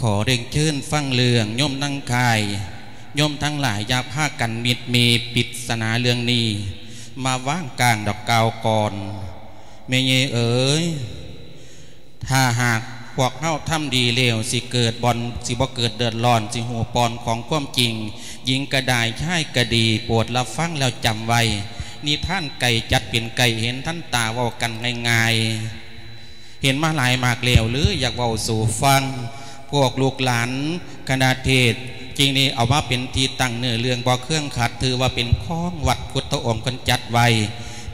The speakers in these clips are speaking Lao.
ຂໍເລີນເຊີນຟັງເລື່ອງໂຍມນາງຄ້າຍ ໂຍມທັງຫຼາຍຢ່າພາກັນມິດມີປິດສະໜາເລື່ອງນີ້ ມາວາງກາງດອກກ່າວກ່ອນ. ແມ່ເຍເອີຍ ຖ້າຫາກພວກເຮົາທຳດີແລ້ວ ຊິເກີດບ່ອນ ຊິບໍ່ເກີດເດືອດຮ້ອນ ຊິຮູ້ບ່ອນຂອງຄວາມຈິງ ຍິງກະໄດ້ ຊາຍກະດີ ໂປດຮັບຟັງແລ້ວຈຳໄວ້ ນິທານໄກ່ຈັດເປັນໄກ່ເຫັນທັນຕາ ເວົ້າກັນງ່າຍໆ ເຫັນມາຫຼາຍມາກແລ້ວ ຫຼື ຢາກເວົ້າສູ່ຟັງ ພວກລູກຫຼານຄະນະເທດ ຈຶ່ງໄດ້ເອົາມາເປັນທີ່ຕັ້ງເນື້ອເລື່ອງບໍ່ເຄືອງຂັດ ຖືວ່າເປັນຂອງວັດພຸດທະອົງເພິ່ນຈັດໄວ້.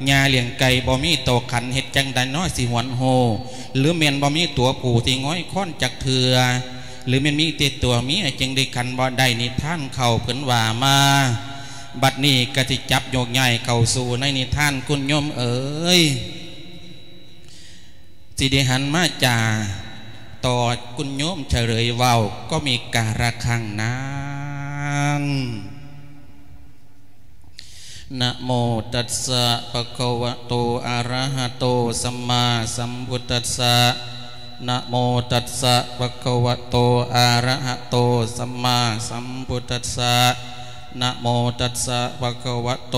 ຫຍ້າລ້ຽງໄກ່ບໍ່ມີໂຕຂັນ ເຮັດຈັ່ງໃດນ້ອຍຊິຫວນໂຮ ຫຼືແມ່ນບໍ່ມີຕົວຜູ້ທີ່ງອຍຄອນຈັກເທື່ອ ຫຼືແມ່ນມີແຕ່ຕົວເມຍຈຶ່ງໄດ້ຂັນບໍ່ໄດ້ ນິທານເກົ່າເພິ່ນວ່າມາ. ບັດນີ້ກະຊິຈັບໂຍກຍ້າຍເຂົ້າສູ່ໃນນິທານ ຄຸນໂຍມເອີຍ ຊິໄດ້ຫັນມາຈາຕໍ່ ຄຸນໂຍມສະເຫຼີຍເວົ້າ ກໍມີກາລະຄັງນັ້ນ. ນະໂມຕັດສະ ພະຄະວະໂຕ ອະຣະຫະໂຕ ສຳມາສຳພຸດທັດສະ. ນະໂມຕັດສະ ພະຄະວະໂຕ ອະຣະຫະໂຕ ສຳມາສຳພຸດທັດສະ. ນະໂມຕັດສະ ພະຄະວະໂຕ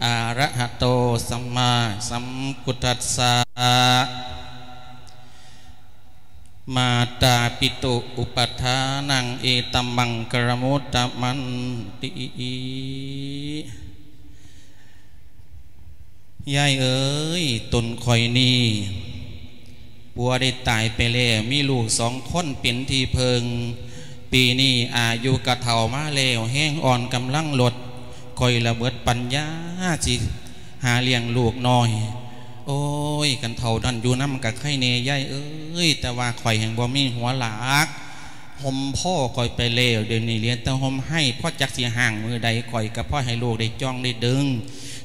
ອະຣະຫະໂຕ ສຳມາສຳພຸດທັດສະ. ມາຕາປິຕຸ ອຸປະທານັງ ເອຕະມັງຄະລະມຸດຕະມັນຕິ. ຍາຍເອີຍ ຕົນຂ້ອຍນີ້ ຜົວໄດ້ຕາຍໄປແລ້ວ ມີລູກສອງຄົນເປັນທີ່ເພິ່ງ. ປີນີ້ອາຍຸກະເຖົ້າມາແລ້ວ ແຮງອ່ອນກຳລັງລົດ ຂ້ອຍລະເບິດປັນຍາ ຊິຫາລ້ຽງລູກນ້ອຍ. ໂອ້ຍ ຄັນເຖົ້ານັ້ນຢູ່ນຳກະໄຄແນ່ ຍາຍເອີຍ, ແຕ່ວ່າຂ້ອຍແຮ່ງບໍ່ມີຫົວຫຼາກ ຫົ່ມພໍຂ້ອຍໄປແລ້ວ, ດຽວນີ້ເຫຼືອແຕ່ຫົ່ມໄຮ້. ພໍຈັກຊິຮ້າງມື້ໃດ ຂ້ອຍກະພໍໃຫ້ລູກໄດ້ຈ່ອງໄດ້ດຶງ,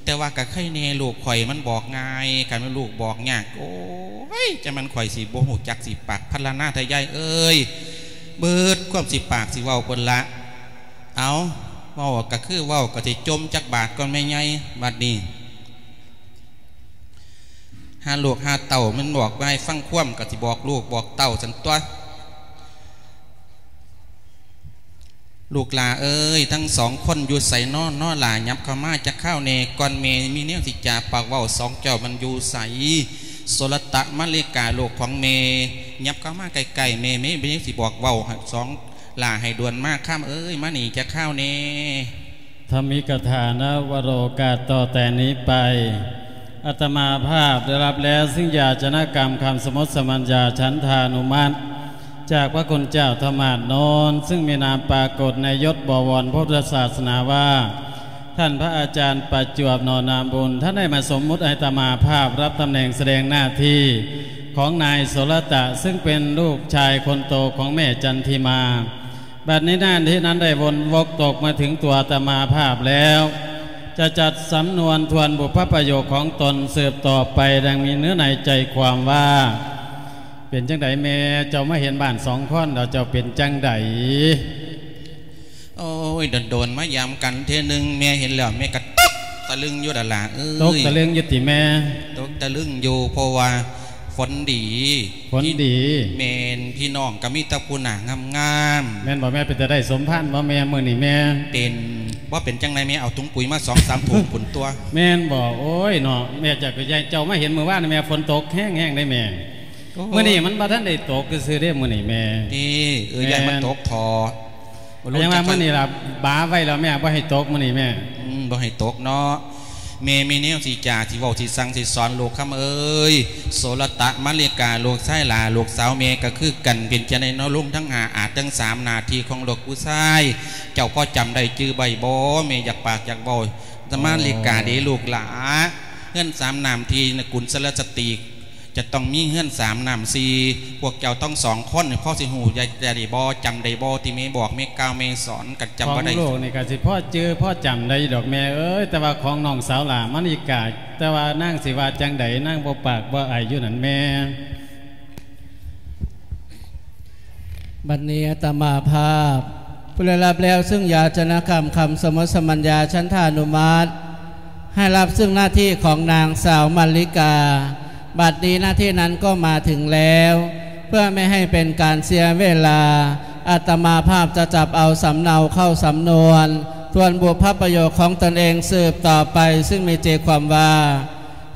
ແຕ່ວ່າກະໄຄແນ່ ລູກຂ້ອຍມັນບອກງ່າຍ. ຄັນແມ່ນລູກບອກຍາກ ໂອ້ຍ ຈະແມ່ນຂ້ອຍຊິບໍ່ຮູ້ຈັກຊິປາກພັນລະນາແທ້ ຍາຍເອີຍ. ເບິດຄວາມຊິປາກຊິເວົ້າເພິ່ນລະ. ເອົາ ເວົ້າກະຄືເວົ້າ, ກະຊິຈົ່ມຈັກບາດກ່ອນແມ່ໃຫຍ່. ບັດນີ້ຫາລູກຫາເຕົ້າ ມັນບອກວ່າໃຫ້ຟັງຄວາມ ກະຊິບອກລູກບອກເຕົ້າຊັ້ນຕົວະ. ລູກຫຼ້າເອີຍ ທັງສອງຄົນຢູ່ໃສນໍ ນໍຫຼ້າຫຍັບເຂົ້າມາຈັກຄາວແນ່. ກ່ອນແມ່ມີແນວຊິຈາປາກເວົ້າ, ສອງເຈົ້າມັນຢູ່ໃສ? ໂສລະຕະ ມະລິກາ ລູກຂອງແມ່ ຫຍັບເຂົ້າມາໃກ້ໆແມ່, ແມ່ມີແນວຊິບອກເວົ້າ ສອງຫຼ້າໃຫ້ດ່ວນມາ. ຄຳເອີຍ ມານີ້ຈັກຄາວແນ່. ທຳມິກະຖານະ ວະໂລກາດ ຕໍ່ແຕ່ນີ້ໄປ ອາດຕະມາພາບໄດ້ຮັບແລ້ວ ຊຶ່ງຢາຈະນະກຳຄຳສະໝົດສະມັນຍາ ສັນທານຸມັດ ຈາກພະຄຸນເຈົ້າທຳມາດນນ ຊຶ່ງມີນາມປາກົດໃນຍົດບໍວອນພຸດທະສາສະໜາວ່າ ທ່ານພະອາຈານປະຈວບ ໜໍນາບຸນ, ທ່ານໄດ້ມາສົມມຸດໃຫ້ອາດຕະມາພາບຮັບຕຳແໜ່ງສະແດງໜ້າທີ່ຂອງນາຍໂສລະຕະ ຊຶ່ງເປັນລູກຊາຍຄົນໂຕຂອງແມ່ຈັນທິມາ. ບັດນີ້ໜ້າທີ່ນັ້ນໄດ້ວົນວົກຕົກມາເຖິງຕົວອາດຕະມາພາບແລ້ວ ຈະຈັດສຳນວນທວນບຸບພະປະໂຫຍກຂອງຕົນສືບຕໍ່ໄປ ດັ່ງມີເນື້ອໃນໃຈຄວາມວ່າ. ເປັນຈັ່ງໃດແມ່ ເຈົ້າມາເຫັນບ້ານສອງຄອນແລ້ວ ເຈົ້າເປັນຈັ່ງໃດ? ໂອ້ຍ ດົນໆມາຢາມກັນເທື່ອໜຶ່ງ ແມ່ເຫັນແລ້ວ ແມ່ກະຕົກຕະລຶງຢູ່ດາລະເອີຍ. ຕົກຕະລຶງຢູ່ຕິແມ່? ຕົກຕະລຶງຢູ່ ເພາະວ່າ ຝົນດີ. ຝົນດີ. ແມ່ນ ພີ່ນ້ອງກະມີແຕ່ຜູ້ໜ້າງາມໆ. ແມ່ນບໍ່ແມ່? ເປັນຕາໄດ້ສົມພານບໍ່ແມ່ ມື້ນີ້ແມ່? ເປັນ. ບໍ່ເປັນຈັ່ງໃດແມ່ ເອົາຖົງປຸ໋ຍມາສອງສາມຖົງພຸ້ນຕົວະ. ແມ່ນບໍ່? ໂອ້ຍເນາະ ແມ່ຈັກກະຢ້ານ ເຈົ້າມາເຫັນມື້ວານນີ້ແມ່ ຝົນຕົກແຮງໆເດ້ແມ່. ໂອ້ຍ ມື້ນີ້ມັນບໍ່ທັນໄດ້ຕົກຊື່ໆເດ້ ມື້ນີ້ແມ່. ຕິ ເອີ ແມ່ນ ຢ້ານມັນຕົກທໍ່. ຍັງວ່າມື້ນີ້ລະບາໄວ້ແລ້ວແມ່ ບໍ່ໃຫ້ຕົກມື້ນີ້ແມ່. ອືມ ບໍ່ໃຫ້ຕົກເນາະ. ແມ່ມີແນວຊິຈາ ຊິເວົ້າ ຊິສັ່ງ ຊິສອນລູກຄຳເອີຍ. ໂສລະຕະ ມະລິກາ ລູກຊາຍຫຼ້າ ລູກສາວແມ່ກະຄືກັນ ເປັນຈັ່ງໃດເນາະ ລຸງທັງຫ້າ ອາດທັງສາມ ໜ້າທີ່ຂອງລູກຜູ້ຊາຍ ເຈົ້າພໍຈຳໄດ້ຈື່ໄວ້ບໍ່? ແມ່ຢາກປາກຢາກເວົ້າ. ມະລິກາເດ້ລູກຫຼ້າ ເຮືອນສາມນ້ຳທີ່ນະກຸນສະລະສະຕີ ຈະຕ້ອງມີເຮືອນສາມນ້ຳສີ່ ພວກເຈົ້າທັງສອງຄົນພໍຊິຮູ້ໄດ້ບໍ່? ຈຳໄດ້ບໍ່ ທີ່ແມ່ບອກ ແມ່ກ່າວ ແມ່ສອນ ຄັນຈຳບໍ່ໄດ້. ຂອງລູກນີ້ກະຊິພໍຈື່ພໍຈຳໄດ້ຢູ່ດອກແມ່ເອີຍ ແຕ່ວ່າຂອງນ້ອງສາວຫຼ້າມະລິກາ ແຕ່ວ່ານາງຊິວ່າຈັ່ງໃດ ນາງບໍ່ປາກບໍ່ອາຍຢູ່ນັ້ນແມ່. ບັດນີ້ອາດຕະມາພາບ ຜູ້ໄດ້ຮັບແລ້ວຊຶ່ງຢາຈະນະກຳຄຳສະໝົດສະມັນຍາ ສັນທານຸມັດ ໃຫ້ຮັບຊຶ່ງໜ້າທີ່ຂອງນາງສາວມະລິກາ. ບັດນີ້ໜ້າທີ່ນັ້ນກໍມາເຖິງແລ້ວ. เพื่อไม่ให้เป็นการเสียเวลา อาตมาภาพจะจับเอาสำเนาเข้าสำนวนทวนบุพประโยคของตนเองสืบต่อไป ซึ่งมีใจความว่า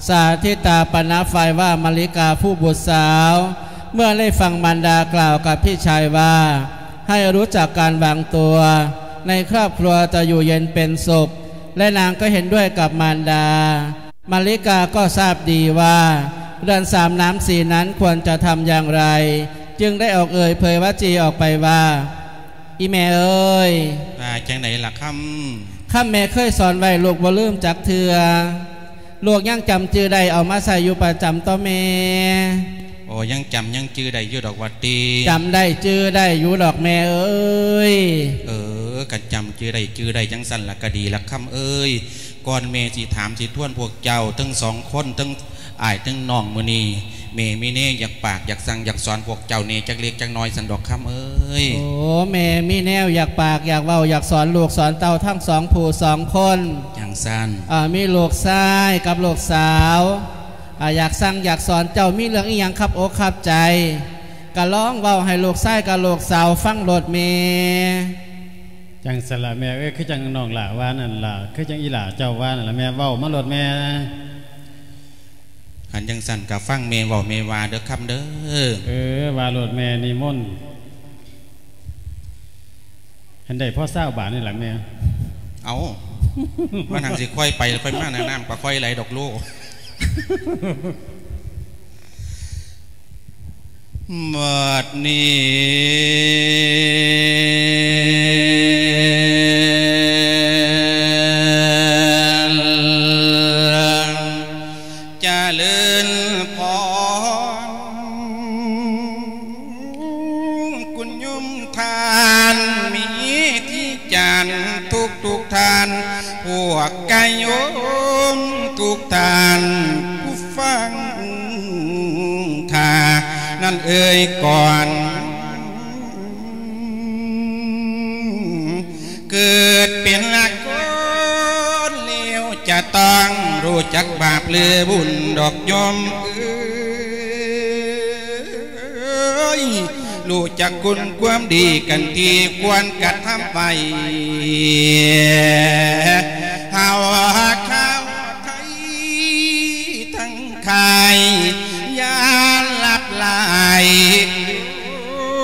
สาธิตาปณะฝ่ายว่า มะลิกาผู้บุตรสาว เมื่อได้ฟังมารดากล่าวกับพี่ชายว่า ให้รู้จักการวางตัว ในครอบครัวจะอยู่เย็นเป็นสุข และนางก็เห็นด้วยกับมารดา มะลิกาก็ทราบดีว่า เรือนสามน้ำสีนั้นควรจะทำอย่างไร จึงได้ออกเอ่ยเผยวจีออกไปว่า อีแม่เอ้ย ว่าจั่งใดล่ะคำ คำแม่เคยสอนไว้ ลูกบ่ลืมจักเทื่อ ลูกยังจำจื่อได้ เอามาใช้อยู่ประจำต่อแม่ โอ้ ยังจำยังจื่อได้อยู่ดอกว่าติ จำได้จื่อได้อยู่ดอกแม่เอ้ย เออ คันจำจื่อได้จื่อได้จั่งซั้นล่ะก็ดีล่ะคำเอ้ย ก่อนแม่สิถามสิทวนพวกเจ้าทั้งสองคน ทั้งอ้ายทั้งน้องมื้อนี้ แม่มีแนวอยากปากอยากสั่งอยากสอนพวกเจ้าแหน่จักเล็กจักน้อยซั้นดอกคำเอ้ย โอ้ แม่มีแนวอยากปากอยากเว้าอยากสอนลูกสอนเต้าทั้งสองผู้สองคน จั่งซั้น อ่า มีลูกชายกับลูกสาว อ่า อยากสั่งอยากสอนเจ้า มีเรื่องอีหยังคับอกคับใจ ก็ลองเว้าให้ลูกชายกับลูกสาวฟังโลดแม่ จั่งซั้นล่ะแม่เอ้ย คือจั่งน้องหล้าว่านั่นล่ะ คือจั่งอีหล้าเจ้าว่านั่นล่ะแม่ เว้ามาโลดแม่ คันจั่งซั้นก็ฟังแม่เว้าแม่ว่าเด้อคำเด้อ เออ ว่าโลดแม่ นิมนต์ หั้นได้พอซาวบาทนี่ล่ะแม่ เอ้า มันหั้นสิค่อยไปค่อยมา น้ำก็ค่อยไหลดอกโล บัดนี้ เจริญพร คุณโยมท่าน มีที่จานทุกทุกท่าน พวกกะโยมทุกท่าน ผู้ฟังข้านั้นเอ่ยก่อน เกิดเป็นละคนแล้วจะต้องรู้จักบาปหรือบุญดอกโยมเอ้ย รู้จักคุณความดีกันที่ควรกระทำไว้ เฮาข้าวไทยทั้งค่าย อย่าหลับไหล โอ้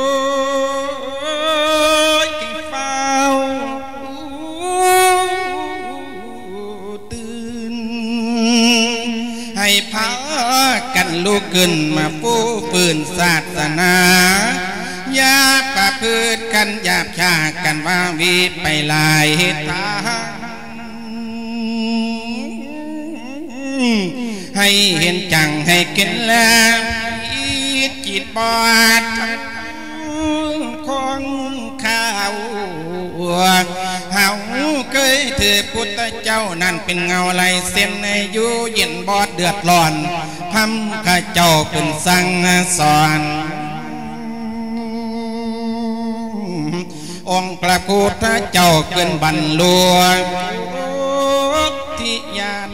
ย เฝ้าตื่น ให้พากันลุกขึ้นมาฟู้ฟื้นศาสนา อย่าประพฤติกันหยาบช้ากันว่าวีไปหลายทาง ให้เห็นจังให้เห็นแล้ว จิตบอดของข้าว เฮาเคยถือพุทธเจ้านั้นเป็นเงาลายเส้น อยู่เย็นบอดเดือดร้อน พร่ำข้าเจ้าเป็นสั่งสอน องค์พระพุทธเจ้าเกินบรรลุทิญาณ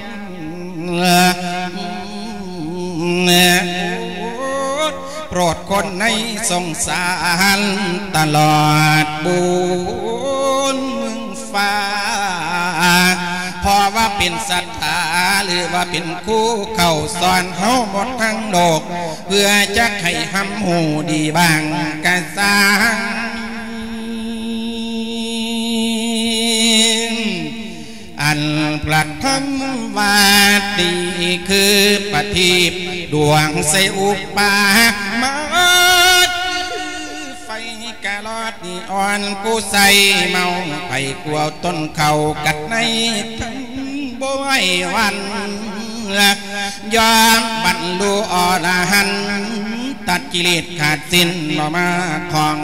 โปรดคนในสงสารตลอดบุญฟ้า เพราะว่าเป็นศรัทธา หรือว่าเป็นครูเข้าสอนเฮาหมดทั้งโลก เพื่อจะให้หำฮู้ดีบ้างกะซ่าง อันพระธรรมว่าดีคือประทีปดวงใสอุปา มาคือไฟกะลอดนีออน ผู้ใส่เมาไฟกลัวต้นเขากัดในทั้งบ่ไหววัน ยอมบรรลุอรหันต์ ตัดกิเลสขาดสิ้นบ่มาของ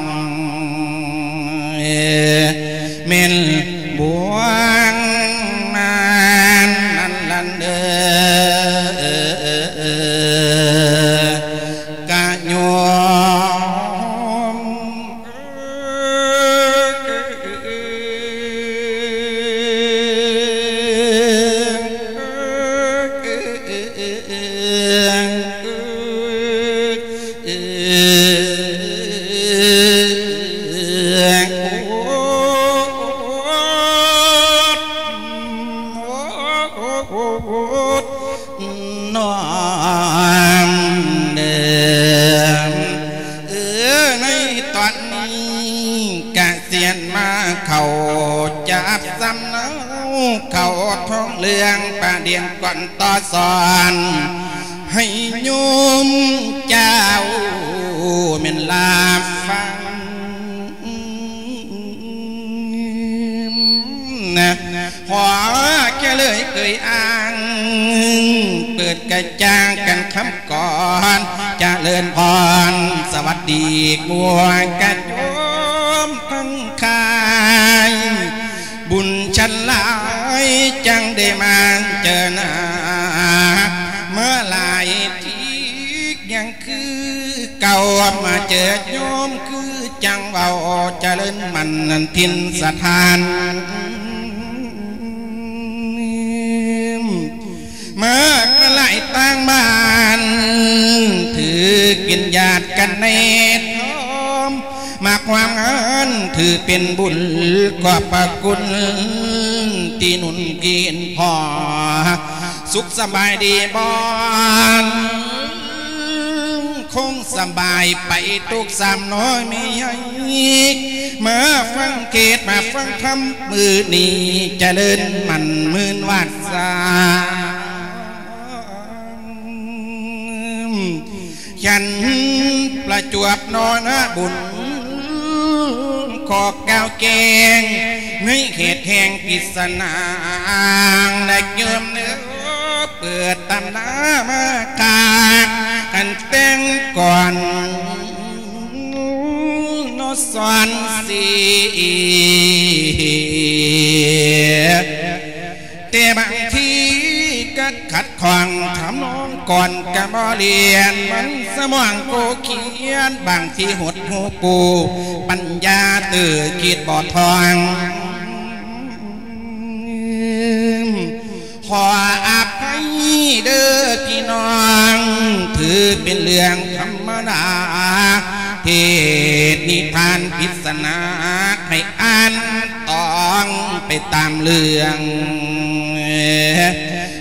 แม่นบวงนานนั้นลันเด้อกะโยม ຕອນນີ້ກະສຽນມາເຂົ້າຈັບສຳເນົາ ເຂົ້າທ້ອງເລື່ອງປະເດັນກ່ອນຕໍ່ສອນ ໃຫ້ໂຍມເຈົ້າແມ່ນລາຟັງ ພໍຈະເລີຍເອີຍອ້າງ ເປີດກະຈ່າງກັນຄຳກ່ອນ ຈະເລີນພອນ ສະຫວັດດີ ໝວດກະໂຍມທັງຫຼາຍ ບຸນຊັ້ນຫຼາຍ ຈັ່ງໄດ້ມາເຈີໜ້າ ເມື່ອຫຼາຍທີຍັງ ຄືເກົ່າ ມາເຈີໂຍມຄືຈັ່ງເວົ້າ ຈະເລີນໝັ້ນຖິ່ນສະຖານ ມາກະຫຼາຍຕ່າງບ້ານ ຖືເປັນຍາດກັນໃນທອມ ມາຄວາມງານ ຖືເປັນບຸນຂອບພະຄຸນ ທີ່ໜູນກິນພໍ ສຸກສະບາຍດີບໍ່? ຄົງສະບາຍໄປທຸກສາມນ້ອຍແມ່ໃຫຍ່ ມາຟັງເທດ ມາຟັງທຳມື້ນີ້ ຈະເລີນໝັ້ນໝື່ນວາດສາ ຍັນປະຈວບນໍນະບຸນ ຂໍກ່າວແຈ້ງໃນເຂດແຫ່ງພິສນາງ ແລະໂຍມເດີ ເປີດຕຳນາມາກາກ ອັນແຕ່ງກ່ອນນໍສອນສີ ແຕ່ບາງທີກະຂັດຂ້ອງທຳນອງກ່ອນກະບໍ່ລຽນ ມັນສະໝອງໂກຂຽນ ບາງທີຫົດຫູປູ ປັນຍາຕື່ຄິດບໍ່ທ່ອງ ຂໍອະໄພເດີພີ່ນ້ອງ ຖືເປັນເລື່ອງທຳມະດາ ເທດນິທານພິສນາ ໃຫ້ອ່ານຕອງໄປຕາມເລື່ອງ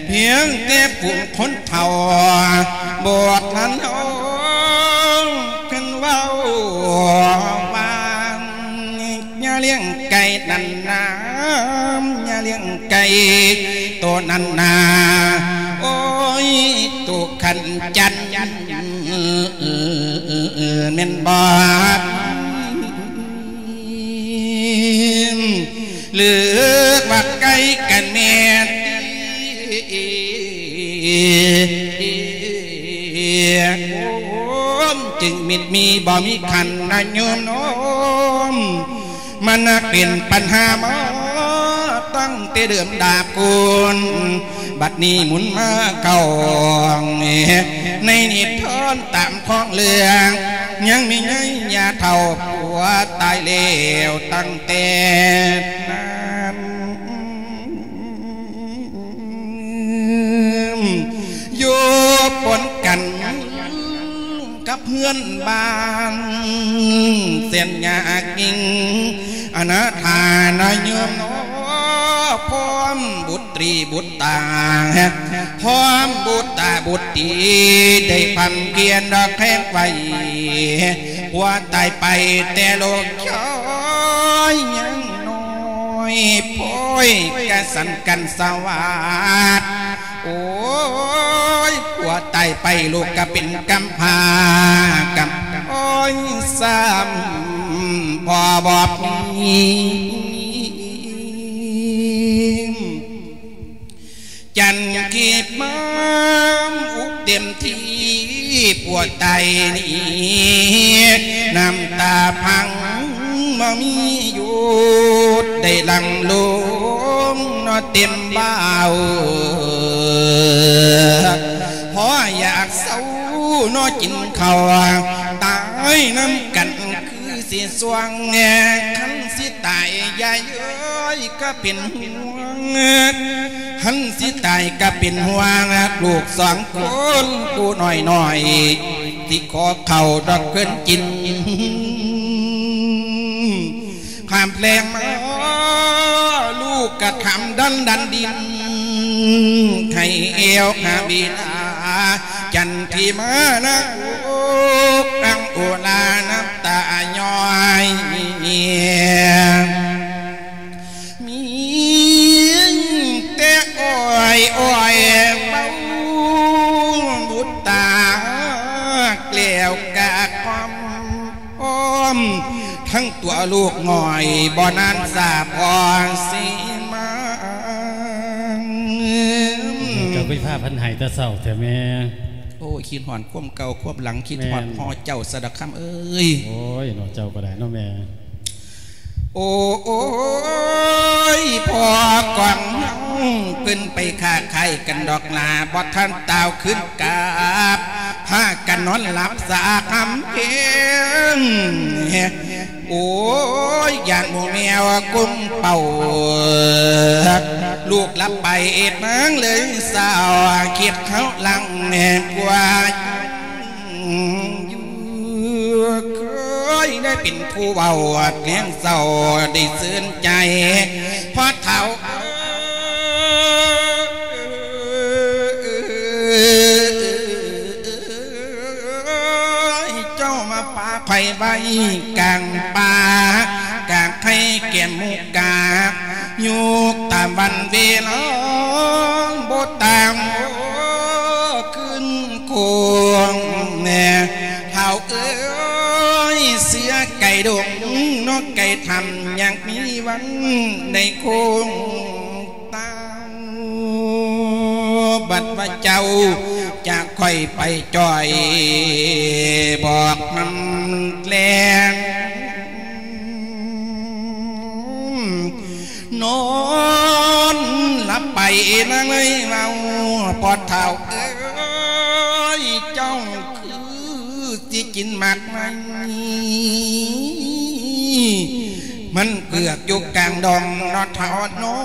ພຽງແຕ່ຜູ້ຄົນເຖົ້າ ບໍ່ທັນເຮົາ ຄັນເວົ້າວ່າ ຢ່າລ້ຽງໄກ່ນັ້ນນາ ຢ່າລ້ຽງໄກ່ໂຕນັ້ນນາ ໂອ້ຍ ໂຕຂັນຈັນ ແມ່ນບໍ່? ຫຼືວ່າໄກ່ກັນແມ່ນ ໂອມ ຈຶ່ງມິດມີບໍ່ມີຂັນນະໂຍມນ້ອງ ມັນເປັນປັນຫາມາຕັ້ງແຕ່ເດີມດາບໂກນ ບັດນີ້ໝູນມາເຂົ້າໃນນິທານຕາມຂອງເລື່ອງ ຍັງມີໃຍຍາເຖົ້າຜົວຕາຍແລ້ວຕັ້ງແຕ່ນັ້ນ ຢູ່ປົນກັນ ກັບເພື່ອນບ້ານ ແສນຍາກຍິ່ງ ອະນາຖານະໂຍມເນາະ ພ້ອມບຸດຕີບຸດຕາ ພ້ອມບຸດຕາບຸດຕີ ໄດ້ພຳພຽນດອກແຂງໄວ້ ຜົວຕາຍໄປແຕ່ລູກຊາຍຍັງນ້ອຍ ໂພຍກະສັນກັນສະຫວາດ ໂອ້ຍ ຜົວຕາຍໄປ ລູກກະເປັນກຳພ້າ ກຳ ໂອ້ຍ ຊ້ຳພໍ່ບໍ່ມີ ຈັນກີບມາອຸກເຕັມທີ່ ຜົວຕາຍນີ້ ນ້ຳຕາພັງບໍ່ມີຢຸດ ໄດ້ຫຼັ່ງລົງເນາະເຕັມບ່າວ ພໍຢາກເຊົາເນາະກິນເຂົ້າ ຕາຍນຳກັນຄືຊິຊ່ວງ ຄັນຊິຕາຍຍາຍເອີຍກະເປັນຫ່ວງ ຄັນຊິຕາຍກະເປັນຫ່ວງ ລູກສອງຄົນຜູ້ນ້ອຍໆ ຊິຂໍເຂົ້າດອກເພິ່ນກິນ ຂ້າມແລງມາ ລູກກະຄຳດັນດັນດິນ ໃຫ້ແອວຫາບິດາ ຈັນທີມານະ ໂອກ ອັງໂອລາ ນ້ຳຕາຍ້ອຍ ທັງຕົວລູກນ້ອຍ ບໍ່ນານສາພໍ່ຊິມາ. ເຈົ້າຄືພາເພິ່ນໄຫ້ແຕ່ເຊົ້າແທ້ແມ່? ໂອ້ຍ ຄິດຮອດຄວາມເກົ່າຄວາມຫຼັງ ຄິດຮອດພໍ່ເຈົ້າຊະດອກຄຳເອີຍ. ໂອ້ຍເນາະ ເຈົ້າກໍໄດ້ເນາະແມ່. ໂອ້ຍ ພໍ່ກອງເຮົາ ເພິ່ນໄປຄ້າຂາຍກັນດອກຫຼ້າ ບໍ່ທັນຕ່າວຄືນກັບ ພາກັນນອນຫຼັບສະອາກຫຳເພງ. ໂອ້ຍ ຢ້ານໝູ່ແມວກຸມເປົ່າ ລູກຫຼັບໄປເອດນາງເລີຍເສົ້າ ຄິດເຮົາຫຼັງແນມກວ່າ ຢູ່ ເຄີຍໄດ້ເປັນຜູ້ເວົ້າແນມເສົ້າໄດ້ຊື່ນໃຈ ພໍ່ເຖົ້າ ເຈົ້າມາປະໄພໄວ້ກາງປ່າ ກາງໄຄແກ້ມໝູກາ ຍຸກຕາມວັນເວລາ ບໍ່ຕາມຄືນຄົງ ແມ່ເຖົ້າເອີຍ ເສືອໄກ່ດົງ ນົກໄກ່ຖ້ຳ ຍັງມີວັນໄດ້ຄົງຕາ ບັດວ່າເຈົ້າຈາກຂ້ອຍໄປຈ່ອຍ ບອກນຳແລງ ນອນຫຼັບໄປນາງເອີຍເວົ້າ ພໍ່ເຖົ້າເອີຍ ເຈົ້າຄືຊິກິນໝາກໄມ້ ມັນເກືອກຢູ່ກາງດອງເນາະເຖົ້າເນາະ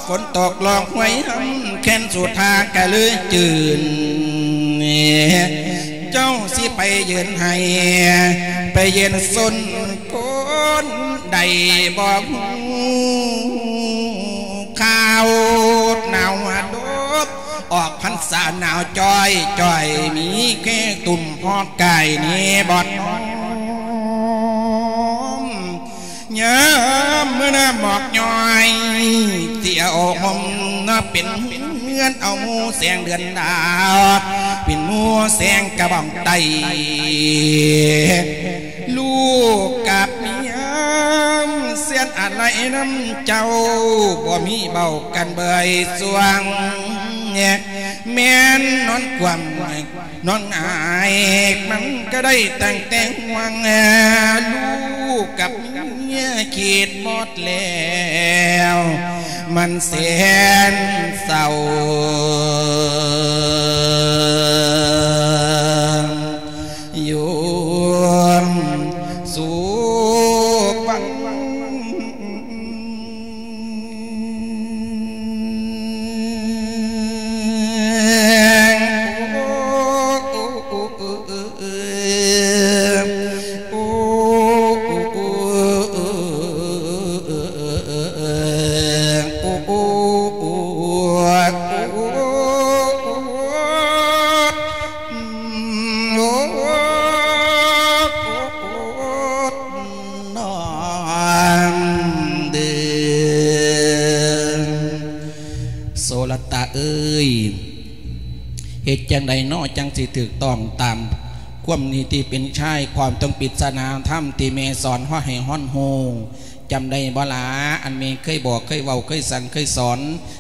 ຝົນຕົກລອງຫ້ວຍຫຳ ແຄ້ນສຸທາກະເລີຍຈືນ ເຈົ້າຊິໄປຢືນໄຫ້ ໄປຢືນສົນຄົນ ໄດ້ບໍ່ຮູ້ຂ່າວ ໜາວດອບ ອອກພັນສາໜາວຈ້ອຍ ຈ່ອຍມີແຄ່ຕຸ່ມຮອດກາຍເນບອດນ້ອມ ຍາມມື້ໜ້າໝອກຍ້ອຍ ຊິເອົາຫົ່ມເນາະເປັນເຮືອນ ເອົາໝູ່ແສງເດືອນດາວ ເປັນໝູ່ແສງກະບອງໄຕ້ ລູກກັບເມຍ ແສນອາໄລນຳເຈົ້າ ບໍ່ມີເວົ້າກັນເບີຍຊ່ວງ ແມ່ນນອນຄວ່ຳນອນຫງາຍ ມັນກໍໄດ້ຕັ້ງແຕ່ຫ່ວງ ລູກກັບເມຍຄິດໝົດແລ້ວ ມັນແສນເສົ້າ ຢູ່ສຸກວັນ. ໂສລະຕະເອີຍ ເຮັດຈັ່ງໃດເນາະ ຈັ່ງຊິຖືກຕ້ອງຕາມຄວາມນິຕິເປັນຊາຍ ຄວາມຕ້ອງປິດສະໜາທຳທີ່ແມ່ສອນເຮົາໃຫ້ເຮົາຮູ້? ຈຳໄດ້ບໍ່ລະ ອັນແມ່ເຄີຍບອກ ເຄີຍເວົ້າ ເຄີຍສັ່ງ ເຄີຍສອນ?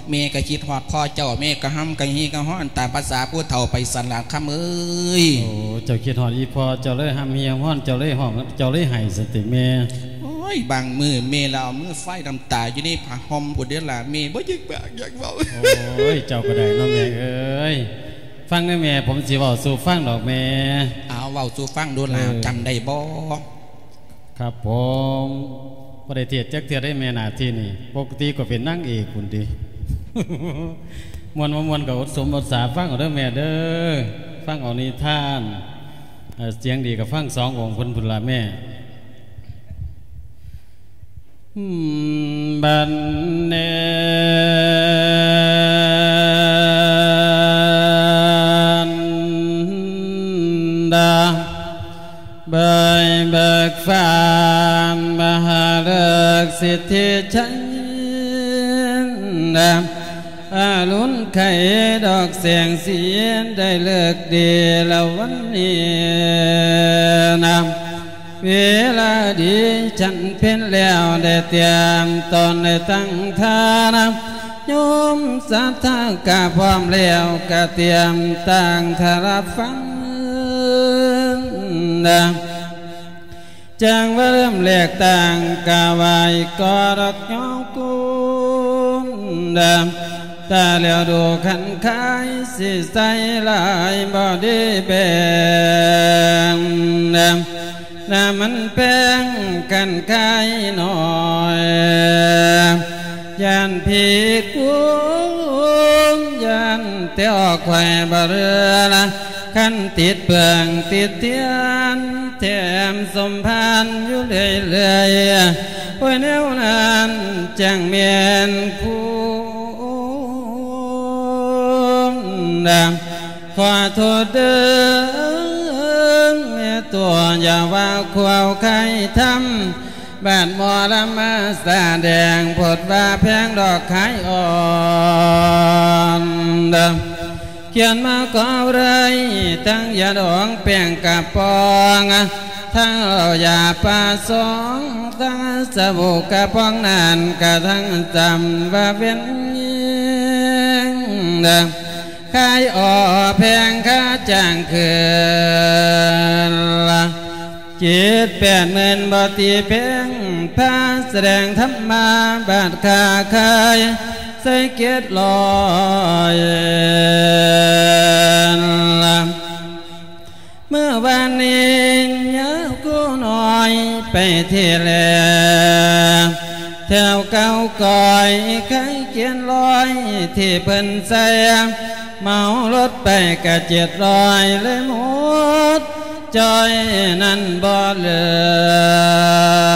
ແມ່ກໍຄິດຮອດພໍ່ເຈົ້າ ແມ່ກໍຮຳກະຮີກະຮ້ອນຕາມພາສາຜູ້ເຖົ້າໄປຊັ້ນລະຄຳເອີຍ. ໂອ້ ເຈົ້າຄິດຮອດອີ່ພໍ່ ເຈົ້າເລີຍຮຳຮີຮຳຮ້ອນ ເຈົ້າເລີຍຮ້ອງ ເຈົ້າເລີຍໄຫ້ຊັ້ນຕິແມ່? ໂອ້ຍ ບາງມື້ແມ່ລະເອົາມືຟາຍນ້ຳຕາຢູ່ໃນຜ້າຫົ່ມພຸ້ນເດ້ລະ ແມ່ບໍ່ຢາກປາກຢາກເວົ້າ. ໂອ້ຍ ເຈົ້າກໍໄດ້ເນາະແມ່ເອີຍ. ຟັງເດີແມ່ ຜົມຊິເວົ້າສູ່ຟັງດອກແມ່. ເອົາ ເວົ້າສູ່ຟັງດູລະ. ເອີ ຈຳໄດ້ບໍ່? ຄັບຜົມ ບໍ່ໄດ້ທຽບຈັກເທື່ອເດ້ແມ່ ໜ້າທີ່ນີ້ ປົກກະຕິກໍເປັນນາງເອກພຸ້ນຕິ. ມ່ວນບໍ່ມ່ວນກໍອົດສົມອົດສາຟັງເອົາເດີແມ່ເດີ ຟັງເອົານິທານ. ເອີ ສຽງດີກໍຟັງສອງອົງເພິ່ນພຸ້ນລະແມ່. ບັນເນນດາ ເບີຍເບີກຟ້າມະຫາເລິກສິດທິໄຊນາ ອາລຸນໄຄດອກແສງສີ ໄດ້ເລີກດີລະວັນນີ້ນາ ເວລາດີ ສັນເພັນແລ້ວ ໄດ້ຕຽມຕອນ ໄດ້ຕັ້ງທ່ານະ ໂຍມສັດທາກະພ້ອມແລ້ວ ກະຕຽມຕັ້ງທ່ານຮັບຟັງນະ ຈັ່ງວ່າເລີ່ມແລກຕັ້ງ ກະໄຫວ້ກໍດອກຍອງກຸນນະ ຕາແລ້ວດູຄັນຄາຍ ຊິໃສ່ຫຼາຍບໍ່ດີແບ່ງນະ ນະມັນແພງຄັນຄາຍໜ້ອຍ ຢ້ານຜິດກຸນ ຢ້ານແຕ່ອອກໄວ້ບໍ່ເຫຼືອລະ ຄັນຕິດເບື່ອງຕິດທຽນ ແຖມສົມພານຢູ່ເລື້ອຍໆ ໂອ້ຍ ແນວນັ້ນຈັ່ງແມ່ນຄຸນນະ ຂໍໂທດເດີແມ່ຕົວ ຢ່າວ່າຄວາວໄຄທຳ ບາດໝໍລຳມາສະແດງ ໂພດວ່າແພງດອກຂາຍອ່ອນ ຂຽນມາກໍເລີຍ ທັງຢາດອງແປ້ງກະປ໋ອງ ທັງເຫຼົ້າຢາປາສອງ ທັງສະບູ່ກະປ໋ອງນັ້ນ ກະທັງຈຳວ່າເປັນຍິງ ຂາຍອອກແພງຄ່າຈ້າງຄືນລະ ເຈັດແປດໝື່ນບໍ່ຕີແພງ ພາສະແດງທຳມາ ບາດຄ່າຂາຍໃສ່ເຈັດຮ້ອຍລະ ເມື່ອວານນີ້ຍາວກູນ້ອຍໄປທີ່ແລ ແຖວເກົ່າກ້ອຍໄຄກຽນລອຍ ທີ່ເພິ່ນໃສ່ ເໝົາລົດໄປກະເຈັດຮ້ອຍ ເລີຍໝົດຈ່ອຍນັ້ນບໍ່ເຫຼື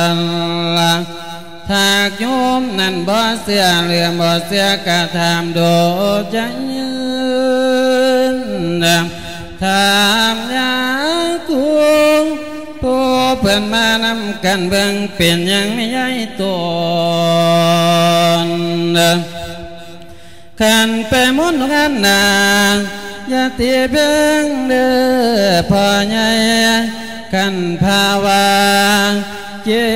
ອລະ ຖ້າໂຍມນັ້ນບໍ່ເຊື່ອ ຫຼືບໍ່ເຊື່ອກະຖາມດູຈະຍືນ ຖາມຍາຄູ ຜູ້ເພິ່ນມານຳກັນເບິ່ງ ເປັນຫຍັງມີຍາຍໂຕນ ຄັນໄປມົນງານໜ້າ ຢ່າຕີແພງເດີພໍ່ໃຫຍ່ ຄັນພາວ່າເຈັ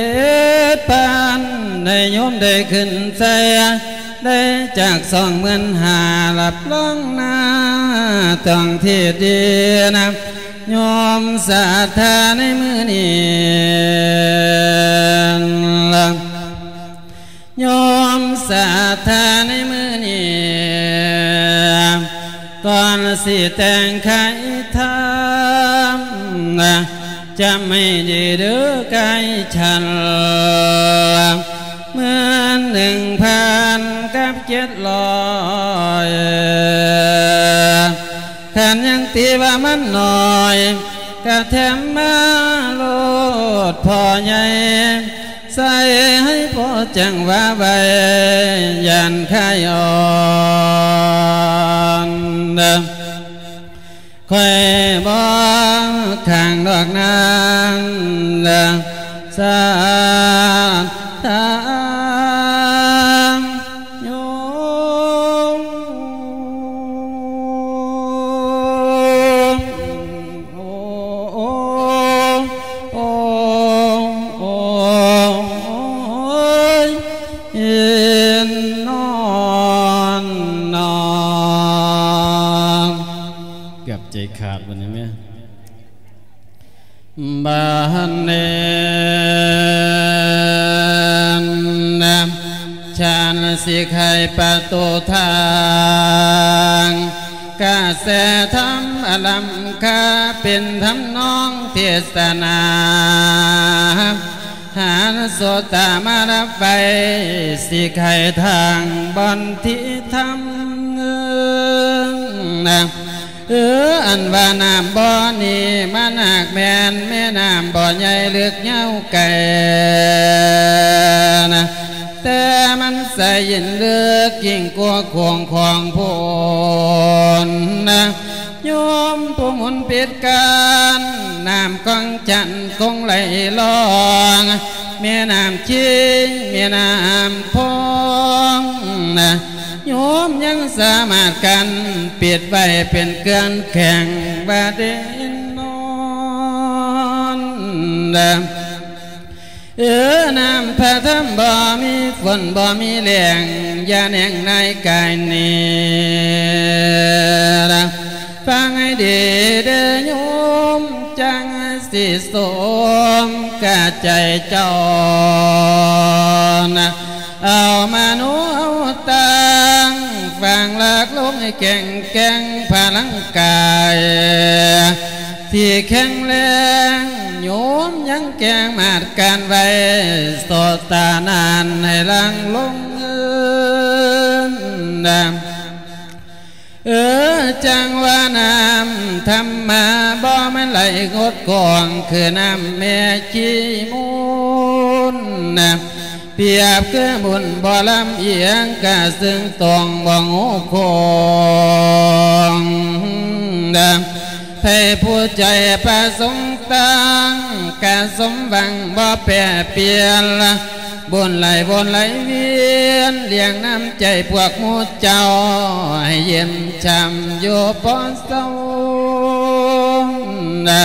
ດພັນ ໃຫ້ໂຍມໄດ້ຂຶ້ນໃສ່ ໄດ້ຈັກສອງໝື່ນຫ້າ ຮັບຮອງໜ້າຕ້ອງທີ່ດີນະ ໂຍມສັດທາໃນມື້ນີ້ ໂຍມສັດທາໃນມື້ນີ້ ກ່ອນຊິແຕ່ງໄຄທຳ ຈຳໃຫ້ດີເດີໄຄສັນ ໝື່ນໜຶ່ງພັນກັບເຈັດຮ້ອຍ ຄັນຍັງຕີວ່າມັນໜ້ອຍ ກະແຖມມາໂລດພໍ່ໃຫຍ່ ໃສ່ໃຫ້ພໍຈັ່ງວ່າໄວ ຢ້ານຂາຍອ່ອນ ຂ້ອຍບໍ່ຄ້າງດອກນາງ ສາທາ ໂຍມ ໂອ້ ໂອ້ ໂອ້ ໂອ້ຍ ເຫັນນອນນອນ ເກືອບໃຈຂາດບັດນີ້ແມ່. ບາດນີ້ນະ ສັນຊິໄຂປະຕູທາງ ກະແສທຳອະລຳຄາ ເປັນທຳນອງເທດສະໜາ ຫານໂສດຕາມາຮັບໄວ້ ຊິໄຂທາງບ່ອນທີ່ທຳນະ ເອີ ອັນວ່ານ້ຳບໍ່ນີ້ ມັນຫາກແມ່ນແມ່ນ້ຳບໍ່ໃຫຍ່ເລິກຍາວໄກນະ ແຕ່ມັນໃສເຢັນເລິກຍິ່ງກວ່າຂວາງຂອງໂພນນະ ໂຍມຜູ້ໝຸນປິດການ ນ້ຳຂອງຈັນຄົງໄຫຼລ່ອງ ແມ່ນ້ຳຊີ ແມ່ນ້ຳພອງນະ ໂຍມຍັງສາມາດກັ້ນປິດໄວ້ເປັນເຄື່ອງແຂງວ່າເດນອນນະ ເອີ ນ້ຳພະທຳບໍ່ມີຝົນບໍ່ມີແລ້ງ ຢ່າແໜງນາຍກາຍນີ້ລະ ຟັງໃຫ້ດີເດີໂຍມ ຈັ່ງຊິສົມກະໃຈເຈົ້ານະ ເອົາມະໂນເອົາຕັງ ຝັງຫຼັກລົງໃຫ້ແຂງແກ່ງພະລັງກາຍ ທີ່ແຂງແຮງ ໂຍມຍັງແກ່ງມາດການໄວ້ ໂສດຕານານໃຫ້ຫຼັ່ງລົງເອີນນະ ເອີ ຈັ່ງວ່ານ້ຳທຳມະບໍ່ແມ່ນໄຫຼງົດກອງ ຄືນ້ຳແມ່ຂີ້ມູນນະ ປຽບຄືບຸນບໍ່ລຳອຽງ ກະເຊິ່ງຕ້ອງບໍ່ງູຄົງນະ ໃຜຜູ້ໃຈປະສົງຕັ້ງ ກະສົມຫວັງບໍ່ແປປ່ຽນ ບຸນໄຫຼວົນໄຫຼວຽນ ລ້ຽງນ້ຳໃຈພວກໝູ່ເຈົ້າ ໃຫ້ເຢັນຊ່ຳຢູ່ບໍ່ເຊົານະ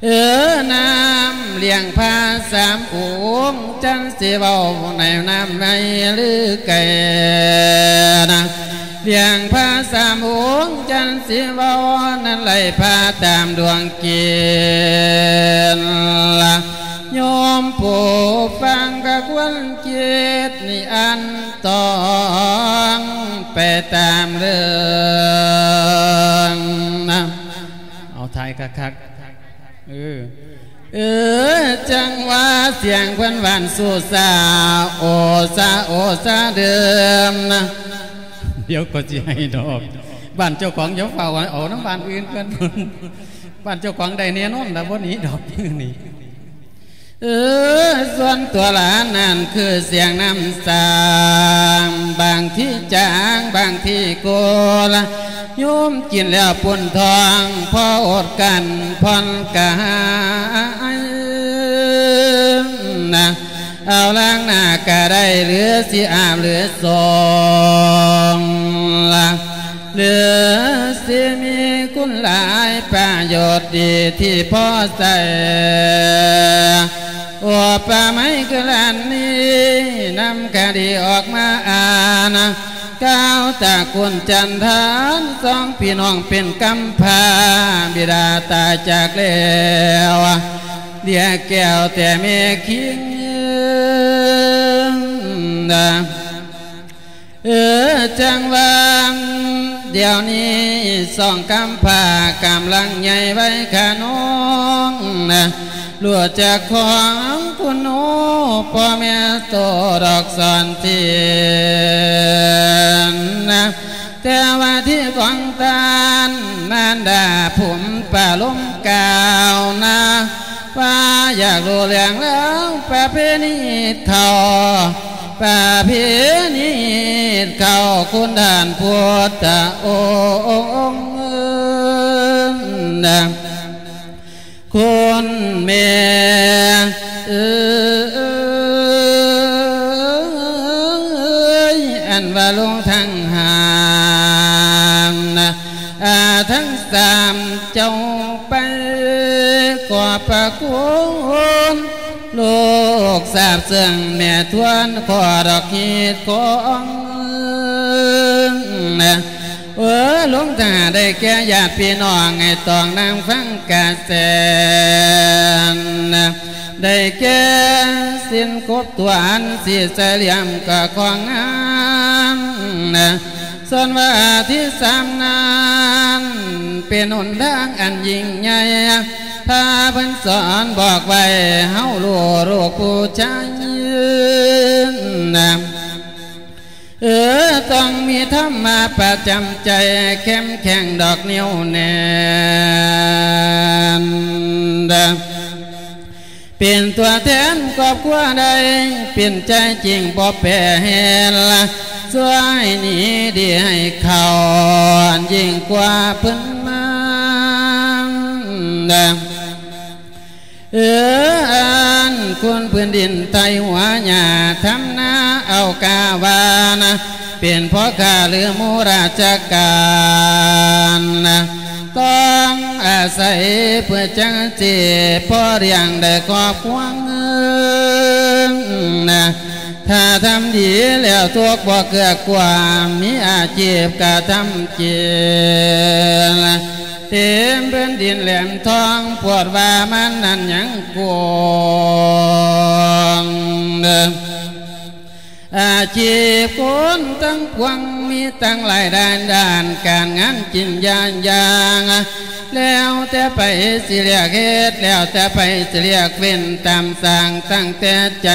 ເອີ ນ້ຳລ້ຽງພະສາມອົງ ຈັນຊິເວົ້າໃນນ້ຳໃໝ່ຫຼືໄກນະ ລ້ຽງພະສາມອົງ ຈັນຊິເວົ້ານັ້ນໄຫຼພະຕາມດວງເກນລະ ໂຍມຜູ້ຟັງກະຄວນຄິດນິອັນຕອງ ໄປຕາມເລື່ອງນະ ເອົາຖ່າຍຄັກໆ ເອີ ເອີ ຈັ່ງວ່າສຽງເພິ່ນຫວານຊູ່ຊາ ໂອຊາ ໂອຊາເດີມນະ ດຽວກໍຊິໃຫ້ດອກ ບ້ານເຈົ້າຂອງຢ່າຟ້າວເອົານຳບ້ານອື່ນເພິ່ນ ບ້ານເຈົ້າຂອງໄດ້ແນ່ນອນລະ ບໍ່ໜີດອກນີ້ ເອີ ສ່ວນຕົວຫຼານນັ້ນຄືສຽງນ້ຳສາງ ບາງທີຈາງ ບາງທີໂກລະ ໂຍມກິນແລ້ວປຸ້ນທ້ອງ ພໍອົດກັ້ນຜ່ອນກາຍນະ ເອົາລ້າງໜ້າກະໄດ້ ຫຼືຊິອາບຫຼືສົງລະ ຫຼືຊິມີຄຸນຫຼາຍ ປະໂຫຍດດີທີ່ພໍໃຊ້ ອຸປະໄມຄືຫຼານນີ້ ນຳຄະດີອອກມາອ່ານ ກ່າວຕະກຸນຈັນທານ ສອງພີ່ນ້ອງເປັນກຳພ້າ ບິດາຕາຍຈາກແລ້ວ ເຫຼືອແກ້ວແຕ່ແມ່ຄິງ ເອີ ຈັ່ງວ່າດຽວນີ້ສອງກຳພ້າກຳລັງໃຫຍ່ໄວຂະນອງນະ ລູກຈັກຂອງຄຸນໂອ ພໍ່ແມ່ໂຕດອກສອນສິນນະ ແຕ່ວ່າທີ່ຂອງທ່ານມານດາພູມປະລົມກ່າວນະ ວ່າຢາກຮູ້ເລື່ອງລາວປະເພນີເຂົ້າ ປະເພນີເຂົ້າ ຄຸນທ່ານພຸດທະອົງ ຄຸນແມ່ເອີຍ ອັນວ່າລົງທັງຫ້າ ອາ ທັງສາມເຈົ້າໄປ ຂອບພະຄຸນ ລູກຊາບເຊິ່ງແມ່ທວນ ຂໍດອກຮີດຂອງ ເອີ ລົງຖ້າໄດ້ແກ່ຍາດພີ່ນ້ອງ ໃຫ້ຕ້ອງນາງຟັງກະແສນ ໄດ້ແກ່ສິ້ນກົບຕົວ ອັນສີໃສຫຼ່ຽມກະຂອງງາມ ສ່ວນວ່າທີສາມນັ້ນ ເປັນຫົນທາງອັນຍິ່ງໃຫຍ່ ພາເພິ່ນສອນບອກໄວ້ ເຮົາຮູ້ລູກຜູ້ຊາຍນະ ເອີ ຕ້ອງມີທຳມາປະຈຳໃຈ ເຂັ້ມແຂງດອກໜຽວແໜ້ນ ເປັນຕົວແທນຄອບຄົວໄດ້ ເປັນໃຈຈິງບໍ່ແປແຮນລະ ຊ່ວຍໜີດີໃຫ້ເຂົາ ຍິ່ງກວ່າເພິ່ນມາ ເອີ ອັນຄຸນພື້ນດິນໄທຫົວຫຍ້າ ທຳນາເອົາກາວານະ ເປັນພໍ່ຄ້າຫຼືໝູ່ລາຊະການນະ ຕ້ອງອາໄສເພື່ອຈັ່ງຊິພໍລ້ຽງໄດ້ຄອບຄົວນະ. ຖ້າທຳດີແລ້ວທຸກບໍ່ເກືອກວ່າ ມີອາຊີບກະທຳກິນ ເຕັມພື້ນດິນແຫຼມທອງ ປວດວ່າມັນນັ້ນຍັງກວງເດີ. ອາຊີບຄົນທັງປວງ ມີຕັ້ງຫຼາຍດ້ານ ດ້ານການງານຈິງຢ່າງຢ່າງ ແລ້ວແຕ່ໃຜຊິເລືອກເຮັດ ແລ້ວແຕ່ໃຜຊິເລືອກເວັ້ນ ຕາມສ້າງຕັ້ງແຕ່ໃຈ.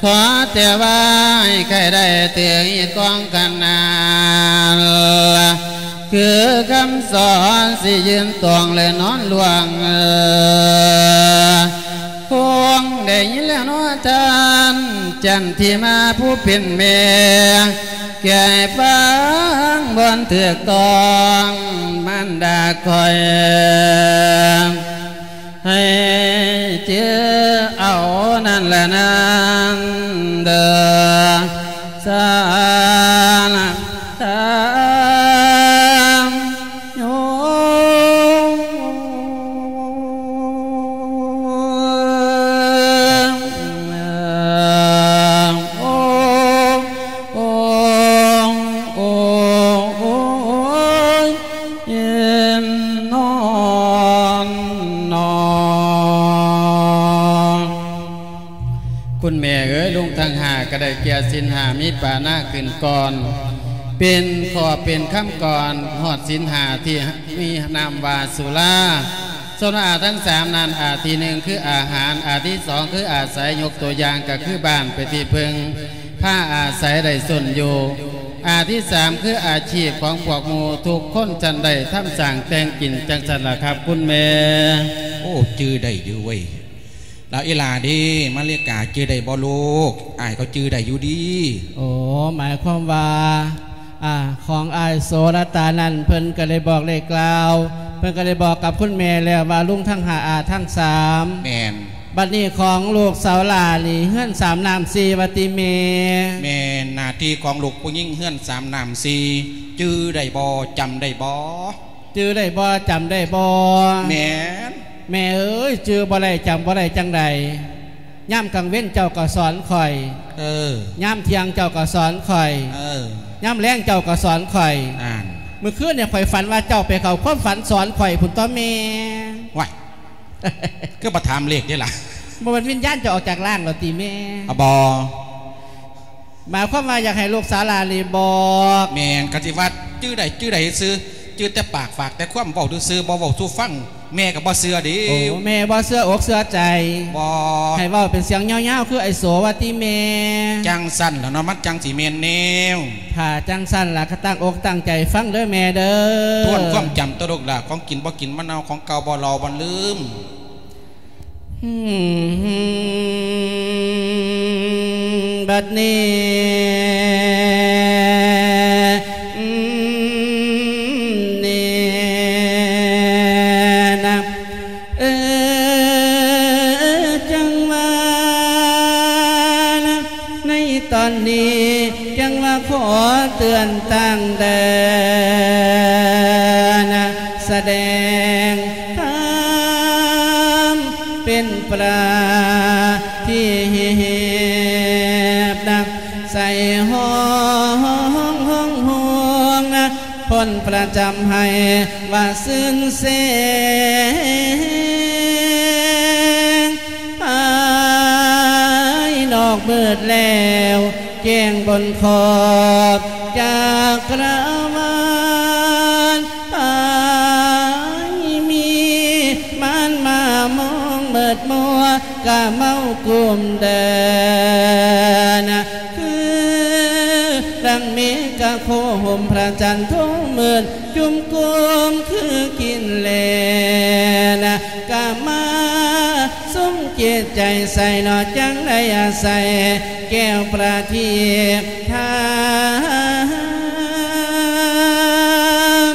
ຂໍແຕ່ວ່າໃຫ້ໃຄໄດ້ຖືກຮີດຄອງຂະໜານ ຄືຄຳສອນຊິຢືນຕອງ ແລະນອນລ່ວງ ຄົງໄດ້ຍິນແລ້ວເນາະທ່ານ ຈັນທິມາຜູ້ເປັນແມ່ ແກ່ໃຫ້ຟັງບ່ອນຖືກຕ້ອງ ມານດາຂ້ອຍ ໃຫ້ຈື່ເອົານັ້ນລະນັ້ນເດີ ສານະ ຄຸນແມ່ເອີຍ ລຸງທັງຫ້າກະໄດ້ແກ່ສິນຫ້າ ມີປານາຂຶ້ນກ່ອນ ເປັນຂໍ້ເປັນຄຳກ່ອນ ຮອດສິນຫ້າທີ່ມີນາມວ່າສຸລາ. ສ່ວນອາທັງສາມນັ້ນ ອາທີໜຶ່ງຄືອາຫານ ອາທີສອງຄືອາໄສ ຍົກຕົວຢ່າງກະຄືບ້ານເປັນທີ່ເພິ່ງ ພາອາໄສໄດ້ສົນຢູ່ ອາທີສາມຄືອາຊີບຂອງພວກໝູ່ທຸກຄົນ ຊັ້ນໄດ້ທຳສ້າງແຕ່ງກິນ ຈັ່ງຊັ້ນລະຄັບຄຸນແມ່. ໂອ້ ຈື່ໄດ້ຢູ່ເວີຍ ລາວອີ່ຫຼ້າເດ ມາລິກາ ຈື່ໄດ້ບໍ່ລູກ? ອ້າຍກໍຈື່ໄດ້ຢູ່ດີ. ໂອ້ ໝາຍຄວາມວ່າ ອາ ຂອງອ້າຍໂສລະຕານັ້ນ ເພິ່ນກໍໄດ້ບອກໄດ້ກ່າວ ເພິ່ນກໍໄດ້ບອກກັບຄຸນແມ່ແລ້ວວ່າ ລຸງທັງຫ້າ ອາທັງສາມ. ແມ່ນ. ບັດນີ້ຂອງລູກສາວຫຼ້ານີ້ ເຮືອນສາມນ້ຳສີ່ວ່າຕິແມ່? ແມ່ນ. ໜ້າທີ່ຂອງລູກຜູ້ຍິງເຮືອນສາມນ້ຳສີ່ ຈື່ໄດ້ບໍ່? ຈຳໄດ້ບໍ່? ຈື່ໄດ້ບໍ່? ຈຳໄດ້ບໍ່? ແມ່ນ. ແມ່ເອີຍ ຈື່ບໍ່ໄດ້ ຈຳບໍ່ໄດ້ຈັ່ງໃດ? ຍາມກາງເວັນເຈົ້າກໍສອນຂ້ອຍ ເອີ ຍາມທ່ຽງເຈົ້າກໍສອນຂ້ອຍ ເອີ ຍາມແລງເຈົ້າກໍສອນຂ້ອຍ ນັ້ນ ມື້ຄືນນີ້ຂ້ອຍຝັນວ່າເຈົ້າໄປເຂົ້າຄວາມຝັນສອນຂ້ອຍພຸ້ນຕົວະແມ່. ວ້າຍ ຄືບໍ່ຖາມເລກເດລະ? ບໍ່ແມ່ນວິນຍານເຈົ້າອອກຈາກຮ່າງແລ້ວຕິແມ່? ອາ ບໍ່. ໝາຍຄວາມວ່າຢາກໃຫ້ລູກສາວຫຼ້ານີ້ບອກ. ແມ່ນ ຄັນຊິວ່າຈື່ໄດ້ ຈື່ໄດ້ຊື່ ຈື່ແຕ່ປາກ ຝາກແຕ່ຄວາມເວົ້າຊື່ໆ ບໍ່ເວົ້າສູ່ຟັງ ແມ່ກໍບໍ່ເຊື່ອເດ້. ໂອ້ ແມ່ບໍ່ເຊື່ອອົກເຊື່ອໃຈ. ບໍ່. ໃຫ້ເວົ້າເປັນສຽງຍາວໆ ຄືອ້າຍໂສວ່າຕິແມ່? ຈັ່ງຊັ້ນລະເນາະ ມັນຈັ່ງຊິແມ່ນແນວ. ຖ້າຈັ່ງຊັ້ນລະ ກໍຕັ້ງອົກຕັ້ງໃຈຟັງເດີແມ່ເດີ. ທວນຄວາມຈຳຕົວະລູກຫຼ້າ ຂອງກິນບໍ່ກິນມັນເອົາ ຂອງເກົ່າບໍ່ເລົາບໍ່ລືມ. ບັດນີ້ ນີ້ນະ ເອີ ຈັ່ງວ່ານະ ໃນຕອນນີ້ ຈັ່ງວ່າຂໍເຕືອນຕັ້ງເດີນະ ສະແດງທຳເປັນປະທີບນະ ໃສ່ຫ້ອງ ຫ້ອງ ຫ້ອງນະ ພົ້ນປະຈຳໃຫ້ວ່າຊື່ນແສງ ພາຍນອກມືດແລ້ວ ແຈ້ງບົນຂອບຈັກກະລະວານ ພາຍມີມານມາມອງມືດມົວ ກະເມົາກຸມເດີນະ ຄືດັ່ງເມກະໂຄຫົ່ມພະຈັນທົ່ງມືດ ຈຸ່ມກຸມຄືກິນແລນະ ກະມາ ສຸມຈິດໃຈໃສ່ເນາະ ຈັ່ງໄດ້ອາໄສແກ້ວປະທີບທ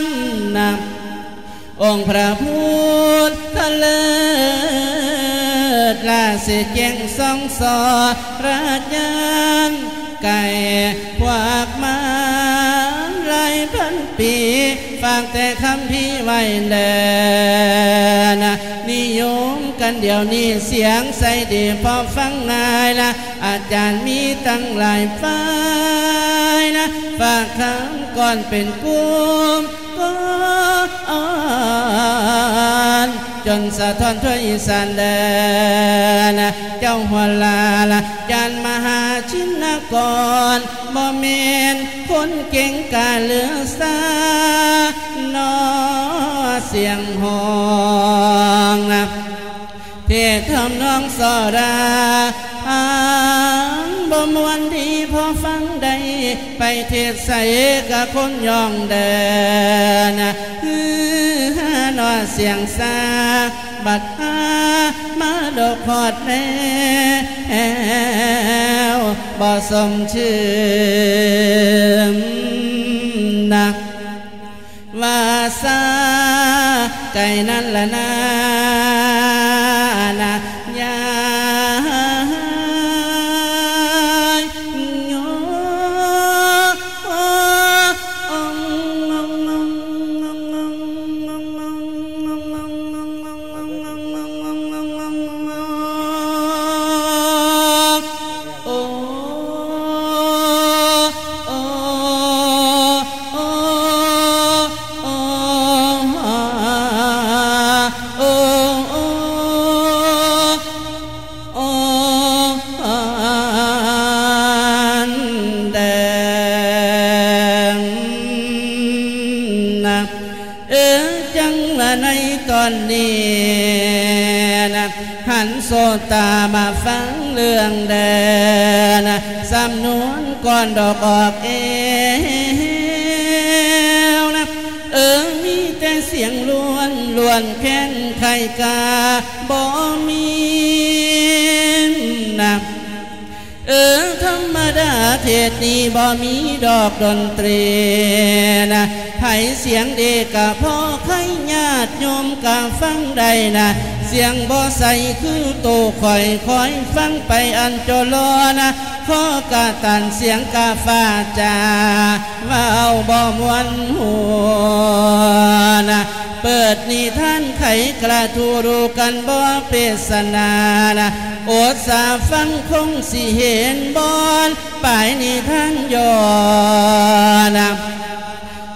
ຳນະ ອົງພະພຸດທະເລີດ ລາສີແຈ້ງສ່ອງສອລະຍານ ໄກ່ພວກມາລາຍ ພັນປີ ຝາກແຕ່ຄຳພີໄວ້ແລນະ ນິຍົມກັນດຽວນີ້ ສຽງໃສດີພໍຟັງງ່າຍນະ ອາຈານມີຕັ້ງຫຼາຍຝ່າຍນະ ຝາກຄຳກ່ອນເປັນກຸ່ມ ກ່ອນ ຈົນສະທ້ອນທົ່ວອີສານແດນ ເຈົ້າຫົວລາລະ ຈານມະຫາຊິນນະກອນ ບໍ່ແມ່ນຄົນເກັ່ງກາເຫຼືອສາ ນອສຽງຮ້ອງນະ ເທດທຳນອງສໍລາ ຟັງບໍ່ມ່ວນດີພໍຟັງໄດ້ ໄປເທດໃສກະຄົນຍ້ອງແດ່ນະ ຮືຫານອສຽງສາ ບັດຫາມາດົກຮອດແລ້ວ ບໍ່ສົມຊື່ນນະ. ວ່າຊາໄກນັ້ນລະນາ ນະ ຍາຍໂຍ. ເອີ ຈັ່ງວ່າໃນຕອນນີ້ນະ ຫັນໂສດຕາມາຟັງເລື່ອງແດນະ ສຳນວນກ່ອນດອກອອກແອວນະ ເອີ ມີແຕ່ສຽງລ້ວນ ລ້ວນແຄ້ນໄຂ້ກາບໍ່ມີນະ. ເອີ ທຳມະດາເທດນີ້ບໍ່ມີດອກດົນຕຣີນະ ໃຜສຽງດີກະພໍໃຄ ຍາດໂຍມກະຟັງໄດ້ນະ ສຽງບໍ່ໃສຄືໂຕຂ້ອຍ ຄອຍຟັງໄປອັນໂຈໂລນະ ຂໍກະຕັນສຽງກະຟ້າຈາ ເວົ້າບໍ່ມ່ວນຫູນະ ເປີດນິທານໄຂກະທູ ຮູ້ກັນບໍ່ເປດສະໜານະ ອົດສາຟັງຄົງຊິເຫັນບ່ອນ ປາຍນິທານຍ້ອນນະ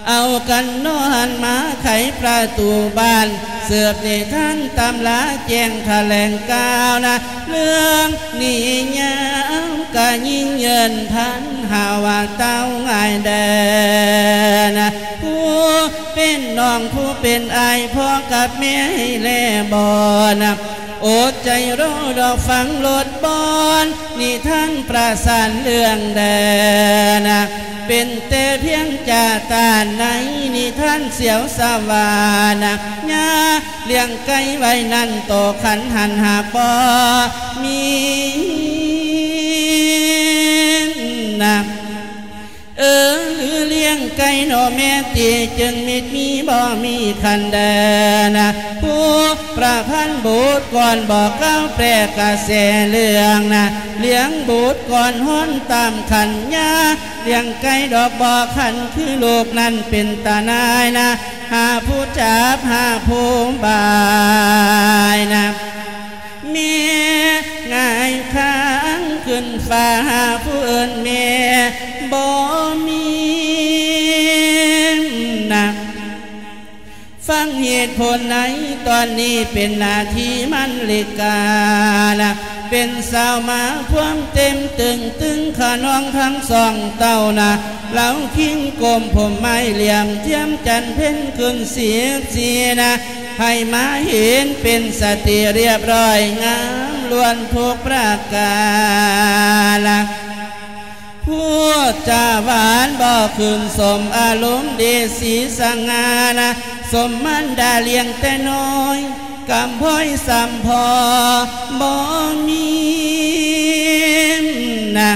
ເອົາກັນນອນມາໄຂປະຕູບ້ານ ເສີບນິທານຕຳລາແຈ້ງຖະແຫຼງກ່າວນະ ເລື່ອງນິຍາມກະຍິ່ງເຍີນພັນ ຫາວ່າເຕົ້າງ່າຍແດ່ນະ ຜູ້ເປັນນ້ອງຜູ້ເປັນອ້າຍ ພໍ່ກັບແມ່ໃຫ້ແລບໍ່ນະ ອົດໃຈລໍດອກຟັງໂລດບ່ອນ ນິທານປະສານເລື່ອງແດນະ ເປັນແຕ່ພຽງຈາຕານໃນນິທານສຽວສະຫວານນະ ຍາລ້ຽງໄກ່ໄວ້ນັ້ນ ໂຕຂັນຫັນຫາບໍ່ມີນະ. ເອີ ຫຼືລ້ຽງໄກ່ໜໍແມ່ຕິ ຈຶ່ງມິດມີບໍ່ມີຂັນແດນະ ຜູ້ປະພັນບົດກ່ອນ ບອກກ່າວແປກະແສເລື່ອງນະ ລ້ຽງບຸດກ່ອນຮ້ອນຕາມຂັນຍາ ລ້ຽງໄກ່ດອກບໍ່ຂັນ ຄືລູກນັ້ນເປັນຕານາຍນະ ຫາຜູ້ຈັບຫາຜູ້ບາຍນະ. ແມ່ຫງາຍຄາງຂຶ້ນຟ້າ ຫາຜູ້ເອີ້ນແມ່ບໍ່ມີນະ ຟັງເຫດຜົນໃນຕອນນີ້ ເປັນໜ້າທີ່ມັນລິການະ ເປັນສາວມາພວມເຕັມຕຶງຕຶງຂະນອງທັງສອງເຕົ້ານະ ເລົາຄິງກົມຜົມໄມ້ ຫຼຽມທຽມຈັນເພັນຂຶ້ນສິບສີ່ນະ ໃຫ້ມາເຫັນເປັນສະຕິລຽບຮ້ອຍ ງາມລ້ວນທຸກປະການນະ ພູດຈາຫວານບໍ່ຄືນສົມ ອາລົມດີສີສະຫງ່ານະ ສົມມານດາລ້ຽງແຕ່ນ້ອຍ ກຳພ້ອຍສ່ຳພໍບໍ່ມີນະ.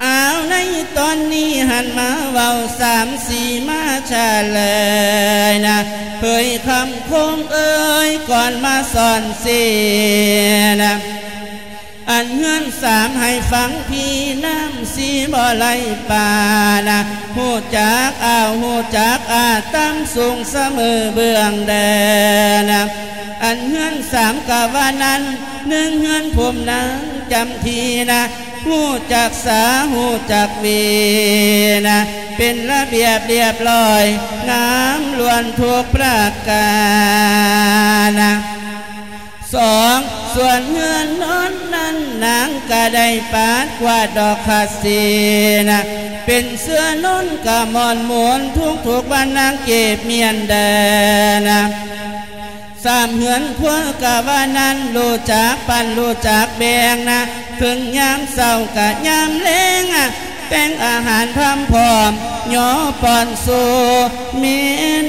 ອ້າວ ໃນຕອນນີ້ຫັນມາເວົ້າສາມສີ່ມາຊາເລີຍນະ ເຜີຍຄຳຄົງເອີຍກ່ອນມາສອນເສນະ ອັນເຮືອນສາມໃຫ້ຟັງພີ່ ນ້ຳສີ່ບໍ່ໄຫຼປານະ ຮູ້ຈັກອ້າວ ຮູ້ຈັກອາ ຕ່ຳສູງສະເໝີເບື້ອງແດນະ ອັນເຮືອນສາມກະວ່ານັ້ນ ໜຶ່ງເຮືອນພູມນາງຈຳທີນະ ຮູ້ຈັກສາ ຮູ້ຈັກວີນະ ເປັນລະບຽບລຽບລ້ອຍ ງາມລ້ວນທຸກປະການນະ. ສອງ ສ່ວນເຮືອນນອນນັ້ນ ນາງກະໄດ້ປາດກວາດດອກຄາສີນະ ເປັນເສື້ອນົນກະໝອນໝູນ ທຸກໆວັນນາງເກັບມ້ຽນແດ່ນະ. ສາມ ເຮືອນຄົວກະວ່ານັ້ນ ຮູ້ຈັກປັ້ນ ຮູ້ຈັກແບ່ງນະ ເຖິງຍາມເຊົ້າກະຍາມແລງ ແຕ່ງອາຫານພາມພ້ອມ ຍໍປ້ອນສູ່ແມ່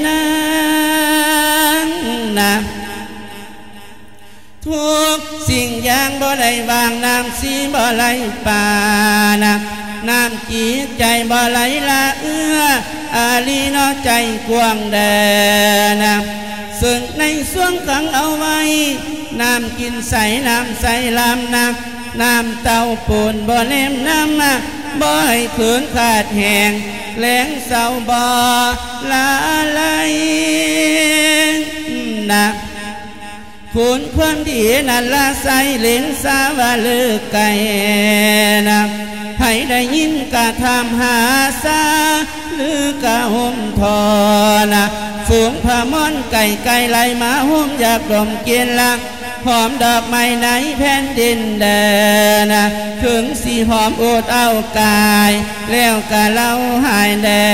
ນາງນະ. ທຸກສິ່ງຢ່າງບໍ່ໄດ້ຫວ່າງ ນ້ຳສີ່ບໍ່ໄຫຼປານະ ນ້ຳຈິດໃຈບໍ່ໄຫຼລະເອື້ອ ອາລີເນາະໃຈກວ້າງແດນະ ເຊິ່ງໃນຊ່ວງຂັງເອົາໄວ້ ນ້ຳກິນໃສ ນ້ຳໃສລຳນະ ນ້ຳເຕົ້າປູນບໍ່ແນມນຳ ບໍ່ໃຫ້ຂືນຂາດແຫ້ງ ແລງເສົ້າບໍ່ລະໄລນະ. ຄຸນຄວາມດີນັ້ນລະໄຊເຫຼັງສາວ່າເລີກໄກນະ ໃຜໄດ້ຍິນກະຖາມຫາຊາ ຫຼືກະໂຮມທໍນະ ຝູງພະມອນໄກ່ໄກ່ໄຫຼມາໂຮມຢາກດົມກິ່ນລະ ຫອມດອກໄມ້ໃນແຜ່ນດິນແດນະ ເຖິງຊິຫອມອົດເອົາກາຍ ແລ້ວກະເລົ່າຫາຍແດ່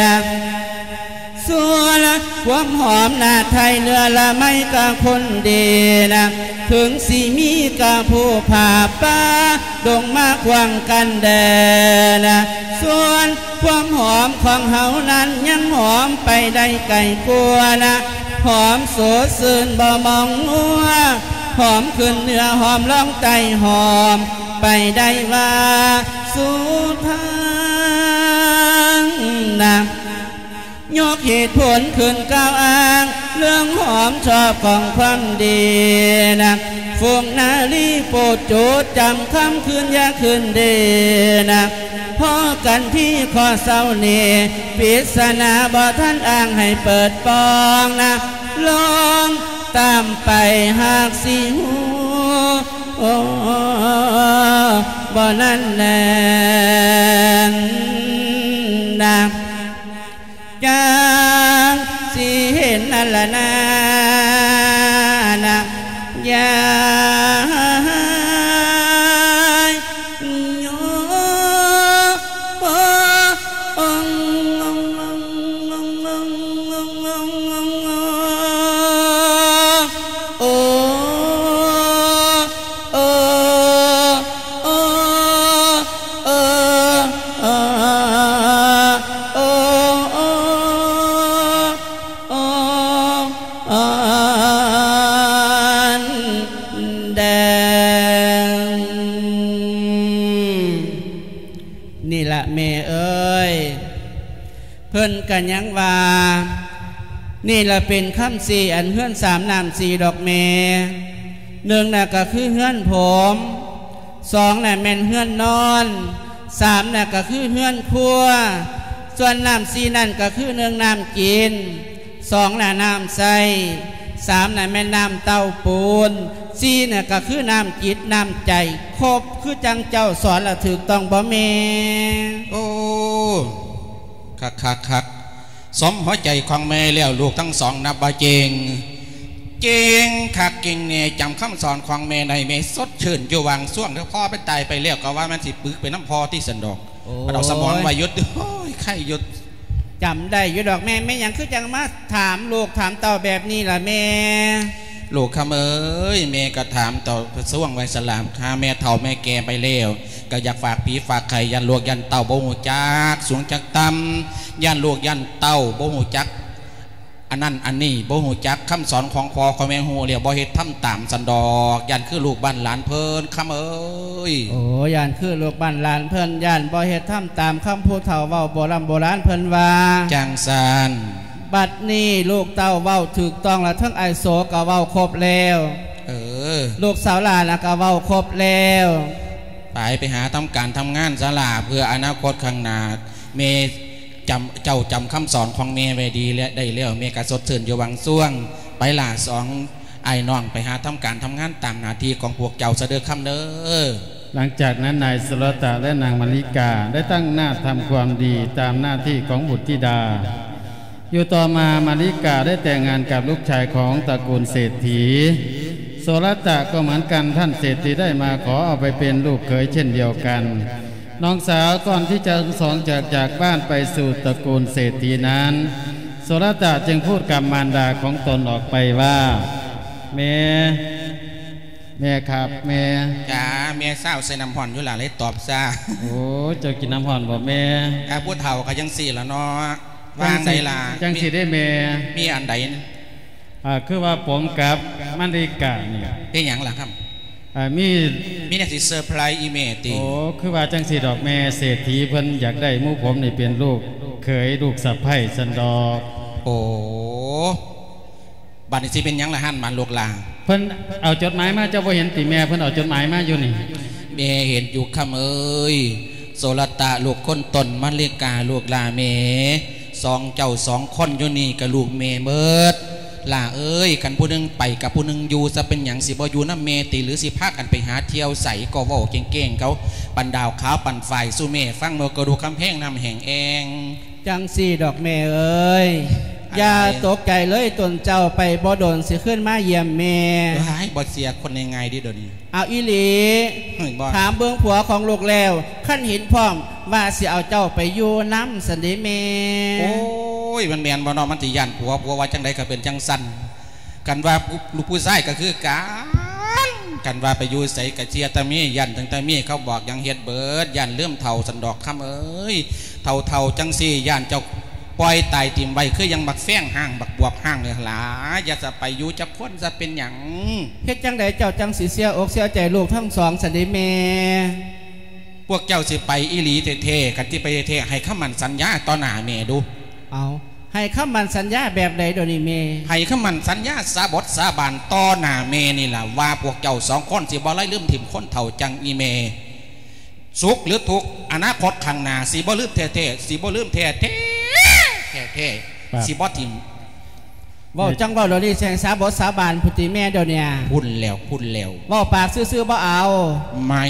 ນະ. ສ່ວນຄວາມຫອມໜ້າໄທເນື້ອລະໄມ້ກະຄົນດີນະ ເຖິງຊິມີກະພູຜາປ່າດົງມາຂວາງກັນແດ່ນະ ສ່ວນຄວາມຫອມຂອງເຮົານັ້ນ ຍັງຫອມໄປໄດ້ໄກກວ່ານະ ຫອມສົດຊື່ນບໍ່ມອງມົວ ຫອມຂຶ້ນເໜືອຫອມລອງໃຕ້ ຫອມໄປໄດ້ວ່າສຸດທາງນະ. ຍົກເຫດຜົນຂຶ້ນກ່າວອ້າງ ເລື່ອງຫອມຊອບຂອງຄວາມດີນະ ຝູງນາລີໂປດໂຈດຈຳຄຳຄືນຢ່າຄືນເດນະ ພໍກັນທີ່ຂໍ້ເຊົ້ານີ້ ປິດສະໜາບໍ່ທັນອ້າງໃຫ້ເປີດປ່ອງນະ ລອງຕາມໄປຫາກຊິຮູ້ ໂອ້ ບໍ່ນັ້ນແນ່ນນະ ຈັ່ງຊິເຫັນນັ້ນລະນານະ ຢ່ານີ້ລະແມ່ເອີຍ ເພິ່ນກະຍັງວ່າ ນີ້ລະເປັນຄຳສີ່ອັນເຮືອນສາມນ້ຳສີ່ດອກແມ່ ໜຶ່ງນະກະຄືເຮືອນຜົມ ສອງນະແມ່ນເຮືອນນອນ ສາມນະກະຄືເຮືອນຄົວ ສ່ວນນ້ຳສີ່ນັ້ນກະຄື ໜຶ່ງນ້ຳກິນ ສອງນະນ້ຳໃຊ້ ສາມນະແມ່ນນ້ຳເຕົ້າປູນ ສີ່ນະກະຄືນ້ຳຈິດນ້ຳໃຈ ຄົບຄືຈັ່ງເຈົ້າສອນລະຖືກຕ້ອງບໍ່ແມ່? ໂອ້ ຄັກໆໆ ສົມຫົວໃຈຂອງແມ່ແລ້ວ ລູກທັງສອງນັບວ່າເກັ່ງ ເກັ່ງຄັກເກັ່ງແນ່ ຈຳຄຳສອນຂອງແມ່ໄດ້ ແມ່ສົດຊື່ນຢູ່ຫວ່າງຊ່ວງ ເດີພໍ່ໄປຕາຍໄປແລ້ວ ກະວ່າມັນຊິປຶກໄປນຳພໍ່ຕິຊັ້ນດອກ ໂອ້ຍ ເອົາສະໝອງໄວ້ຢູ່ ໂອ້ຍ ໄຄຢູ່ ຈຳໄດ້ຢູ່ດອກແມ່ ແມ່ຫຍັງຄືຈັ່ງມາຖາມລູກຖາມເຕົ້າແບບນີ້ລະແມ່? ລູກຄຳເອີຍ ແມ່ກະຖາມເຕົ້າ ສະຫວ່າງໄວ້ສະຫຼາມ ຫາແມ່ເຖົ້າແມ່ແກ່ໄປແລ້ວ ກະຢາກຝາກຜີຝາກໄຂ່ ຢ້ານລູກຢ້ານເຕົ້າບໍ່ຮູ້ຈັກສູງຈັກຕ່ຳ ຢ້ານລູກຢ້ານເຕົ້າບໍ່ຮູ້ຈັກອັນນັ້ນອັນນີ້ ບໍ່ຮູ້ຈັກຄຳສອນຂອງພໍ່ຂອງແມ່ ຮູ້ແລ້ວບໍ່ເຮັດທຳຕາມຊັ້ນດອກ ຢ້ານຄືລູກບ້ານຫຼານເພິ່ນ ຄຳເອີຍ. ໂອ້ ຢ້ານຄືລູກບ້ານຫຼານເພິ່ນ ຢ້ານບໍ່ເຮັດທຳຕາມຄຳຜູ້ເຖົ້າເວົ້າ ໂບລຳໂບລານເພິ່ນວ່າ ຈັ່ງຊັ້ນ ບັດນີ້ລູກເຕົ້າເວົ້າຖືກຕ້ອງລະ ເຖິງອ້າຍໂສກະເວົ້າຄົບແລ້ວ ເອີ ລູກສາວຫຼ້ານະກະເວົ້າຄົບແລ້ວ. ໄປ ໄປຫາທຳການທຳງານຊະຫຼ້າ ເພື່ອອະນາຄົດຂ້າງໜ້າ. ແມ່ຈຳ ເຈົ້າຈຳຄຳສອນຂອງແມ່ໄວ້ດີແລະ ໄດ້ແລ້ວ ແມ່ກະສົດຊື່ນຢູ່ບາງຊ່ວງ. ໄປຫຼ້າ ສອງອ້າຍນ້ອງ ໄປຫາທຳການທຳງານຕາມໜ້າທີ່ຂອງພວກເຈົ້າຊະເດີຄຳເດີ. ຫຼັງຈາກນັ້ນ ນາຍສຸລະຕະ ແລະ ນາງມະລິກາ ໄດ້ຕັ້ງໜ້າທຳຄວາມດີຕາມໜ້າທີ່ຂອງບຸດທິດາ. ຢູ່ຕໍ່ມາ ມະລິກາໄດ້ແຕ່ງງານກັບລູກຊາຍຂອງຕະກູນເສດຖີ. ໂສລະຕະກໍເໝືອນກັນ, ທ່ານເສດຖີໄດ້ມາຂໍເອົາໄປເປັນລູກເຂີຍເຊັ່ນດຽວກັນ. ນ້ອງສາວ ກ່ອນທີ່ຈະທັງສອງຈະຈາກບ້ານໄປສູ່ຕະກູນເສດຖີນັ້ນ, ໂສລະຕະຈຶ່ງພູດກັບມານດາຂອງຕົນອອກໄປວ່າ, ແມ່, ແມ່ຄັບ, ແມ່. ຈ້າ, ແມ່ຊາວໃສ່ນ້ຳຮ້ອນຢູ່ລະ ເລີຍຕອບຊ້າ. ໂອ້, ເຈົ້າກິນນ້ຳຮ້ອນບໍ່ແມ່? ອ່າ, ຜູ້ເຖົ້າກໍຈັ່ງຊີ້ລະເນາະ. ວ່າຈັ່ງໃດລະ? ຈັ່ງຊີ້ເດ້ແມ່. ມີອັນໃດ? ອ່າ, ຄືວ່າຜົມກັບມະລິການີ້. ເປັນຫຍັງລະຄັບ? ອ່າ, ມີ ມີແນວຊິເຊີໄພຣອີ່ແມ່ຕິ? ໂອ້, ຄືວ່າຈັ່ງຊີ້ດອກແມ່, ເສດຖີເພິ່ນຢາກໄດ້ໝູ່ຜົມນີ້ເປັນລູກເຂີຍ ລູກສະໃພ້ຊັ້ນດອກ. ໂອ້. ບາດນີ້ຊິເປັນຫຍັງລະຫັ້ນ ບາດລູກຫຼ້າ? ເພິ່ນເອົາຈົດໝາຍມາ, ເຈົ້າບໍ່ເຫັນຕິແມ່? ເພິ່ນເອົາຈົດໝາຍມາຢູ່ນີ້. ແມ່ເຫັນຢູ່ຄຳເອີຍ. ໂສລະຕະລູກຄົນຕົ້ນ, ມະລິກາລູກຫຼ້າແມ່. ສອງເຈົ້າສອງຄົນຢູ່ນີ້ກະລູກແມ່ເໝິດ. ຫຼ້າເອີຍ, ຄັນຜູ້ໜຶ່ງໄປກັບຜູ້ໜຶ່ງຢູ່ຊະ ເປັນຫຍັງຊິບໍ່ຢູ່ນຳແມ່ຕິ? ຫຼືຊິພາກັນໄປຫາທ່ຽວໃສ? ກໍເວົ້າແກ້ງໆ ເຂົາ ປັນດາວຂາວປັນຝ້າຍສູ່ແມ່ຟັງ ເມື່ອກະດູກກຳແພງນ້ຳແຫ້ງແອງ. ຈັ່ງຊີ້ດອກແມ່ເອີຍ, ອັນໃດ? ຢ່າຕົກໃຈເລີຍ, ຕົນເຈົ້າໄປບໍ່ດົນຊິຄືນມາຢ້ຽມແມ່. ເອີຍ, ບໍ່ເຊື່ອຄົນງ່າຍໆເດ້ດຽວນີ້. ເອົາອີ່ຫຼີ, ເຮີ້ຍ ບໍ່. ຖາມເບິ່ງຜົວຂອງລູກແລ້ວ, ຄັນເຫັນພ້ອມວ່າຊິເອົາເຈົ້າໄປຢູ່ນຳຊັ້ນເດ້ແມ່. ໂອ້ຍ, ມັນແມ່ນບໍ່ເນາະ? ມັນຊິຢ້ານຜົວ, ຜົວວ່າຈັ່ງໃດກໍເປັນຈັ່ງຊັ້ນ. ຄັນວ່າຜູ້ ລູກຜູ້ຊາຍກໍຄືກັນ, ຄັນວ່າໄປຢູ່ໃສກໍເຊື່ອແຕ່ເມຍ, ຢ້ານຕັ້ງແຕ່ເມຍ, ເຂົາບອກຫຍັງເຮັດເບີດ, ຢ້ານລືມເຖົ້າຊັ້ນດອກຄຳເອີຍ. ເຖົ້າໆ ຈັ່ງຊີ້ ຢ້ານເຈົ້າປ່ອຍຕາຍຖິ້ມໄວ້ ຄືຫຍັງບັກແຟງຮ້າງ ບັກບວບຮ້າງນີ້ລະ. ຢ່າສະໄປຢູ່ຈັກຄົນຊະ ເປັນຫຍັງ? ເຮັດຈັ່ງໃດເຈົ້າຈັ່ງຊິເສຍອົກເສຍໃຈລູກທັງສອງຊັ້ນເດແມ່? ພວກເຈົ້າຊິໄປອີ່ຫຼີແທ້ໆ, ຄັນຊິໄປແທ້ໆ ໃຫ້ຄຳໝັ້ນສັນຍາຕໍ່ໜ້າແມ່ດູ. ເອົາ, ໃຫ້ຄຳໝັ້ນສັນຍາແບບໃດດຽວນີ້ແມ່? ໃຫ້ຄຳໝັ້ນສັນຍາສາບົດສາບານຕໍ່ໜ້າແມ່ນີ້ລະ ວ່າພວກເຈົ້າສອງຄົນຊິບໍ່ໄດ້ລືມຖິ້ມຄົນເຖົ້າຈັ່ງອີ່ແມ່. ສຸກຫຼືທຸກ ອະນາຄົດຂ້າງໜ້າ ຊິບໍ່ລືມແທ້ໆ, ຊິບໍ່ລືມແທ້ໆ, ແທ້ໆ, ຊິບໍ່ຖິ້ມ. ເວົ້າຈັ່ງເວົ້າດຽວນີ້ ແຊ່ງສາບົດສາບານພຸ້ນຕິແມ່ດຽວນີ້. ພຸ້ນແລ້ວ, ພຸ້ນແລ້ວ. ເວົ້າປາກຊື່ໆບໍ່ເອົາ. ໄມ່.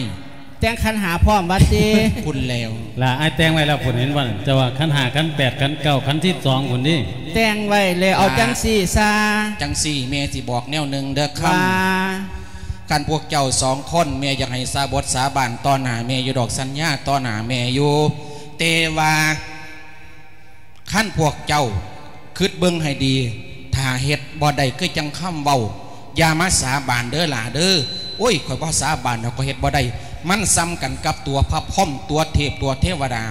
ແຕ່ງຂັນຫ້າພ້ອມວ່າຕິ. ພຸ້ນແລ້ວ. ລະ ອ້າຍແຕ່ງໄວ້ແລ້ວພຸ້ນ ເຫັນບໍ່? ເຈົ້າວ່າຂັນຫ້າ, ຂັນແປດ, ຂັນເກົ້າ, ຂັນສິບສອງພຸ້ນຕິ. ແຕ່ງໄວ້ແລ້ວ. ເອົາ ລະ ຈັ່ງຊີ້ຊະ. ຈັ່ງຊີ້ ແມ່ຊິບອກແນວໜຶ່ງເດີຄຳ. ວ່າ? ຄັນພວກເຈົ້າສອງຄົນ ແມ່ຢາກໃຫ້ສາບົດສາບານຕໍ່ໜ້າແມ່ຢູ່ດອກ, ສັນຍາຕໍ່ໜ້າແມ່ຢູ່, ແຕ່ວ່າ ຄັນພວກເຈົ້າຄິດເບິ່ງໃຫ້ດີ, ຖ້າເຮັດບໍ່ໄດ້ຄືຈັ່ງຄຳເວົ້າ, ຢ່າມາສາບານເດີຫຼ້າເດີ. ໂອ້ຍ, ຂ້ອຍບໍ່ສາບານດອກ, ຂ້ອຍເຮັດບໍ່ໄດ້. ມັນສ່ຳກັນກັບຕົວພະພົມ, ຕົວເທບ, ຕົວເທວະດາ.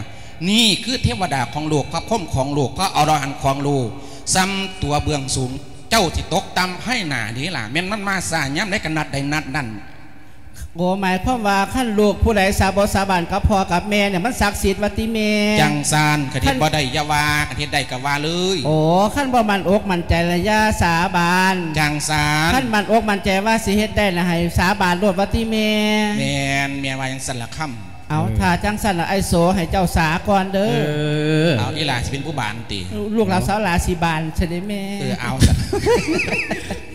ນີ້ຄືເທວະດາຂອງໂລກ, ພະພົມຂອງໂລກ, ພະອໍລະຫັນຂອງໂລກ. ສ່ຳຕົວເບື້ອງສູງ, ເຈົ້າຊິຕົກຕ່ຳໃຫ້ໜ້າເດຫຼ້າ. ແມ່ນມັນມາຊ້າຍາມໃດກໍນັດໃດນັດນັ້ນ. ໂອ້ ໝາຍຄວາມວ່າ ຄັນລູກຜູ້ໃດສາບົດສາບານກັບພໍ່ກັບແມ່ນີ້ ມັນສັກສິດວ່າຕິແມ່? ຈັ່ງຊັ້ນ, ຄັນເຮັດບໍ່ໄດ້ຢ່າວ່າ, ຄັນເຮັດໄດ້ກໍວ່າເລີຍ. ໂອ້ ຄັນບໍ່ໝັ້ນອົກໝັ້ນໃຈລະຢ່າສາບານ. ຈັ່ງຊັ້ນ. ຄັນໝັ້ນອົກໝັ້ນໃຈວ່າຊິເຮັດໄດ້ລະ ໃຫ້ສາບານໂລດວ່າຕິແມ່? ແມ່ນ, ແມ່ວ່າຈັ່ງຊັ້ນລະຄຳ. ເອົາ, ເອີ, ຖ້າຈັ່ງຊັ້ນລະ ອ້າຍໂສໃຫ້ເຈົ້າສາກ່ອນເດີ. ເອີ, ເອົາ, ອີຫຼ້າຊິເປັນຜູ້ບານຕິ? ລູກລາວສາວຫຼ້າຊິບານຊະເດແມ່. ເອີ, ເອົາຊະ.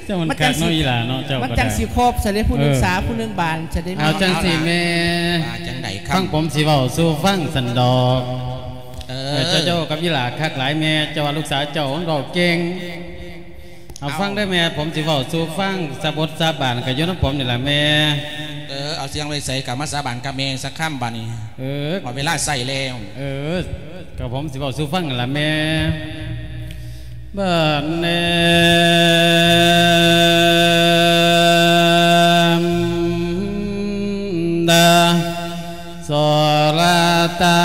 ເຈົ້າມັນຄັກເນາະ ອີຫຼ້າເນາະ, ເຈົ້າມັນຈັ່ງຊິຄົບຊະເດ, ຜູ້ໜຶ່ງສາ, ເອີ, ຜູ້ໜຶ່ງບານຊະເດແມ່. ເອົາຈັ່ງຊີ້ແມ່, ວ່າຈັ່ງໃດຄຳ? ຟັງຜົມຊິເວົ້າສູ່ຟັງຊັ້ນດອກ. ເອີ, ເອີ, ເຈົ້າ, ເຈົ້າກັບອີຫຼ້າຄັກຫຼາຍແມ່, ເຈົ້າວ່າລູກສາວເຈົ້າມັນເວົ້າເກັ່ງ. ເອົາ, ເອົາ, ຟັງເດີແມ່, ຜົມຊິເວົ້າສູ່ຟັງ, ສາບົດສາບານກໍຢູ່ນຳຜົມນີ້ລະແມ່. ເອີ, ເອົາ, ສຽງໄວ້ໃສກໍມາສາບານກັບແມ່ສັກຄຳບາດນີ້. ເອີ, ເອົາ, ເວລາໃຊ້ແລ້ວ. ເອີ, ກໍຜົມຊິເວົ້າສູ່ຟັງຫັ້ນລະແມ່. ບາດນີ້ ໂສລະຕະ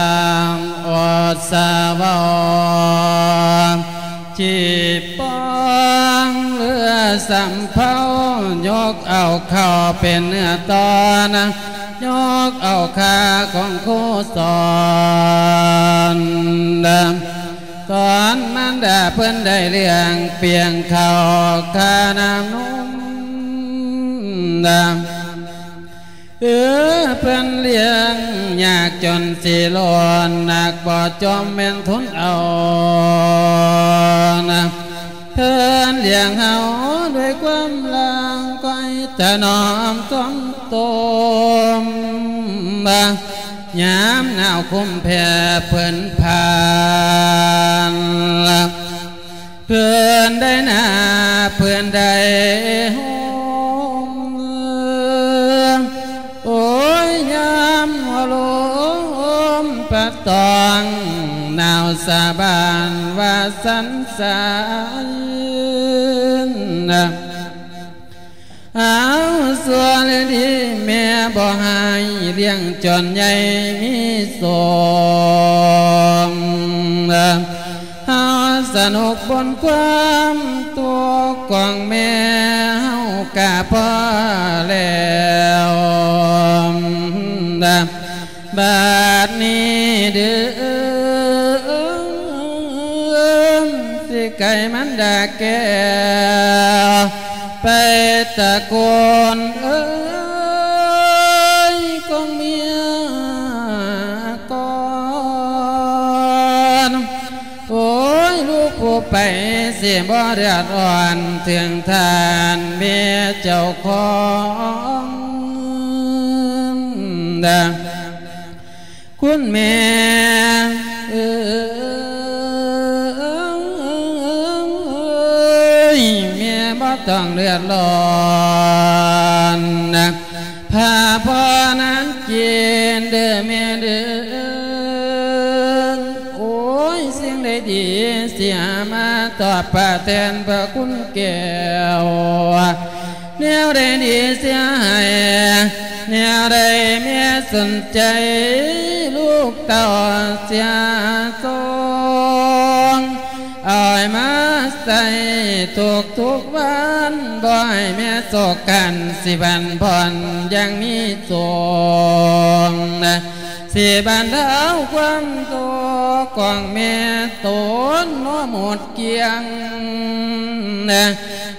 ອົດສະເວົ້າ ຈີບປອງເຫຼືອສຳເພົາ ຍົກເອົາເຂົ້າເປັນເນື້ອຕໍ່ນະ ຍົກເອົາຂ້າຂອງຄູສອນ ຕອນມານດາເພິ່ນໄດ້ລ້ຽງປຽງເຂົ້າ ຂ້ານ້ຳນົມ ເອີ ເພິ່ນລ້ຽງຍາກຈົນຊິລ້ນ ໜັກບໍ່ຈອມແມ່ນທົນເອົານະ ເພິ່ນລ້ຽງເຮົາດ້ວຍຄວາມລັກ ຄອຍຖະໜອມຊ່ອມໂຕມ ຍາມໜາວຄຸ້ມແຜ່ເພິ່ນຜ່ານ ເພິ່ນໄດ້ໜາບ ເພິ່ນໄດ້ຫົ່ມ ໂອ້ຍ ຍາມຫົວລົມພັດຕອງ ໜາວສາບານວ່າສັນສານ ເອົາ ຊົ່ວຫຼືດີແມ່ບໍ່ໃຫ້ ລ້ຽງຈົນໃຫຍ່ມີສົມ ເຮົາສະໜຸກບົນຄວາມທຸກຂອງແມ່ເຮົາກະພໍແລ້ວ ບາດນີ້ເດີ ຊິໄກມັນດາແກ້ວ ໄປຕະໂກນເອີ້ຍຂອງເມຍກ່ອນ ໂອ້ຍ ລູກຜູ້ໄປຊິບໍ່ເດືອດຮ້ອນ ເຖິງທ່ານເມຍເຈົ້າຂອງ ຄຸນແມ່ເອີຍ ແມ່ບໍ່ຕ້ອງເດືອດຮ້ອນ ພາພໍ່ນາງກິນເດີແມ່ເດີ ໂອ້ຍ ສິ່ງໃດດີຊິຫາມາຕອບປະແທນພະຄຸນແກ້ວ ແນວໃດດີເສຍໃຫ້ ແນວໃດແມ່ສົນໃຈ ລູກເຕົ້າເສຍຊົງ ເອົາໃຫ້ມາໃຊ້ທຸກໆວັນ ບໍ່ໃຫ້ແມ່ໂສກກັນ ຊິບັນຜ່ອນຢ່າງມີສົງ ຊິບັນເທົາຄວາມທຸກຂອງແມ່ຕົນ ບໍ່ໝົດກ້ຽງ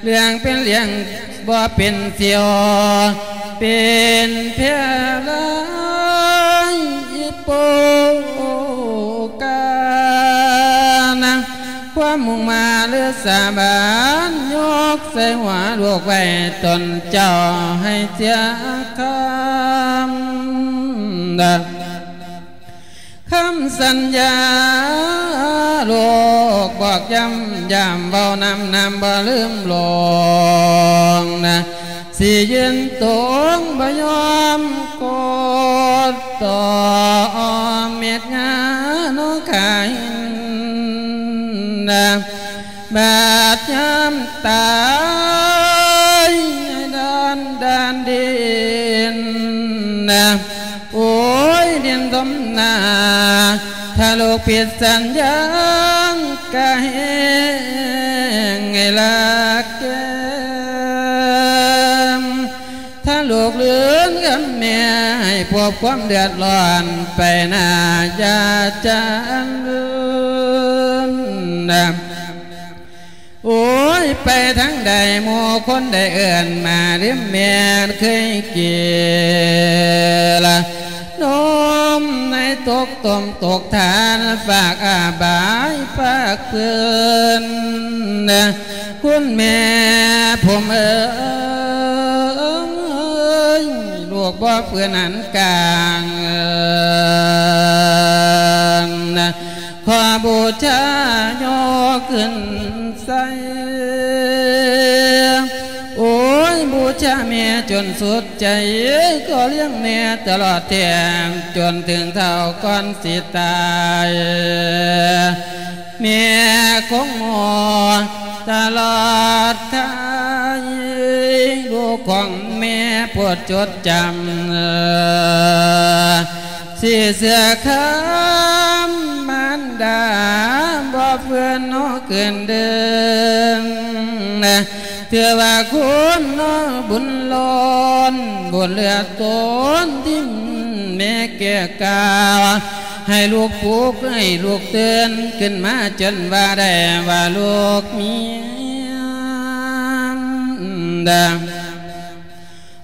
ເລື່ອງເປັນເລື່ອງ ບໍ່ເປັນສ່ຽວ ເປັນແພລາຍໂປການະ ຄວາມມຸ່ງມາເລືອສາບານ ຍົກໃສ່ຫົວລູກໄວ້ ຕົນເຈົ້າໃຫ້ເສຍຄຳ ຄຳສັນຍາ ລູກບອກຢ້ຳ ຢ້ຳເວົ້ານຳ ນຳບໍ່ລືມຫຼວງນະ ຊິຢືນຕົງບໍ່ຍອມກົດຕໍ່ ເມັດງານອກຂາຍນະ ບາດຍາມຕາຍ ດານ ດານດິນນະ ໂອ້ຍ ດິນສົມໜ້າ ຖ້າລູກຜິດສັນຍາ ກະແຮງໃຫ້ລາກແກ້ມ ຖ້າລູກລືນຄຳແມ່ ໃຫ້ພົບຄວາມເດືອດຮ້ອນ ໄປໜ້າຢ່າຈັນນະ. ໂອ້ຍ ໄປທາງໃດ ໝູ່ຄົນໄດ້ເອີ້ນມາ ລືມແມ່ນເຄີຍກິນນມໃນຕົກຕົ້ມຕົກທານ ຝາກອາບາຍຝາກເພື່ອນ ຄຸນແມ່ຜົມເອີຍ ລູກບໍ່ເພື່ອນອັນກາງ ຂໍບູຊາຍົກຂຶ້ນໃສ່ ໂອ້ຍ ບູຊາແມ່ຈົນສຸດໃຈ ຂໍລ້ຽງແມ່ຕະຫຼອດແທມ ຈົນເຖິງເຖົ້າກ່ອນຊິຕາຍ ແມ່ຄົງມໍຕະຫຼອດກາຍ ລູກຂອງແມ່ໂປດຈົດຈຳ ຊິເຊື່ອຄຳມານດາ ບໍ່ເຟືອນເນາະຄືນເດີ ເທື່ອວ່າຄຸນເນາະບຸນລ້ອນ ບຸນເຫຼືອລົ້ນທີ່ແມ່ແກ່ກາວ ໃຫ້ລູກປຸກ ໃຫ້ລູກຕື່ນຂຶ້ນມາ ຈົນວ່າໄດ້ວ່າລູກມີດາ.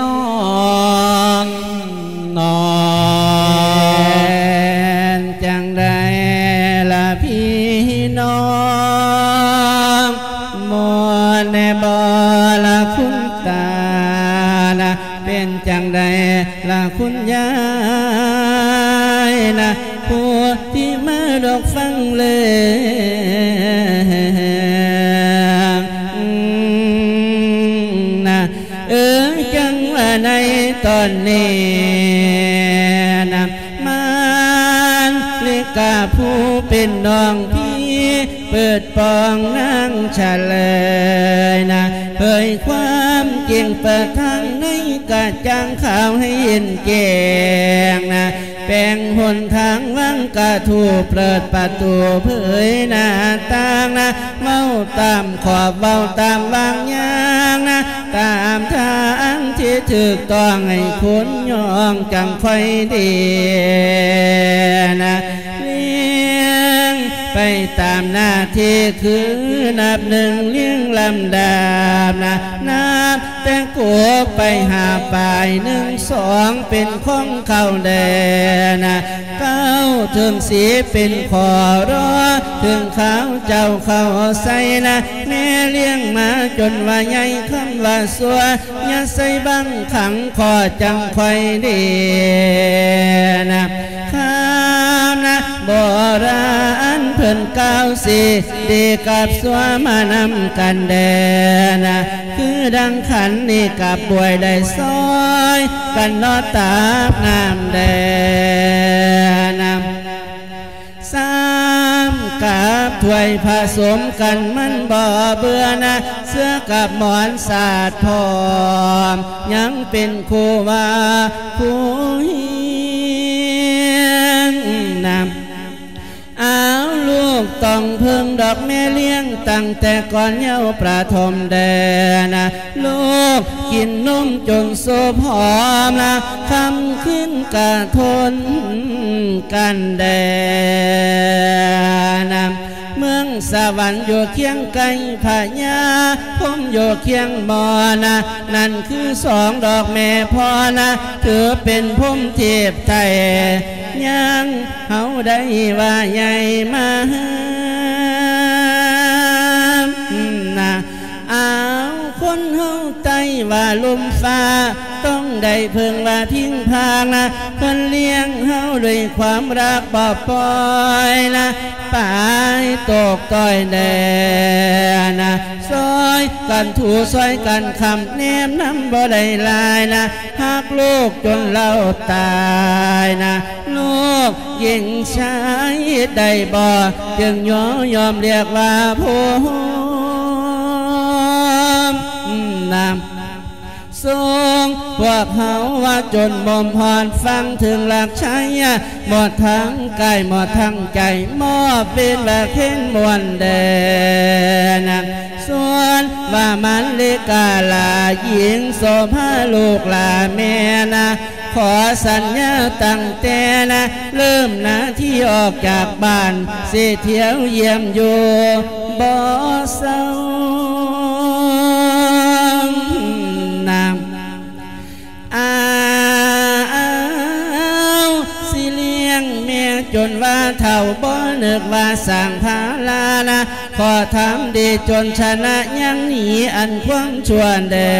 ນ້ອງ ນ້ອງ ເປັນຈັ່ງໃດລະພີ່ນ້ອງ ມ່ວນແດ່ບໍ່ລະຄຸນຕານະ ເປັນຈັ່ງໃດລະຄຸນຍາຍນະ ຜູ້ທີ່ມາດອກຟັງເລື່ອງນະ ເອີ ຈັ່ງວ່າໃນຕອນນີ້ນະ ມານລິກາຜູ້ເປັນນ້ອງພີ່ ເປີດປ່ອງນາງສະເລີຍນະ ເຜີຍຄວາມຈິງເປີດທາງໃນກະຈ່າງຂາວໃຫ້ເຫັນແຈ້ງນະ ແປງຫົນທາງວັງກະທູ ເປີດປະຕູເຜີຍໜ້າຕ່າງນະ ເວົ້າຕາມຂອບເວົ້າຕາມວາງຍາງນະ ຕາມທາງທີ່ຖືກຕ້ອງໃຫ້ຄົນຍ້ອງຈັ່ງຄ່ອຍດີນະ ລຽງໄປຕາມໜ້າທີ່ຄືນັບໜຶ່ງລຽງລຳດັບນະ ນັບແຕ່ກົກໄປຫາປາຍ ໜຶ່ງ ສອງ ເປັນຂອງເຂົາແດ່ນະ ເກົ້າ ເຖິງສິບ ເປັນຂໍລໍ ເຖິງຄາວເຈົ້າເຂົ້າໃສ່ນະ ແມ່ລ້ຽງມາຈົນວ່າໃຫຍ່ ຄຳວ່າຊົ່ວ ຢ່າໃສ່ບັງຂັງ ຂໍຈັ່ງຄ່ອຍດີນະ ຄຳນະໂບລານເພິ່ນກ່າວ ຊິດີກັບຊົ່ວມານຳກັນແດ່ນະ ຄືດັ່ງຂັນນີ້ກັບບວຍໄດ້ຊ່ອຍກັນເນາະ ຕາບງາມແດ່ນະ ຊ້ຳກັບຖ້ວຍຜະສົມກັນມັນບໍ່ເບື່ອນະ ເສື້ອກັບໝອນສາດພ້ອມ ຍັງເປັນຄູ່ວ່າຄູ່ຮຽງນະ ອ້າວ ລູກຕ້ອງເພິ່ງດອກແມ່ລ້ຽງ ຕັ້ງແຕ່ກ່ອນເຍົາປະຖົມແດ່ນະ ລູກກິນນົມຈົນໂຊພອມລະ ຄ່ຳຄືນກະທົນກັນແດ່ນະ ເມືອງສະຫວັນຢູ່ຄຽງໃກ້ພະຍາ ພົມຢູ່ຄຽງໝໍນະ ນັ້ນຄືສອງດອກແມ່ພໍ່ນະ ຖືເປັນພົມເທບໄທ ຍັງເຮົາໄດ້ວ່າໃຫຍ່ມານະ ອ້າວ ຄົນເຮົາໃຕ້ວ່າລົມຟ້າ ຕ້ອງໄດ້ເພິ່ງວ່າພິງພານະ ເພິ່ນລ້ຽງເຮົາດ້ວຍຄວາມຮັກບໍ່ປ່ອຍນະ ປາຍຕົກຕ້ອຍແດ່ນະ ຊ່ອຍກັນຖູຊ່ອຍກັນຄ້ຳ ແນມນຳບໍ່ໄດ້ຫຼາຍນະ ຮັກລູກຈົນລາວຕາຍນະ ລູກຍິງຊາຍເຮັດໄດ້ບໍ່ ຈຶ່ງຍໍຍອມລຽກວ່າຜົມນະ ສົ່ງພວກເຮົາວ່າຈົນໝົມຮອດຝັ່ງເຖິງຫຼັກໄຊ ໝົດທັງກາຍໝົດທັງໃຈ ມອບເປັນວ່າເຄນມ່ວນແດ່ນະ ສ່ວນວ່າມາລິກາຫຼ້າຍິງໂສພາລູກຫຼ້າແມ່ນະ ຂໍສັນຍາຕັ້ງແຕ່ນະ ເລີ່ມນາທີອອກຈາກບ້ານ ຊິທ່ຽວຢ້ຽມຢູ່ບໍ່ເຊົານະ. ອ້າວ ຊິລ້ຽງແມ່ຈົນວ່າເຖົ້າ ບໍ່ນຶກວ່າສ້າງພາລານະ ຂໍທຳດີຈົນຊະນະ ຍັງໜີອັນຄວາມຊົ່ວແດ່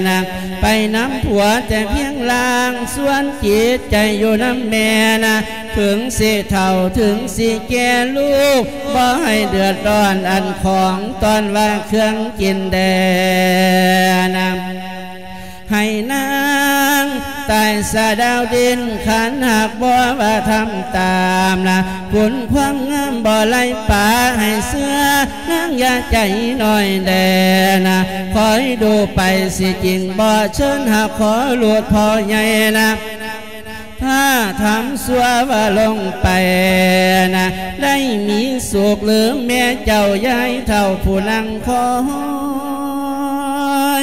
ນະ ໄປນຳຜົວແຕ່ພຽງລ່າງ ສ່ວນຈິດໃຈຢູ່ນຳແມ່ນະ ເຖິງຊິເຖົ້າເຖິງຊິແກ່ ລູກບໍ່ໃຫ້ເດືອດຮ້ອນ ອັນຂອງຕ້ອນວ່າເຄື່ອງກິນແດ່ນະ. ໃຫ້ນາງຕາຍສະດາວດິນ ຄັນຫາກບໍ່ວ່າທຳຕາມນະ ຄຸນຄວາມງາມບໍ່ໄຫຼປາ ໃຫ້ເຊື່ອນາງຢ່າໃຈນ້ອຍແດ່ນະ ຄອຍດູໄປຊິຈິງບໍ່ເຊີນ ຫາກຂໍລູກພໍ່ໃຫຍ່ນະ ຖ້າທຳຊົ່ວວ່າລົງໄປນະ ໄດ້ມີສຸກຫຼືແມ່ເຈົ້າ ຍາຍເຖົ້າຜູ້ນັ່ງຄອ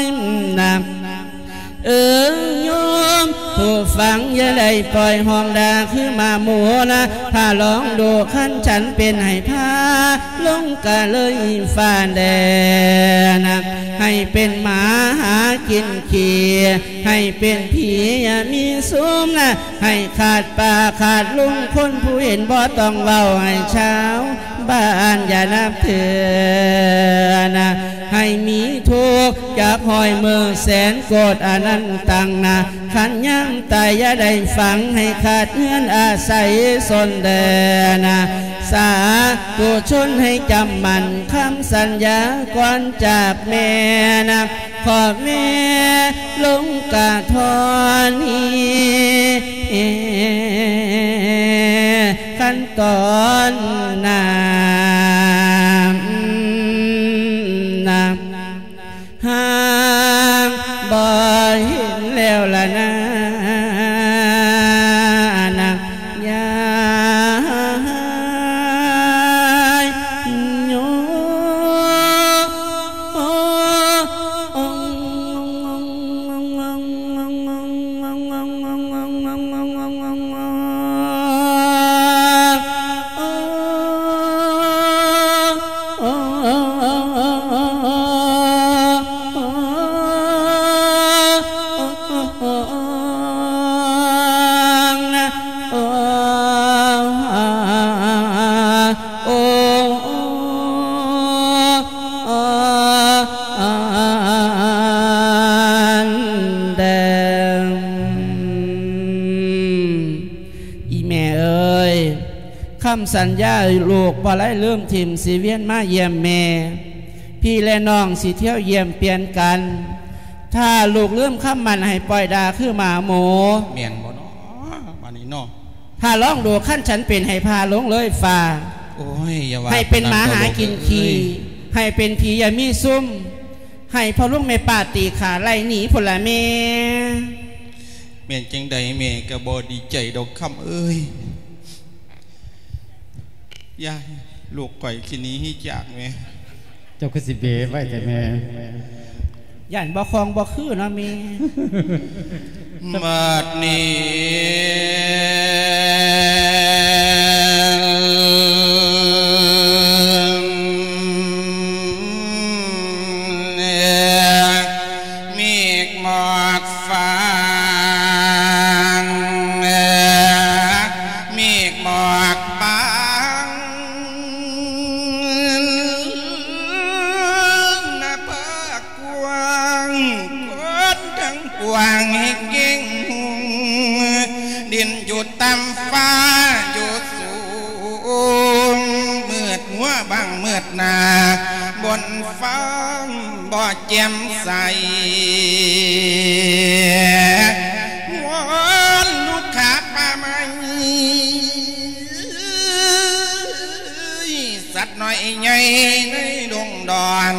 ຍນະ. ເອີຍໂຍມຜູ້ຟັງ ຢ່າໄດ້ປ່ອຍຫ້ອງດ່າຄືໝາໝູນະ ຖ້າລອງດູຄັນສັນເປັນໃຫ້ພາ ລົງກະເລີຍຟ້າແດ່ນະ ໃຫ້ເປັນໝາຫາກິນຂີ້ ໃຫ້ເປັນຜີຢ່າມີຊຸມນະ ໃຫ້ຂາດປ້າຂາດລຸງ ຄົນຜູ້ເຫັນບໍ່ຕ້ອງເວົ້າ ໃຫ້ຊາວບ້ານຢ່ານັບຖືນະ ໃຫ້ມີທຸກຈັກຮ້ອຍມື້ແສນໂກດອະນັນຕັງນະ ຄັນຍາມຕາຍຢ່າໄດ້ຝັງ ໃຫ້ຂາດເຮືອນອາໄສຊົນແດ່ນະ ສາທຸຊົນໃຫ້ຈຳໝັ້ນຄຳສັນຍາກ່ອນຈາກແມ່ນະ ຂໍແມ່ລົງກະທໍນີ ຂັ້ນຕອນນານະ ຫາກບໍ່ເຫັນແລ້ວລະນາ ນາງຍາຍໂຍ ອີ່ແມ່ເອີຍ ຄຳສັນຍາລູກບໍ່ໄດ້ລືມຖິ້ມ ຊິວຽນມາຢ້ຽມແມ່ ພີ່ແລະນ້ອງຊິທ່ຽວຢ້ຽມປ່ຽນກັນ ຖ້າລູກລືມຄຳໝັ້ນໃຫ້ປ່ອຍດ່າຄືໝາໝູ ແມ່ນບໍ່ເນາະ ບາດນີ້ເນາະ ຖ້າລອງດູຄັນສັນເປັນໃຫ້ພາລົງເລີຍຟ້າ ໂອ້ຍ ຢ່າວ່າ ໃຫ້ເປັນໝາຫາກິນຂີ້ ໃຫ້ເປັນຜີຢ່າມີຊຸມ ໃຫ້ພໍ່ລຸງແມ່ປ້າຕີຂ້າໄລ່ໜີພຸ້ນລະແມ່. ແມ່ນຈັ່ງໃດແມ່ກໍບໍ່ດີໃຈດອກຄຳເອີຍ ຢ່າ ລູກຂ້ອຍຊິໜີຈາກແມ່. ເຈົ້າຄືຊິເບໄວແທ້ແມ່ ຢ້ານບໍ່ຄ່ອງບໍ່ຄືເນາະແມ່. ບັດນີ້ ເມກໝອກຟາງ ເມກໝອກບາງ ນະພາກ ກວ້າງ ຄົນທັງປວງໃຫ້ເກັ່ງຮຸ່ງ ດິນຢູ່ຕ່ຳຟ້າຢູ່ສູງ ມືດຫົວບັງມືດໜ້າ ບົນຟ້າບໍ່ແຈ່ມໃສ ວອນລູກຄ້າປ່າໄມ້ ສັດນ້ອຍໃຫຍ່ໃນດົງດອນ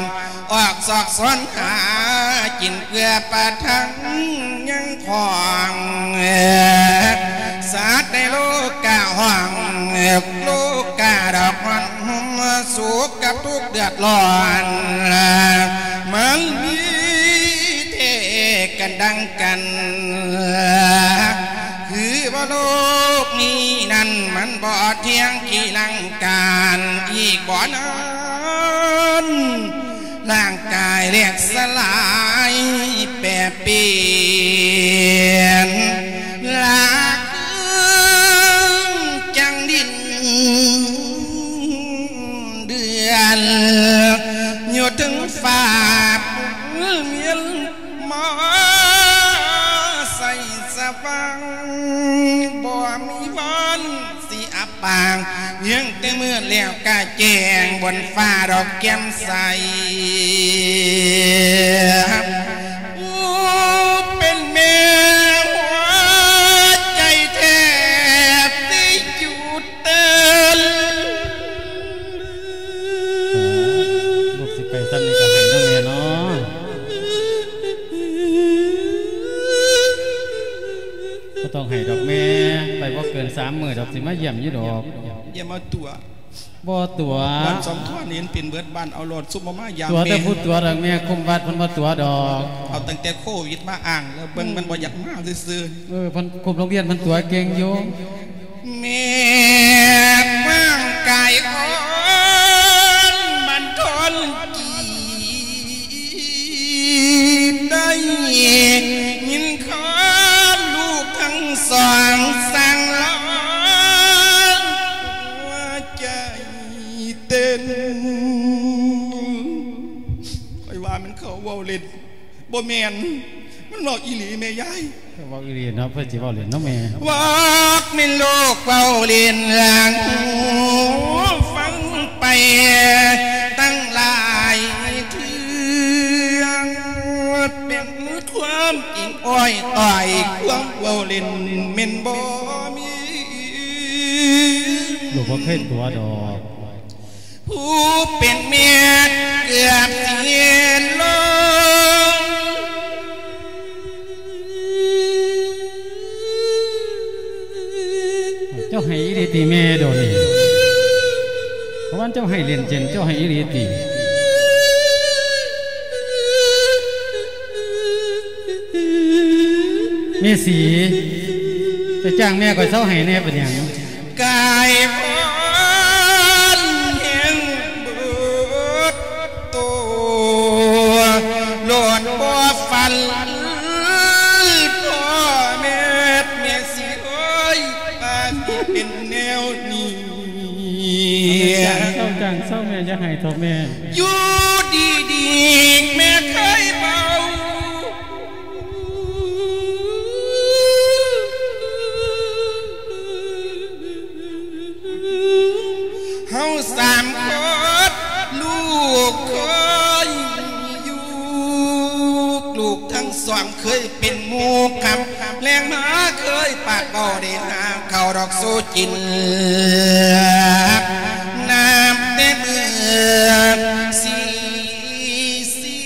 ອອກຊອກຊອນຫາກິນເພື່ອປະທັງຍັງຂອງ ສັດໃນໂລກາຫ້ອງ ໂລກາດອກຮ້ອນຮຸ່ມສູງ ກກັບທຸກເດືອດຮ້ອນ ມັນມີແທ້ກັນດັ່ງກັນ ຄືວ່າໂລກນີ້ນັ້ນ ມັນບໍ່ທ່ຽງທີ່ລັງການອີກບໍ່ນານ ຮ່າງກາຍແຫຼກສະຫຼາຍແປປ່ຽນ ລາກຄືນຈັ່ງດິນເດືອນ ຢູ່ເທິງຟ້າປຸນມຽນ ມາໃສສະຫວ່າງ ບໍ່ມີວັນ ຊິອັບປາງ ຍັງແຕ່ມືດແລ້ວກະແຈ້ງ ບົນຟ້າດອກແຈ່ມໃສ ຜູ້ເປັນແມ່ຫົວໃຈແທບຊິຢຸດເຕັ້ນ. ລູກຊິໄປຊ່ຳນີ້ກະໄຫ້ເນາະແມ່ເນາະ. ບໍ່ຕ້ອງໄຫ້ດອກແມ່ ໄປບໍ່ເກີນສາມມື້ດອກ ຊິມາຢ້ຽມຢູ່ດອກ. ຢ່າມາຕົວະ ບໍ່ຕົວະ ບ້ານສອງຕົວະນີ້ເປັນເບິດບ້ານ ເອົາໂລດ ຊຸມບໍ່ມາຢາມ ຕົວະແຕ່ຜູ້ຕົວະດອກແມ່ ຄຸມວັດເພິ່ນບໍ່ຕົວະດອກ. ເອົາຕັ້ງແຕ່ໂຄວິດມາອ້າງແລ້ວ ເບິ່ງມັນບໍ່ຢາກມາຊື່ໆ. ເອີ ເພິ່ນຄຸມໂຮງຮຽນ ເພິ່ນຕົວະເກັ່ງຢູ່. ແມ່ຮ່າງກາຍອ່ອນບັນທົນກີ ໄດ້ຍິນຄຳລູກທັງສອງສັ່ງລອງ ຫົວໃຈເຕັ້ນ. ຂ້ອຍວ່າມັນເຂົາເວົ້າເຫຼັ້ນ ບໍ່ແມ່ນ ມັນເວົ້າອີ່ຫຼີແມ່ຍາຍ. ເວົ້າອີ່ຫຼີເນາະ ເພິ່ນຊິເວົ້າເຫຼັ້ນເນາະແມ່. ບອກແມ່ນລູກເວົ້າເຫຼັ້ນ ຫາງຫູຟັງໄປຕັ້ງຫຼາຍເທື່ອ ເປັນຄວາມຈິງອ້ອຍຕ້ອຍ ຄວາມເວົ້າເຫຼັ້ນແມ່ນບໍ່ມີ. ລູກບໍ່ເຄີຍຕົວະດອກ. ຜູ້ເປັນແມ່ເກືອບເສຍລົງ ເຈົ້າໄຫ້ອີ່ຫຼີຕິແມ່ ດອນນີ້ ເພາະວ່າເຈົ້າໄຫ້ເຫຼັ້ນເຊັ່ນ ເຈົ້າໄຫ້ອີ່ຫຼີຕິ ແມ່ສີ ໄປຈ້າງແມ່ຂ້ອຍເຊົາໄຫ້ແດ່ ເປັນຫຍັງ? ກາຍອ່ອນແຮງເບິດໂຕ ໂລດບໍ່ຝັນ ພໍ່ແມ່ ແມ່ຊິເອີຍ ວ່າຊິເປັນແນວນີ້. ເຊົາຈ້າງ ເຊົາແມ່ ຢ່າໄຫ້ເຖາະແມ່. ຢູ່ດີໆ ແມ່ເຄີຍເວົ້າ ເຮົາສາມຄົນລູກເຄີຍຢູ່ ລູກທັງສອງເຄີຍເປັນໝູ່ກັນ ແລງມາເຄີຍປາກເວົ້າໄດ້ຫາເຂົ້າດອກສູ່ກິນ ນັບແຕ່ມື້ສີ່ສີ່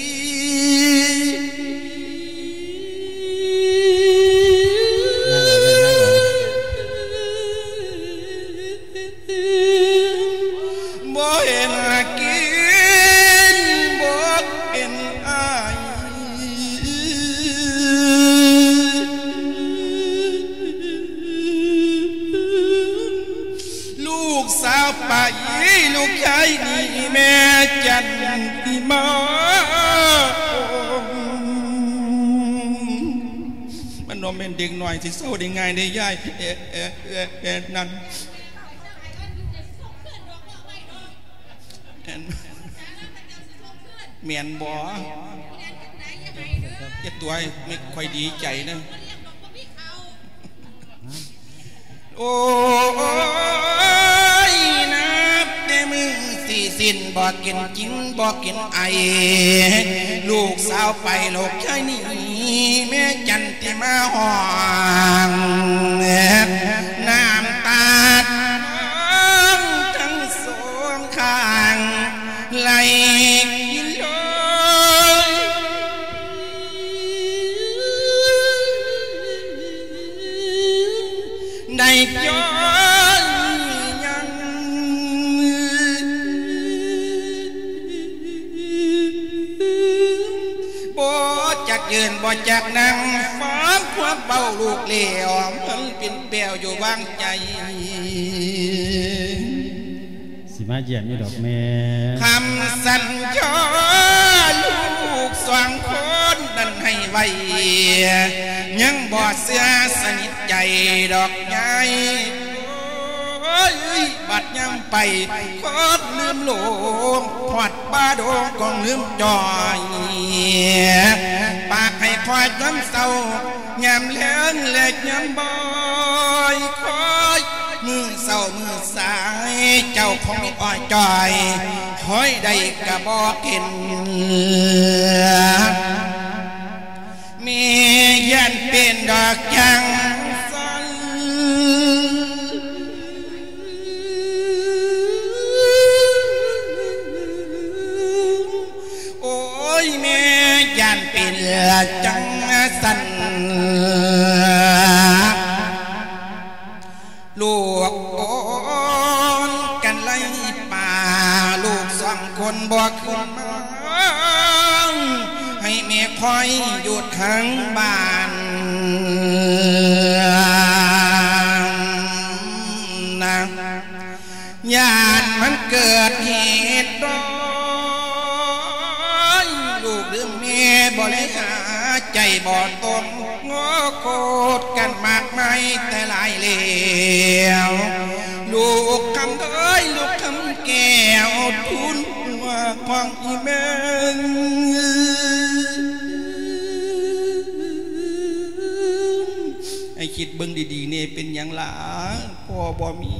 ບໍ່ເຫັນກິນບໍ່ເປັນອາຍ ລູກສາວໄປ ລູກຊາຍໜີ ແມ່ຈັນຕິມາ ມັນບໍ່ແມ່ນເດັກນ້ອຍຊິເຊົາໄດ້ງ່າຍເດ້ຍາຍ ແອະ ແອະ ແອະ ແອະ ນັ້ນ ແມ່ນ ແມ່ນບໍ່? ຢ່າຕົວະ ແມ່ຂ້ອຍດີໃຈນະ. ໂອ້ຍ ນັບແຕ່ມື້ຊີ້ສິ້ນ ບໍ່ກິນຈິງ ບໍ່ກິນໄອ ລູກສາວໄປ ລູກຊາຍໜີ ແມ່ຈັນ ທີ່ມາຫ້ອງ ນ້ຳຕານອງທັງສອງຂ້າງໄຫຼລົງ ໄດ້ຍ້ອນຫຍັງ ບໍ່ຈັກນັ່ງຟັງຄວາມເວົ້າລູກແລ້ວ ມັນເປັນແປວຢູ່ວາງໃຈ. ຊິມາຢ້ຽມຢູ່ດອກແມ່. ຄຳສັນຍາລູກສອງຄົນນັ້ນໃຫ້ໄວ້ ຍັງບໍ່ເຊື່ອສະໜິດໃຈດອກຍາຍ. ໂອ້ຍ ບັດຍາມໄປຄົນລືມໂລງ ຮອດປ່າດົງກໍລືມຈ່ອຍ ປາກໃຫ້ຄອຍຍາມເຊົ້າ ຍາມແລງ ແລະຍາມບ່ອຍ ຄອຍມື້ເຊົ້າມື້ສາຍ ເຈົ້າຂອງມີອ້ອຍຈ່ອຍ ຄອຍໄດ້ກະບໍ່ເຫັນ. ແມ່ຢ້ານເປັນດອກຈັ່ງຊັ້ນ ໂອ້ຍ ແມ່ຢ້ານເປັນຈັ່ງຊັ້ນ. ລູກອ່ອນກັນໄລ່ປ່າ ລູກສອງຄົນບໍ່ຂຶ້ນມາ ໃຫ້ແມ່ຄອຍຢູ່ທາງບ້ານນະ ຢ້ານມັນເກີດເຫດຮ້າຍ ລູກລືມແມ່ບໍ່ໄດ້ຫາ ໃຈບໍ່ຕົງ ງໍໂຄດກັນມາກມາຍແຕ່ຫຼາຍແລ້ວ ລູກຄຳເອີຍ ລູກຄຳແກ້ວ ທູນຫົວຂອງອີ່ແມ່ ໃຫ້ຄິດເບິ່ງດີໆແນ່ ເປັນຫຍັງຫຼາ ພໍ່ບໍ່ມີ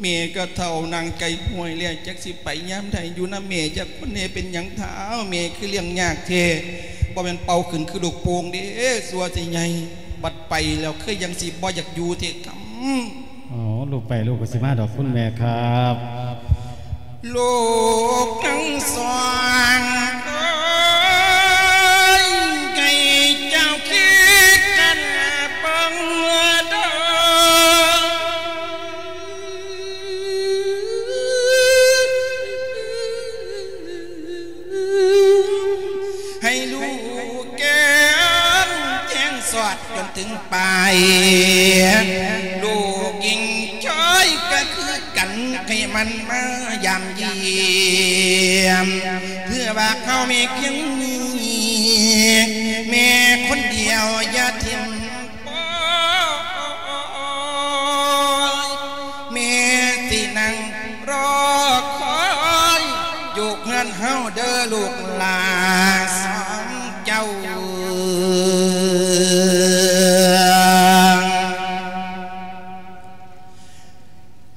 ແມ່ກໍເຖົ້ານັ່ງໃກ້ຫ້ວຍແລ້ວ ຈັກຊິໄປຍາມໃດ ຢູ່ນຳແມ່ຈັກຄົນແນ່ ເປັນຫຍັງທ້າວ ແມ່ຄືລ້ຽງຍາກແທ້ ບໍ່ແມ່ນເປົ່າຂຶ້ນຄືລູກໂປ່ງເດ້ ຊົ່ວຊິໃຫຍ່ ບັດໄປແລ້ວຄືຍັງຊິບໍ່ຢາກຢູ່ແທ້ກຳ. ອໍ ລູກໄປ ລູກກໍຊິມາດອກ ຄຸນແມ່ຄັບ. ລູກທັງສອງເອີຍ ໃຫ້ເຈົ້າຄິດກັນເບິ່ງເດີ ໃຫ້ລູກແກ້ມແຈ້ງສອດຈົນເຖິງປາຍ ລູກຍິງຊາຍກໍຄືກັນ ໃຫ້ມັນມາຢາມຢ້ຽມ ເພື່ອວ່າເຮົາມີພຽງນີ້ ແມ່ຄົນດຽວຢ່າຖິ້ມປ່ອຍ ແມ່ຊິນັ່ງລໍຄອຍ ຢູ່ເຮືອນເຮົາເດີລູກຫຼານສອງເຈົ້າ.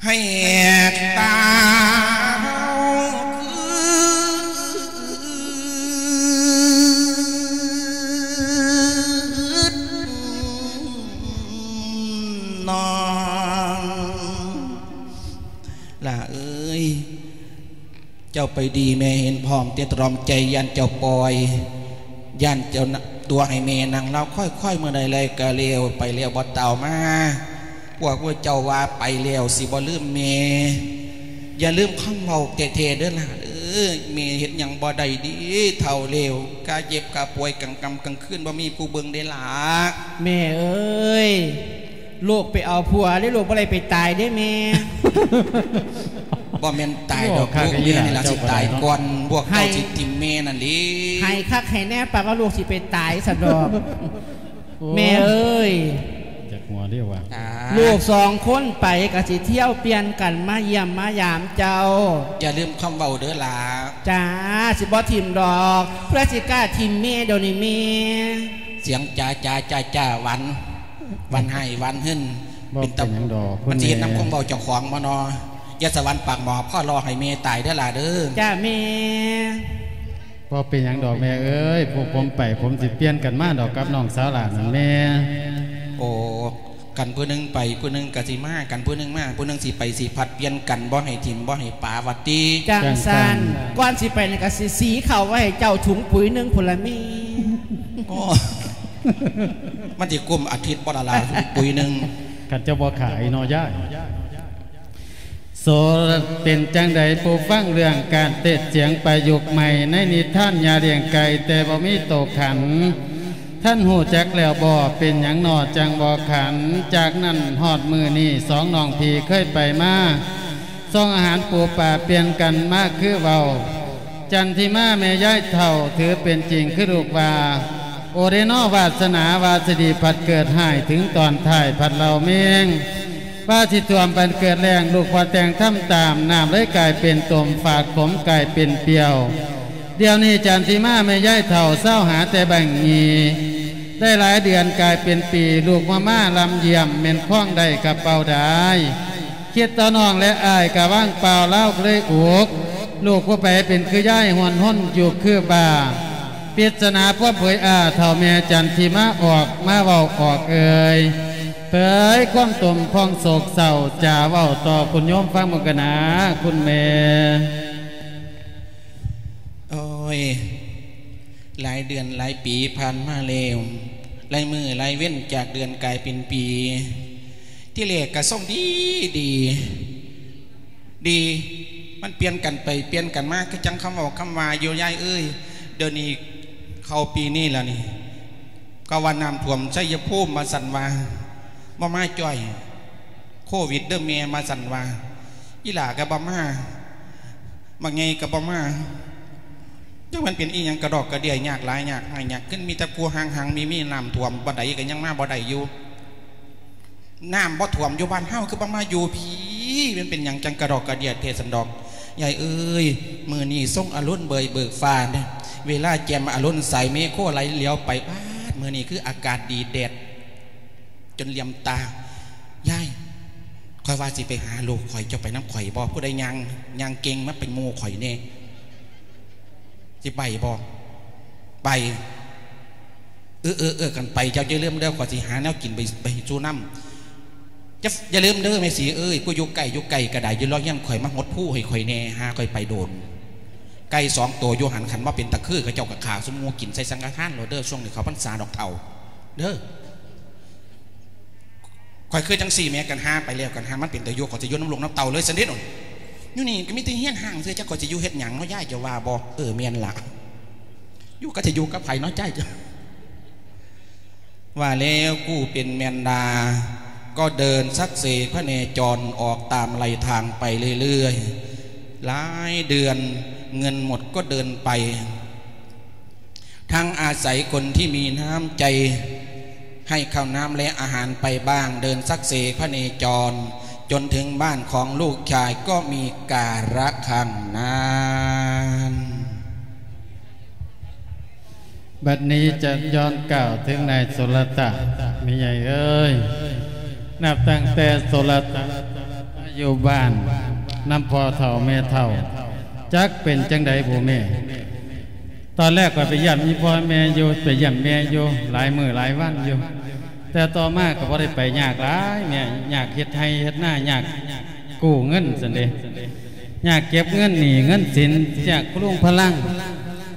ໃຫ້ຕາເຮົາຄຶດນ້ອງ ຫຼ້າເອີຍ ເຈົ້າໄປດີແມ່ເຫັນພ້ອມແຕ່ຕຣອມໃຈ ຢ້ານເຈົ້າປ່ອຍ ຢ້ານເຈົ້າຕົວະໃຫ້ແມ່ນັ່ງລາວຄອຍໆ ເມື່ອໃດແລກໍແລ້ວ ໄປແລ້ວບໍ່ຕ່າວມາ ພວກພວກເຈົ້າວ່າໄປແລ້ວຊິບໍ່ລືມແມ່ ຢ່າລືມຄຳເວົ້າແທ້ໆເດີຫຼ້າເດີ ແມ່ເຮັດຫຍັງບໍ່ໄດ້ເດ ເຖົ້າແລ້ວ ກະເຈັບກະປ່ວຍກາງຄ່ຳກາງຄືນ ບໍ່ມີຜູ້ເບິ່ງເດຫຼ້າ. ແມ່ເອີຍ ລູກໄປເອົາຜົວເດ້ ລູກບໍ່ໄດ້ໄປຕາຍເດ້ແມ່. ບໍ່ແມ່ນຕາຍດອກ ໂອ້ ລູກແມ່ນີ້ລະຊິຕາຍກ່ອນ ພວກເຈົ້າຊິຖິ້ມແມ່ນັ້ນເດ້. ໃຫ້ຄັກໃຫ້ແນ່ ປາກວ່າລູກຊິໄປຕາຍຊັ້ນດອກ. ໂອ້ ແມ່ເອີຍ ຢາກຫົວເດ້ວ່າ ລູກສອງຄົນໄປກໍຊິທຽວປ່ຽນກັນມາຢ້ຽມມາຢາມເຈົ້າ. ຢ່າລືມຄຳເວົ້າເດີຫຼ້າ. ຈ້າ ຊິບໍ່ຖິ້ມດອກ ເພື່ອຊິກ້າຖິ້ມແມ່ດຽວນີ້ແມ່. ສຽງຈາ ຈາ ຈາ ຈາ ຫວັນ ຫວັນໄຫ້ຫວັນຫຶ້ນ ເປັນຕາ ມັນຊິເຮັດນຳຄວາມເວົ້າເຈົ້າຂອງບໍ່ນໍ. ຢ່າສະຫວັນປາກໝໍ້ ພໍລໍໃຫ້ແມ່ຕາຍເດີຫຼ້າເດີ. ຈ້າແມ່. ບໍ່ເປັນຫຍັງດອກແມ່ເອີຍ ພວກຜົມໄປ ຜົມຊິປ່ຽນກັນມາດອກກັບນ້ອງສາວຫຼ້ານັ້ນແມ່. ໂອ້ ຄັນຜູ້ໜຶ່ງໄປ ຜູ້ໜຶ່ງກໍຊິມາ ຄັນຜູ້ໜຶ່ງມາ ຜູ້ໜຶ່ງຊິໄປ ຊິຜັດປ່ຽນກັນ ບໍ່ໃຫ້ຖິ້ມບໍ່ໃຫ້ປະວ່າຕິ. ຈັ່ງຊັ້ນ ຈັ່ງຊັ້ນ ກ່ອນຊິໄປນີ້ກໍຊິສີເຂົ້າໄວ້ໃຫ້ເຈົ້າຖົງປຸ໋ຍໜຶ່ງພຸ້ນລະແມ່. ໂອ້ ມັນຊິກຸ້ມອາທິດບໍ່ລະລະ ປຸ໋ຍໜຶ່ງ ຄັນເຈົ້າບໍ່ຂາຍເນາະຍາຍ. ໂສ ເປັນຈັ່ງໃດຜູ້ຟັງເລື່ອງການເທດສຽງປະຍຸກໃໝ່ໃນນິທານຍ່າລ້ຽງໄກ່ແຕ່ບໍ່ມີໂຕຂັນ ທ່ານຮູ້ຈັກແລ້ວບໍ່? ເປັນຫຍັງນໍຈັ່ງບໍ່ຂັນ? ຈາກນັ້ນຮອດມື້ນີ້ ສອງນ້ອງພີ່ເຄີຍໄປມາ ສົ່ງອາຫານປູປາປ່ຽນກັນມາຄືເວົ້າ. ຈັນທິມາແມ່ຍາຍເຖົ້າ ຖືເປັນຈິງຄືລູກວ່າ ໂອເດນໍ ວາສະໜາວ່າຊິດີ ພັດເກີດຮ້າຍ ເຖິງຕອນທ້າຍພັດເລົ່າເມັງ ວ່າຊິຖ້ວມບັນເກີດແລ້ງ. ລູກບໍ່ແຕ່ງທຳຕາມ ນ້ຳເລີຍກາຍເປັນຕົມ ຝາດຂົມກາຍເປັນປ່ຽວ. ດຽວນີ້ຈັນທິມາແມ່ຍາຍເຖົ້າ ເຊົາຫາແຕ່ແບ່ງຍີ່ ໄດ້ຫຼາຍເດືອນກາຍເປັນປີ ລູກບໍ່ມາລຳຢ້ຽມ ແມ່ນຄວາງໄດ້ກະເປົ່າດາຍ. ຄິດຕໍ່ນ້ອງແລະອ້າຍກະວ່າງເປົ່າ ລາວເລີຍອຸກ ລູກຜູ້ໃດເປັນຄືຍາຍ ຮ່ວນຮົນຢູ່ຄືບ້າ. ປິດສະໜາຄວາມເຜີຍ ອາ ເຖົ້າແມ່ຈັນທິມາ ອອກມາເວົ້າອອກເອີ່ຍ ເຜີຍຄວາມຕົມຄວາມໂສກເສົ້າ ຈາເວົ້າຕໍ່ຄຸນໂຍມຟັງເບິ່ງກະນາ ຄຸນແມ່. ໂອ້ຍ ຫຼາຍເດືອນຫຼາຍປີຜ່ານມາແລ້ວ ຫຼາຍມື້ຫຼາຍເວັນ ຈາກເດືອນກາຍເປັນປີ. ທີແລກກະຊົງດີ ດີ ດີ ມັນປ່ຽນກັນໄປປ່ຽນກັນມາ ຄືຈັ່ງຄຳເວົ້າຄຳວ່າຢູ່ ຍາຍເອີຍ. ດຽວນີ້ເຂົ້າປີນີ້ແລ້ວນີ້ ເຂົາວ່ານ້ຳຖ້ວມໄຊຍະພູມ ວ່າຊັ້ນວ່າ ບໍ່ມາຈ້ອຍ ໂຄວິດເດີແມ່ ວ່າຊັ້ນວ່າ. ອີ່ຫຼ້າກະບໍ່ມາ ບັກໃຫຍ່ກະບໍ່ມາ ຈັກມັນເປັນອີ່ຫຍັງ ກະດອກກະເດຍ ຍາກຫຼາຍ ຍາກຮ້າຍ ຍາກຂຶ້ນ ມີແຕ່ຜູ້ຮັ່ງໆ ມີ ມີນ້ຳຖ້ວມ ບ່ອນໃດກະຍັງມາບໍ່ໄດ້ຢູ່. ນ້ຳບໍ່ຖ້ວມຢູ່ບ້ານເຮົາ ຄືບໍ່ມາຢູ່ພີ້ ມັນເປັນຫຍັງຈັ່ງກະດອກກະເດຍແທ້ຊັ້ນດອກ? ຍາຍເອີຍ ມື້ນີ້ຊົງອາລົມເບີຍເບີກຟ້າເດ້ ເວລາແຈ່ມອາລົມໃສ ເມໂຄໄຫຼຫຼຽວໄປ ປາດ ມື້ນີ້ຄືອາກາດດີ ແດດ ຈົນຫຼຽມຕາ. ຍາຍ ຂ້ອຍວ່າຊິໄປຫາລູກຂ້ອຍ ເຈົ້າໄປນຳຂ້ອຍບໍ່? ຜູ້ໃດຍ່າງ ຍ່າງເກັ່ງມາເປັນໝູ່ຂ້ອຍແດ່ ຊິໄປບໍ່? ໄປ. ເອີ ເອີ ເອີ ຄັນໄປເຈົ້າຢ່າລືມເດີ ຂ້ອຍຊິຫາແນວກິນໄປ ໄປສູ່ນຳ. ຢ່າ ຢ່າລືມເດີແມ່ສີເອີຍ ຜູ້ຢູ່ໃກ້ ຢູ່ໄກກະໄດ້ ຢູ່ລອງຮຽນຂ້ອຍ ມາຫົດພູໃຫ້ຂ້ອຍແດ່ ຫາຂ້ອຍໄປໂດນ. ໄກ່ສອງໂຕຢູ່ຫັ້ນ ຄັນວ່າເປັນຕາຄື ເຂົາເຈົ້າກະຂ້າຊຸມໝູ່ກິນໃສ່ສັງກະທານໂລດເດີ ຊ່ວງນີ້ເຂົ້າພັນສາດອກເຖົ້າເດີ. ຂ້ອຍຄືຈັ່ງຊີ້ແໝ ຄັນຫາໄປແລ້ວ ຄັນຫາມັນເປັນຕາຢູ່ ຂ້ອຍຊິຢູ່ນຳລູກນຳເຕົ້າເລີຍຊັ້ນເດໂດນ. ຢູ່ນີ້ກະມີແຕ່ເຮືອນຮ້າງຊື່ ຈັກຂ້ອຍຊິຢູ່ເຮັດຫຍັງເນາະ ຍາຍຈະວ່າບໍ່? ເອີ ແມ່ນລະ ຢູ່ກະຈະຢູ່ກັບໃຜເນາະ ຍາຍຈະ ວ່າແລ້ວຜູ້ເປັນແມ່ນດາ ກໍເດີນສັກເສພະເນຈອນອອກຕາມໄລທາງໄປເລື້ອຍໆ. ຫຼາຍເດືອນເງິນໝົດກໍເດີນໄປ ທັງອາໄສຄົນທີ່ມີນ້ຳໃຈໃຫ້ເຂົ້ານ້ຳແລະອາຫານໄປບ້າງ ເດີນສັກເສພະເນຈອນ ຈົນເຖິງບ້ານຂອງລູກຊາຍກໍມີກາລະຄັ້ງນັ້ນ. ບັດນີ້ຈະຍ້ອນກ່າວເຖິງນາຍໂສລະຕະ ແມ່ໃຫຍ່ເອີຍ ນັບຕັ້ງແຕ່ໂສລະຕະຢູ່ບ້ານນຳພໍ່ເຖົ້າແມ່ເຖົ້າ ຈັກເປັນຈັ່ງໃດບຸແມ່? ຕອນແລກຂ້ອຍໄປຢ້ຽມອີ່ພໍ່ແມ່ຢູ່ ໄປຢ້ຽມແມ່ຢູ່ຫຼາຍມື້ຫຼາຍວັນຢູ່ ແຕ່ຕໍ່ມາກະບໍ່ໄດ້ໄປ ຍາກຫຼາຍແມ່ ຍາກເຮັດໄຮ່ເຮັດນາ ຍາກກູ້ເງິນຊັ້ນເດ ຍາກເກັບເງິນໜີ້ເງິນສິນ ຍາກພະລຸງພະລັງ.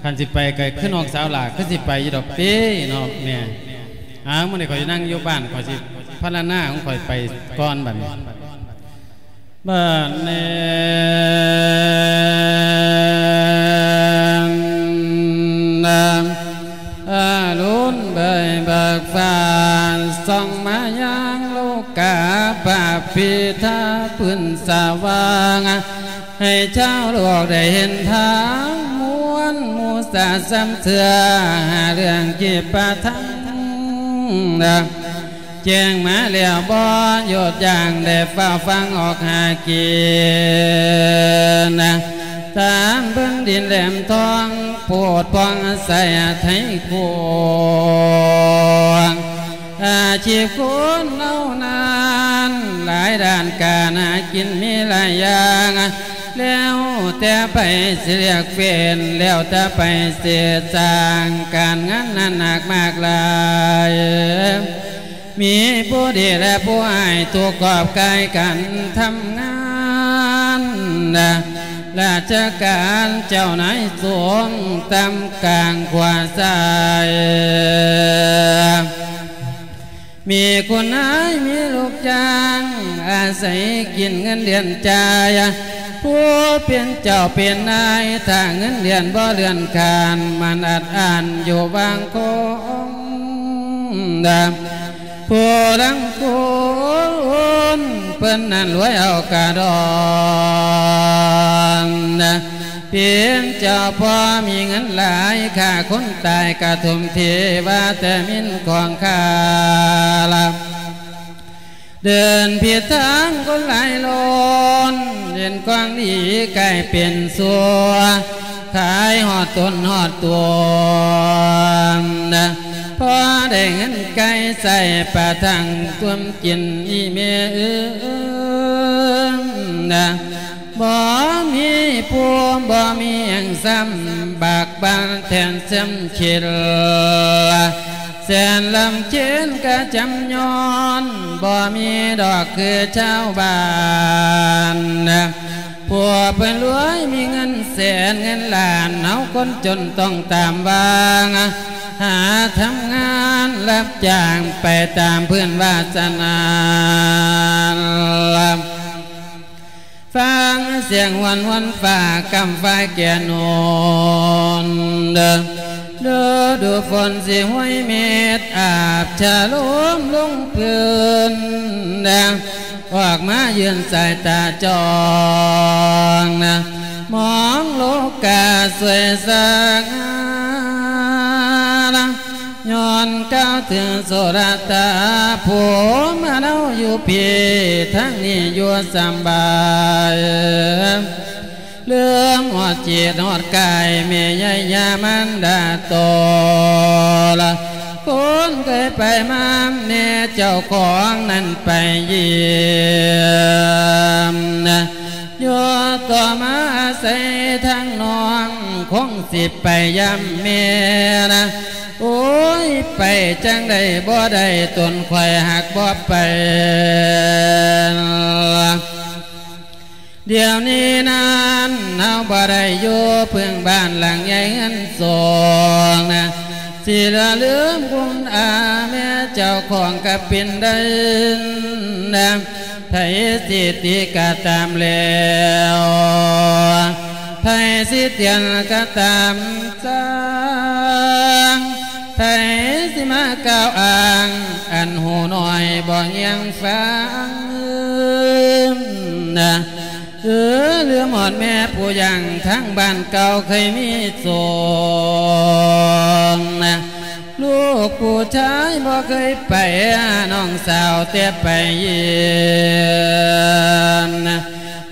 ຄັນຊິໄປກະຄືນ້ອງສາວຫຼ້າ ຄືຊິໄປຢູ່ດອກຕິເນາະແມ່. ຫາ ມື້ນີ້ຂ້ອຍຊິນັ່ງຢູ່ບ້ານ ຂ້ອຍຊິພາລະນາຂອງຂ້ອຍໄປກ່ອນບັດນີ້. ບາດນີ້ອາລຸນເບີຍເບີກຟ້າ ສ່ອງມາຍັງໂລກາ ພະພິດທະພື້ນສະຫວ່າງ ໃຫ້ຊາວໂລກໄດ້ເຫັນທາງ ມ່ວນໝູ່ສາສ່ຳເຊື່ອ ເລື່ອງຈິດປະທັງ ແຈ້ງມາແລ້ວບໍ່ຢຸດຢັ້ງ ໄດ້ຟ້າວຟັງອອກຫາກິນ ຕາມເບິ່ງດິນແຫຼມທອງ ໂພດພອງໃສໄທກວ້າງ ອາຊີບຄົນເຮົານັ້ນ ຫຼາຍດ້ານການຫາກິນມີຫຼາຍຢ່າງ ແລ້ວແຕ່ໃຜຊິເລືອກເປັນ ແລ້ວແຕ່ໃຜຊິສ້າງ ການງານນັ້ນໜັກມາກຫຼາຍ ມີຜູ້ດີແລະຜູ້ຮ້າຍ ທຸກຂອບກາຍການທຳງານ ລາຊະການເຈົ້ານາຍສູງ ຕ່ຳກາງຂວາຊ້າຍ ມີຄຸນນາຍມີລູກຈ້າງ ອາໄສກິນເງິນເດືອນຈ່າຍ ຜູ້ເປັນເຈົ້າເປັນນາຍ ຖ້າເງິນເດືອນບໍ່ເລື່ອນຂານ ມັນອັດອັ້ນຢູ່ບາງຄົນ ຜູ້ລາງຄົນເພິ່ນນັ້ນລວຍເອົາກະດອນ ເປັນເຈົ້າພໍ່ມີເງິນຫຼາຍ ຂ້າຄົນຕາຍກະຖົມເທ ວ່າແຕ່ມິນຂອງຂ້າລະ ເດີນຜິດທາງຄົນຫຼາຍລ້ນ ເຫັນຄວາມດີກາຍເປັນຊົ່ວ ຂາຍຮອດຕົນຮອດຕົວ ພໍໄດ້ເງິນກາຍໃຊ້ປະທັງຕົວມກິນ ອີ່ແມ່ເອີຍ ບໍ່ມີພູບໍ່ມີຫຍັງຊ້ຳ ບາກບານແທນເຊິ່ມເຂັນ ແສນລຳເຄັນກະຈຳຍ້ອນ ບໍ່ມີດອກຄືຊາວບ້ານ ພວກເພິ່ນລວຍມີເງິນແສນເງິນລ້ານ ເຮົາຄົນຈົນຕ້ອງຕາມຫວ່າງ ຫາທຳງານຮັບຈ້າງໄປຕາມພື້ນວາສະໜາ ຟັງສຽງຫວນຫວນຟ້າ ກຳຟ້າແກ່ນອນ ລະດູຝົນຊິຫ້ວຍເມັດ ອາບຊະໂລມລົງພື້ນ ອອກມາຢືນສາຍຕາຈ້ອງ ມອງໂລກາສວຍສະຫງ່າ ຍ້ອນກ່າວເຖິງໂສດາຕາ ຜູ້ມາເຮົາຢູ່ພີ້ ທາງນີ້ຢູ່ສຳບາຍ ເລີ່ມຮອດຈິດຮອດກາຍ ແມ່ຍາຍາມານດາໂຕລະ ຄົນເຄີຍໄປມາແນ່ ເຈົ້າຂອງນັ້ນໄປຢ້ຽມ ຢູ່ຕໍ່ມາອາໄສທາງນ້ອງ ຄົງຊິໄປຢາມແມ່ນະ ໂອ້ຍ ໄປຈັ່ງໃດບໍ່ໄດ້ ຕົນຂ້ອຍຫາກບໍ່ໄປ ດຽວນີ້ນັ້ນເຮົາບໍ່ໄດ້ຢູ່ເພິ່ງບ້ານຫຼັງໃຫຍ່ເຮືອນສອງນະ ຊິລະລືມຄຸນອາແມ່ເຈົ້າຂອງກະເປັນໄດ້ນະ ໃຜຊິຕິກະຕາມແລ້ວ ໃຜຊິຕຽນກະຕາມຊ່າງ ໃຜຊິມາກ່າວອ້າງ ອັນຮູ້ໜ້ອຍບໍ່ຮຽງຟັງນະ ເອີ ລືມຮອດແມ່ຜູ້ຢ່າງ ທາງບ້ານເກົ່າເຄີຍມີໂສງນະ ລູກຜູ້ຊາຍບໍ່ເຄີຍໄປຫານ້ອງສາວແຕ່ໄປຢ້ຽມນະ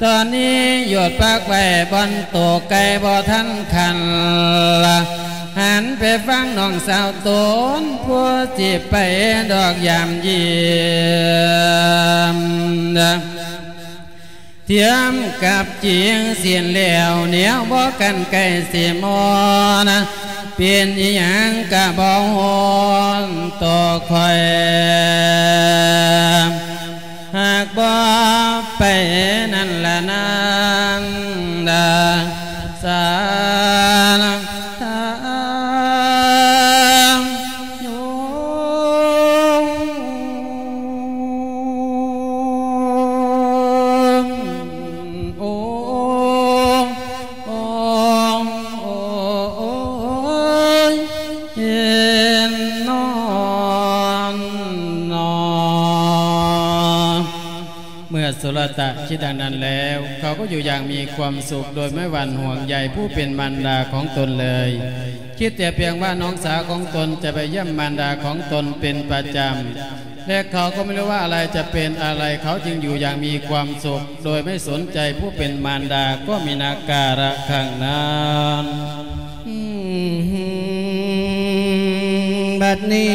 ຕອນນີ້ຢຸດພັກໄວ້ບ່ອນໂຕໄກ່ບໍ່ທັນຄັນລະ ຫັນໄປຟັງນ້ອງສາວຕົນ ຜູ້ຊິໄປດອກຢາມຢ້ຽມນະ ຕຽມກັບຈີງສິ້ນແລ້ວ ແນວບໍ່ກັນໄກ່ຊິມອນນະ ເປັນອີ່ຫຍັງກະບໍ່ຮ້ອນຕໍ່ຂ້ອຍ ຫາກບໍ່ໄປນັ້ນລະນາງດາສານາ ໂອ້ ໂອ້ ໂອ້ ໂອ້ຍ ເຫັນນອນນອ ເມື່ອສຸລະຕະຄິດດັ່ງນັ້ນແລ້ວ ເຂົາກໍຢູ່ຢ່າງມີຄວາມສຸກ ໂດຍໄມ່ຫວັ່ນຫ່ວງໃຍຜູ້ເປັນມານດາຂອງຕົນເລີຍ ຄິດແຕ່ພຽງວ່ານ້ອງສາວຂອງຕົນຈະໄປຢ້ຽມມານດາຂອງຕົນເປັນປະຈຳ ແລະ ເຂົາກໍໄມ່ຮູ້ວ່າອະໄລຈະເປັນອະໄລ ເຂົາຈຶ່ງຢູ່ຢ່າງມີຄວາມສຸກ ໂດຍໄມ່ສົນໃຈຜູ້ເປັນມານດາກໍມີນາກາລະຄັ້ງນັ້ນ. ບັດນີ້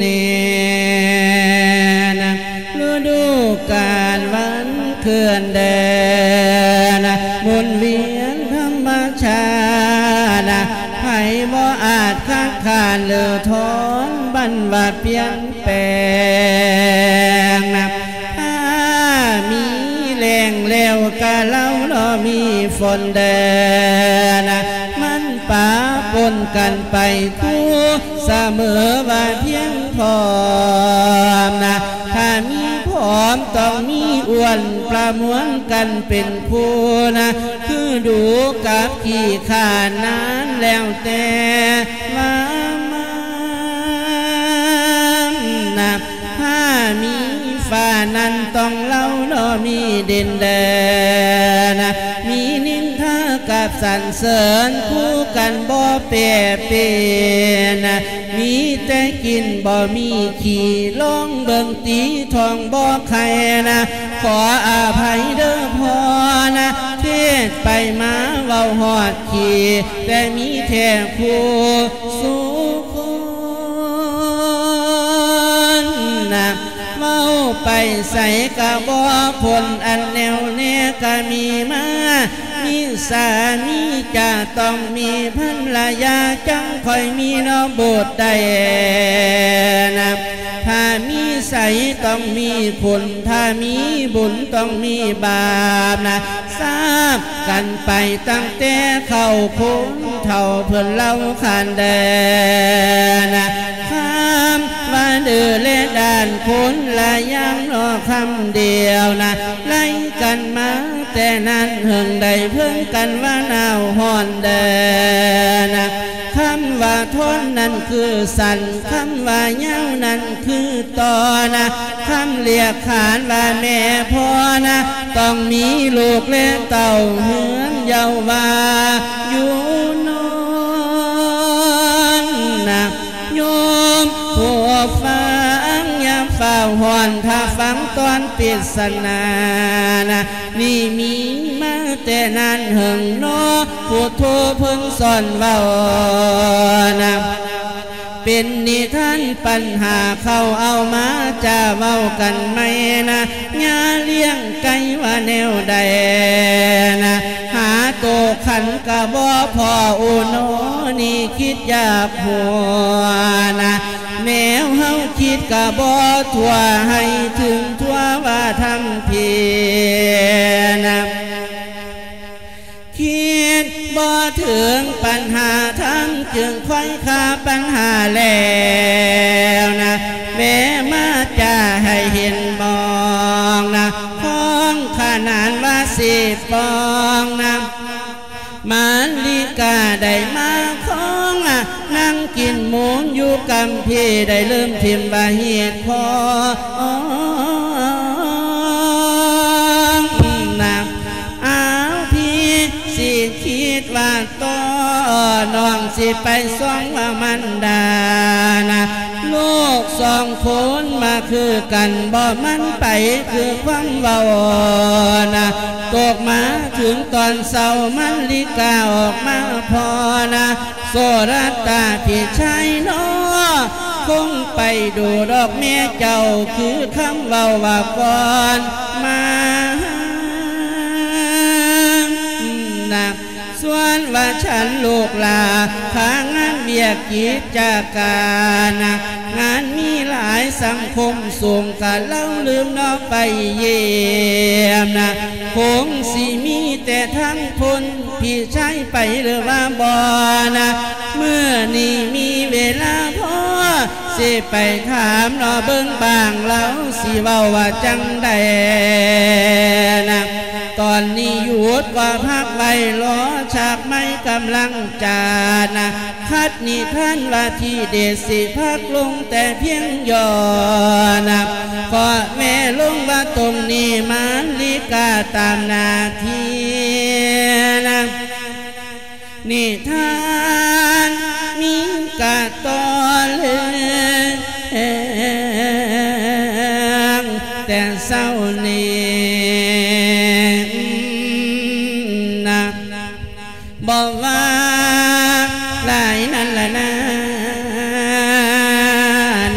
ນີ້ນະ ລະດູການວັນເຄື່ອນເດີນ ໝູນວຽນທຳມະຊາດ ໃຜບໍ່ອາດຄັດຄ້ານ ຫຼື ຖອນບັນວ່າປ່ຽນ ແປງນະ ຖ້າມີແລ້ງແລ້ວກະເລົ່າເນາະ ມີຝົນເດີນະ ມັນປະປົນກັນໄປຄູ່ສະເໝີວ່າພຽງພ້ອມນະ ຖ້າມີພ້ອມຕ້ອງມີອວນ ປະມວນກັນເປັນຄູ່ນະ ຄື ດູກັບຂີ້ຄ້ານນັ້ນແລ້ວແຕ່ວ່າມັນນະ ຖ້າມີຟ້ານັ້ນຕ້ອງເລົ່າເນາະ ມີດິນແດນນະ ມີນິນທາກັບສັນເສີນ ຄູ່ກັນບໍ່ແປເປັນນະ ມີແຕ່ກິນບໍ່ມີຂີ້ ລອງເບິ່ງຕີທ້ອງບໍ່ໄຂ່ນະ ຂໍອະໄພເດີພໍ່ນະ ເທດໄປມາເວົ້າຮອດຂີ້ ແຕ່ມີແທ້ຄູ່ສູ່ຄົນນະ ເວົ້າໄປໃສກະບໍ່ພົ້ນ ອັນແນວແນກະມີມາ ມີສາມີຈະຕ້ອງມີພັນລະຍາ ຈັ່ງຄ່ອຍມີເນາະບຸດໄດ້ນະ ຖ້າມີໃສຕ້ອງມີຄຸນ ຖ້າມີບຸນຕ້ອງມີບາບນະ ຊາບກັນໄປຕັ້ງແຕ່ເຂົາຄົນເຖົ້າເພິ່ນເລົ່າຂານແດນນະ ຄຳວ່າດື້ແລະດ້ານຄົນລະຢ່າງເນາະຄຳດຽວນະ ໄລ່ກັນມາແຕ່ນັ້ນເຫິງໄດ້ເພິ່ງກັນວ່າໜາວຮ້ອນແດນນະ ຄຳວ່າທ້ອນນັ້ນຄືສັນ ຄຳວ່າຍາວນັ້ນຄືຕໍ່ນະ ຄຳລຽກຂານວ່າແມ່ພໍ່ນະ ຕ້ອງມີລູກແລະເຕົ້າເຮືອນເຍົາວ່າຢູ່ນອນນະ ໂຍມຜູ້ຟັງຢ່າຟ້າວຮ້ອນ ຖ້າຟັງຕອນປິດສະໜານະ ນີ້ມີມາແຕ່ນານເຫິງເນາະ ພຸດໂທເພິ່ນສອນເວົ້ານະ ເປັນນິທານປັນຫາເຂົາເອົາມາຈາເວົ້າກັນໃໝ່ນະ ຍ່າລ້ຽງໄກ່ວ່າແນວໃດນະ ຫາໂຕຂັນກະບໍ່ພໍ້ ໂອໂນ ນີ້ຄິດຢາກຫົວນະ ແນວເຮົາຄິດກະບໍ່ທົ່ວ ໃຫ້ເຖິງທົ່ວວ່າທຳຜິດນະ ຄິດບໍ່ເຖິງປັນຫາທຳ ຈຶ່ງຄວາຍຄາປັນຫາແລ້ວນະ ແວະມາຈາໃຫ້ເຫັນມອງນະ ຂອງຂະໜານວ່າຊິປອງນະ ມາລິກາໄດ້ມາຄອງນະ ນັ່ງກິນມູນຢູ່ກຳພີ ໄດ້ເລີ່ມຖິ້ມວ່າຮີດຄອງນະ ອ້າວ ພີ່ຊິຄິດວ່າຕໍ່ ນ້ອງຊິໄປສ່ອງວ່າມັນດານະ ລູກສອງຄົນມາຄືກັນ ບໍ່ມັນໄປຄືຄວາມເວົ້ານະ ຕົກມາເຖິງຕອນເຊົ້າ ມາລິກາອອກມາພໍ້ນະ ໂສລະຕາພີ່ຊາຍນ້ອງ ຄົງໄປດູດອກແມ່ເຈົ້າ ຄືຄຳເວົ້າວ່າກ່ອນມານະ ສ່ວນວ່າສັນລູກຫຼ້າ ພາງານວຽກກິດຈະການນະ ງານມີຫຼາຍສັງຄົມສູງ ກະເລົ່າລືມເນາະໄປຢ້ຽມນະ ຄົງຊິມີແຕ່ທັງຄົນ ພີ່ຊາຍໄປຫຼືວ່າບໍ່ນະ ມື້ນີ້ມີເວລາພໍ ຊິໄປຖາມເນາະເບິ່ງບາງ ລາວຊິເວົ້າວ່າຈັ່ງໃດນະ ຕອນນີ້ຢຸດກວ່າພັກໄວ້ ລໍສາກໄມ້ກຳລັງຈານະ ຄັດນິທານວ່າທີເດັດ ຊິພັກລົງແຕ່ພຽງຫຍໍ້ນະ ຂໍແວະລົງວ່າຕົງນີ້ ມາລິກາຕາມໜ້າທີ່ນະ ນິທານມີກະຕໍ່ເລື່ອງແຕ່ເຊົ້ານີ້ນະ ບໍ່ວ່າຫຼາຍນັ້ນລະນາ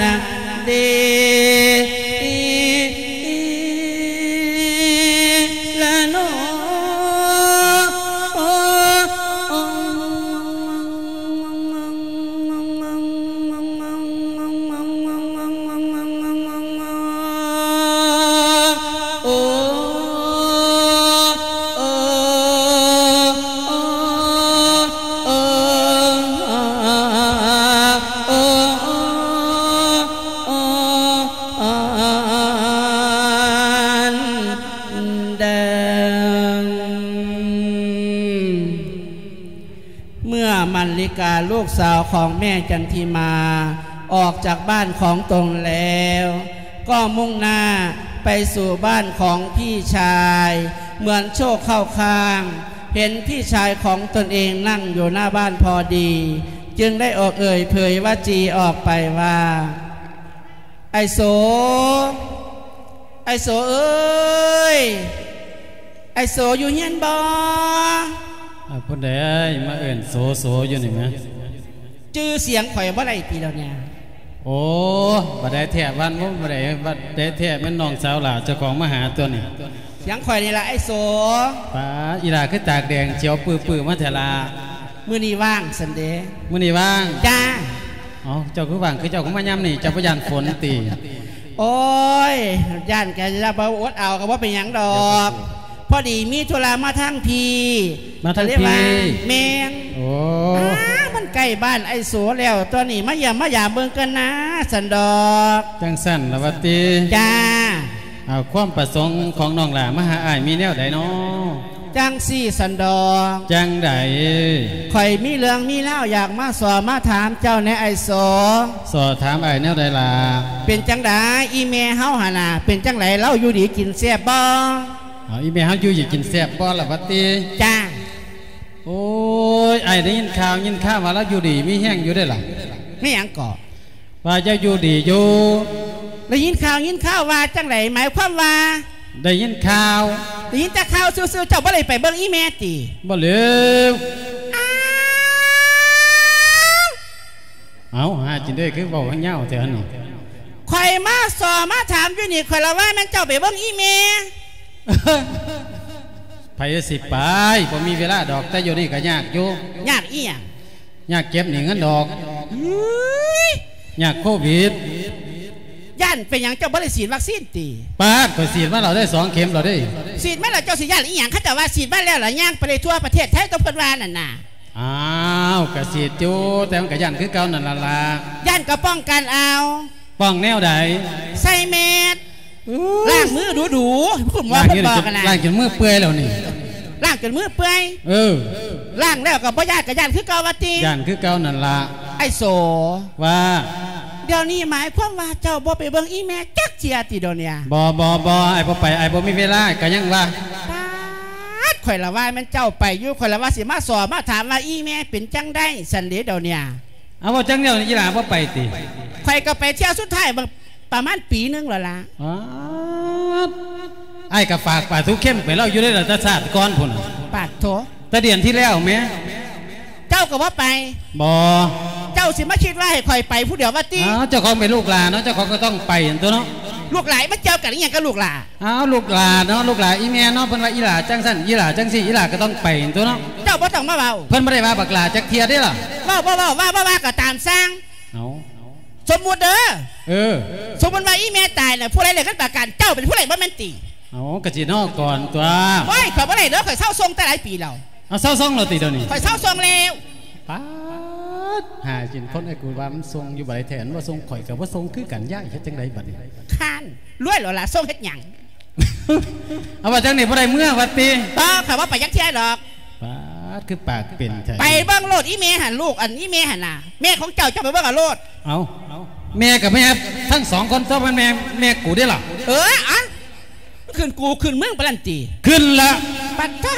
ນະ ເດ ລະໂນ. ของแม่จันทิมาออกจากบ้านของตนแล้ว ก็มุ่งหน้าไปสู่บ้านของพี่ชาย เหมือนโชคเข้าข้าง เห็นพี่ชายของตนเองนั่งอยู่หน้าบ้านพอดี จึงได้ออกเอ่ยเผยวจีออกไปว่า ไอ้โส ไอ้โสเอ้ย ไอ้โสอยู่เฮือนบ่? อ่า ผู้ใดมาเอิ้นโส โสอยู่นี่แหม? จื่อเสียงข่อยบ่ได้ติเดี๋ยวนี้? โอ้ บ่ได้แท้ วันบ่ บ่ได้ บ่ได้แท้ แม่นน้องสาวหล่าเจ้าของมาหาตัวนี่ เสียงข่อยนี่ล่ะ ไอ้โส ป๊าด อีหล่าคือตากแดงเขียวปื้อๆ มาแท้ล่ะ? มื้อนี้ว่างซั้นเด้ มื้อนี้ว่าง จ้า เอ้า เจ้าคือว่าง คือเจ้าคือมายามนี้ เจ้าบ่ย้านฝนติ? โอ๊ย ย้านก็อย่าบ่อดเอา ก็บ่เป็นหยังดอก พอดีมีธุระมาทางพี้ มาทางพี้ ก็เลยว่า แม่น โอ้ อ้า มันใกล้บ้านไอ้โสแล้ว ตอนนี้มาเยี่ยมมายามเบิ่งกันนะ ซั้นดอก จั่งซั้นล่ะว่าติ จ้า เอา ความประสงค์ของน้องหล่ามาหาอ้ายมีแนวใดน้อ? จั่งซี้ซั้นดอก จั่งใด? ข้อยมีเรื่องมีราวอยากมาสอบมาถามเจ้าแหน่ไอ้โส สอบถามอ้ายแนวใดล่ะ? เป็นจั่งใดอีแม่เฮาหั่นน่ะ เป็นจั่งใดลาวอยู่ดีกินแซ่บบ่? เอา อีแม่เฮาอยู่ดีกินแซ่บบ่ล่ะว่าติ? จ้า โอ๊ย อ้ายได้ยินข่าวยินข่าวว่าลาวอยู่ดีมีแฮงอยู่เด้ล่ะ แม่นหยังเกาะ? ว่าเจ้าอยู่ดีอยู่ ได้ยินข่าวยินข่าวว่าจั่งใด หมายความว่า ได้ยินข่าว ได้ยินแต่ข่าวซื่อๆ เจ้าบ่ได้ไปเบิ่งอีแม่ติ? บ่แล้ว อ้าว เอ้า หาจินเด้ คือเว้าให้ยาวแท้หั่นนี่ ข้อยมาสอบมาถามอยู่นี่ ข้อยละว่าแม่นเจ้าไปเบิ่งอีแม่ ไผสิไป บ่มีเวลาดอก แต่อยู่นี่ก็ยากอยู่ ยากอีหยัง? ยากเก็บหนี้เงินดอก เฮ้ย ยากโควิด ย้านเป็นหยังเจ้าบ่ได้ฉีดวัคซีนติ? ป๊าด ข้อยฉีดมาแล้วเด้ สองเข็มแล้วเด้ ฉีดมาแล้วเจ้าสิย้านอีหยัง เขาเจ้าว่าฉีดมาแล้วล่ะ ย่างไปได้ทั่วประเทศไทยตัวเพิ่นว่านั่นน่ะ อ้าว ก็ฉีดอยู่ แต่มันก็ย้านคือเก่านั่นล่ะล่ะ ย้านก็ป้องกันเอา ป้องแนวใด? ใส่แมส อู้ ล้างมือดูๆ คุณหมอเพิ่นบอกหั่นน่ะ ล้างจนมือเปื่อยแล้วนี่ ล้างจนมือเปื่อย เออ ล้างแล้วก็บ่ย้าน ก็ย้านคือเก่าว่าติ ย้านคือเก่านั่นล่ะ ไอ้โส ว่า เดี๋ยวนี้หมายความว่าเจ้าบ่ไปเบิ่งอีแม่จักเทื่อติเดี๋ยวนี้? บ่ บ่ บ่ อ้ายบ่ไป อ้ายบ่มีเวลา ก็ยังว่า ป๊าด ข้อยละว่าแม่นเจ้าไปอยู่ ข้อยละว่าสิมาสอบมาถามว่าอีแม่เป็นจั่งใดซั้นเด้เดี๋ยวนี้ เอา เว้าจั่งเดียวนี่ อีหล่าบ่ไปติ? ข้อยก็ไปเที่ยวสุดท้ายบาง ประมาณปีหนึ่งแล้วล่ะ ป๊าด อ้ายก็ฝากปลาทูเค็มไปลาวอยู่เด้ล่ะ แต่ชาติก่อนพุ้นน่ะ ปาดโถ แต่เดือนที่แล้วแหม เจ้าก็บ่ไป บ่ เจ้าสิมาคิดว่าให้ข้อยไปผู้เดียวว่าติ? อ้าว เจ้าของเป็นลูกหล่าเนาะ เจ้าของก็ต้องไปหั่นตั่วเนาะ ลูกหล่ามันเกี่ยวกันอีหยังกับลูกหล่า? อ้าว ลูกหล่าเนาะ ลูกหล่าอีแม่เนาะ เพิ่นว่าอีหล่าจั่งซั้น อีหล่าจั่งซี้ อีหล่าก็ต้องไปหั่นตั่วเนาะ เจ้าบ่ต้องมาเว้า เพิ่นบ่ได้ว่าบักหล่าจักเทื่อเด้ล่ะ เว้าบ่เว้า ว่าบ่ว่าก็ตามซ่าง เอ้า สมมุติเด้อ เออ สมมุติว่าอีแม่ตายน่ะ ผู้ใดได้เงินประกัน เจ้าเป็นผู้ได้บ่แม่นติ? เอ้า ก็สินอกก่อนตั่ว โอ้ย ข้อยบ่ได้เด้อ ข้อยเซาส่งแต่หลายปีแล้ว เอา เซาส่งแล้วติเดี๋ยวนี้? ข้อยเซาส่งแล้ว ป๊าด หากินคน ไอ้กูว่ามันส่งอยู่บ่ได้แท้ มันบ่ส่ง ข้อยก็บ่ส่งคือกัน ย้ายเฮ็ดจั่งใดบัดนี้ ค้าน รวยแล้วล่ะ ส่งเฮ็ดหยัง? เอาว่าจั่งนี้บ่ได้เมือว่าติ? บ่ ข้อยบ่ไปจักเทื่อดอก ป๊าด คือปากเป็นแท้ ไปเบิ่งโลดอีแม่หั่น ลูกอันอีแม่หั่นน่ะ แม่ของเจ้า เจ้าไปเบิ่งเอาโลด เอ้า แม่กับแม่ทั้งสองคน เจ้าเป็นแม่ แม่กูเด้ล่ะ เออ อะ ขึ้นกูขึ้นมึงปานนั้นติ ขึ้นละ ปัดโธ่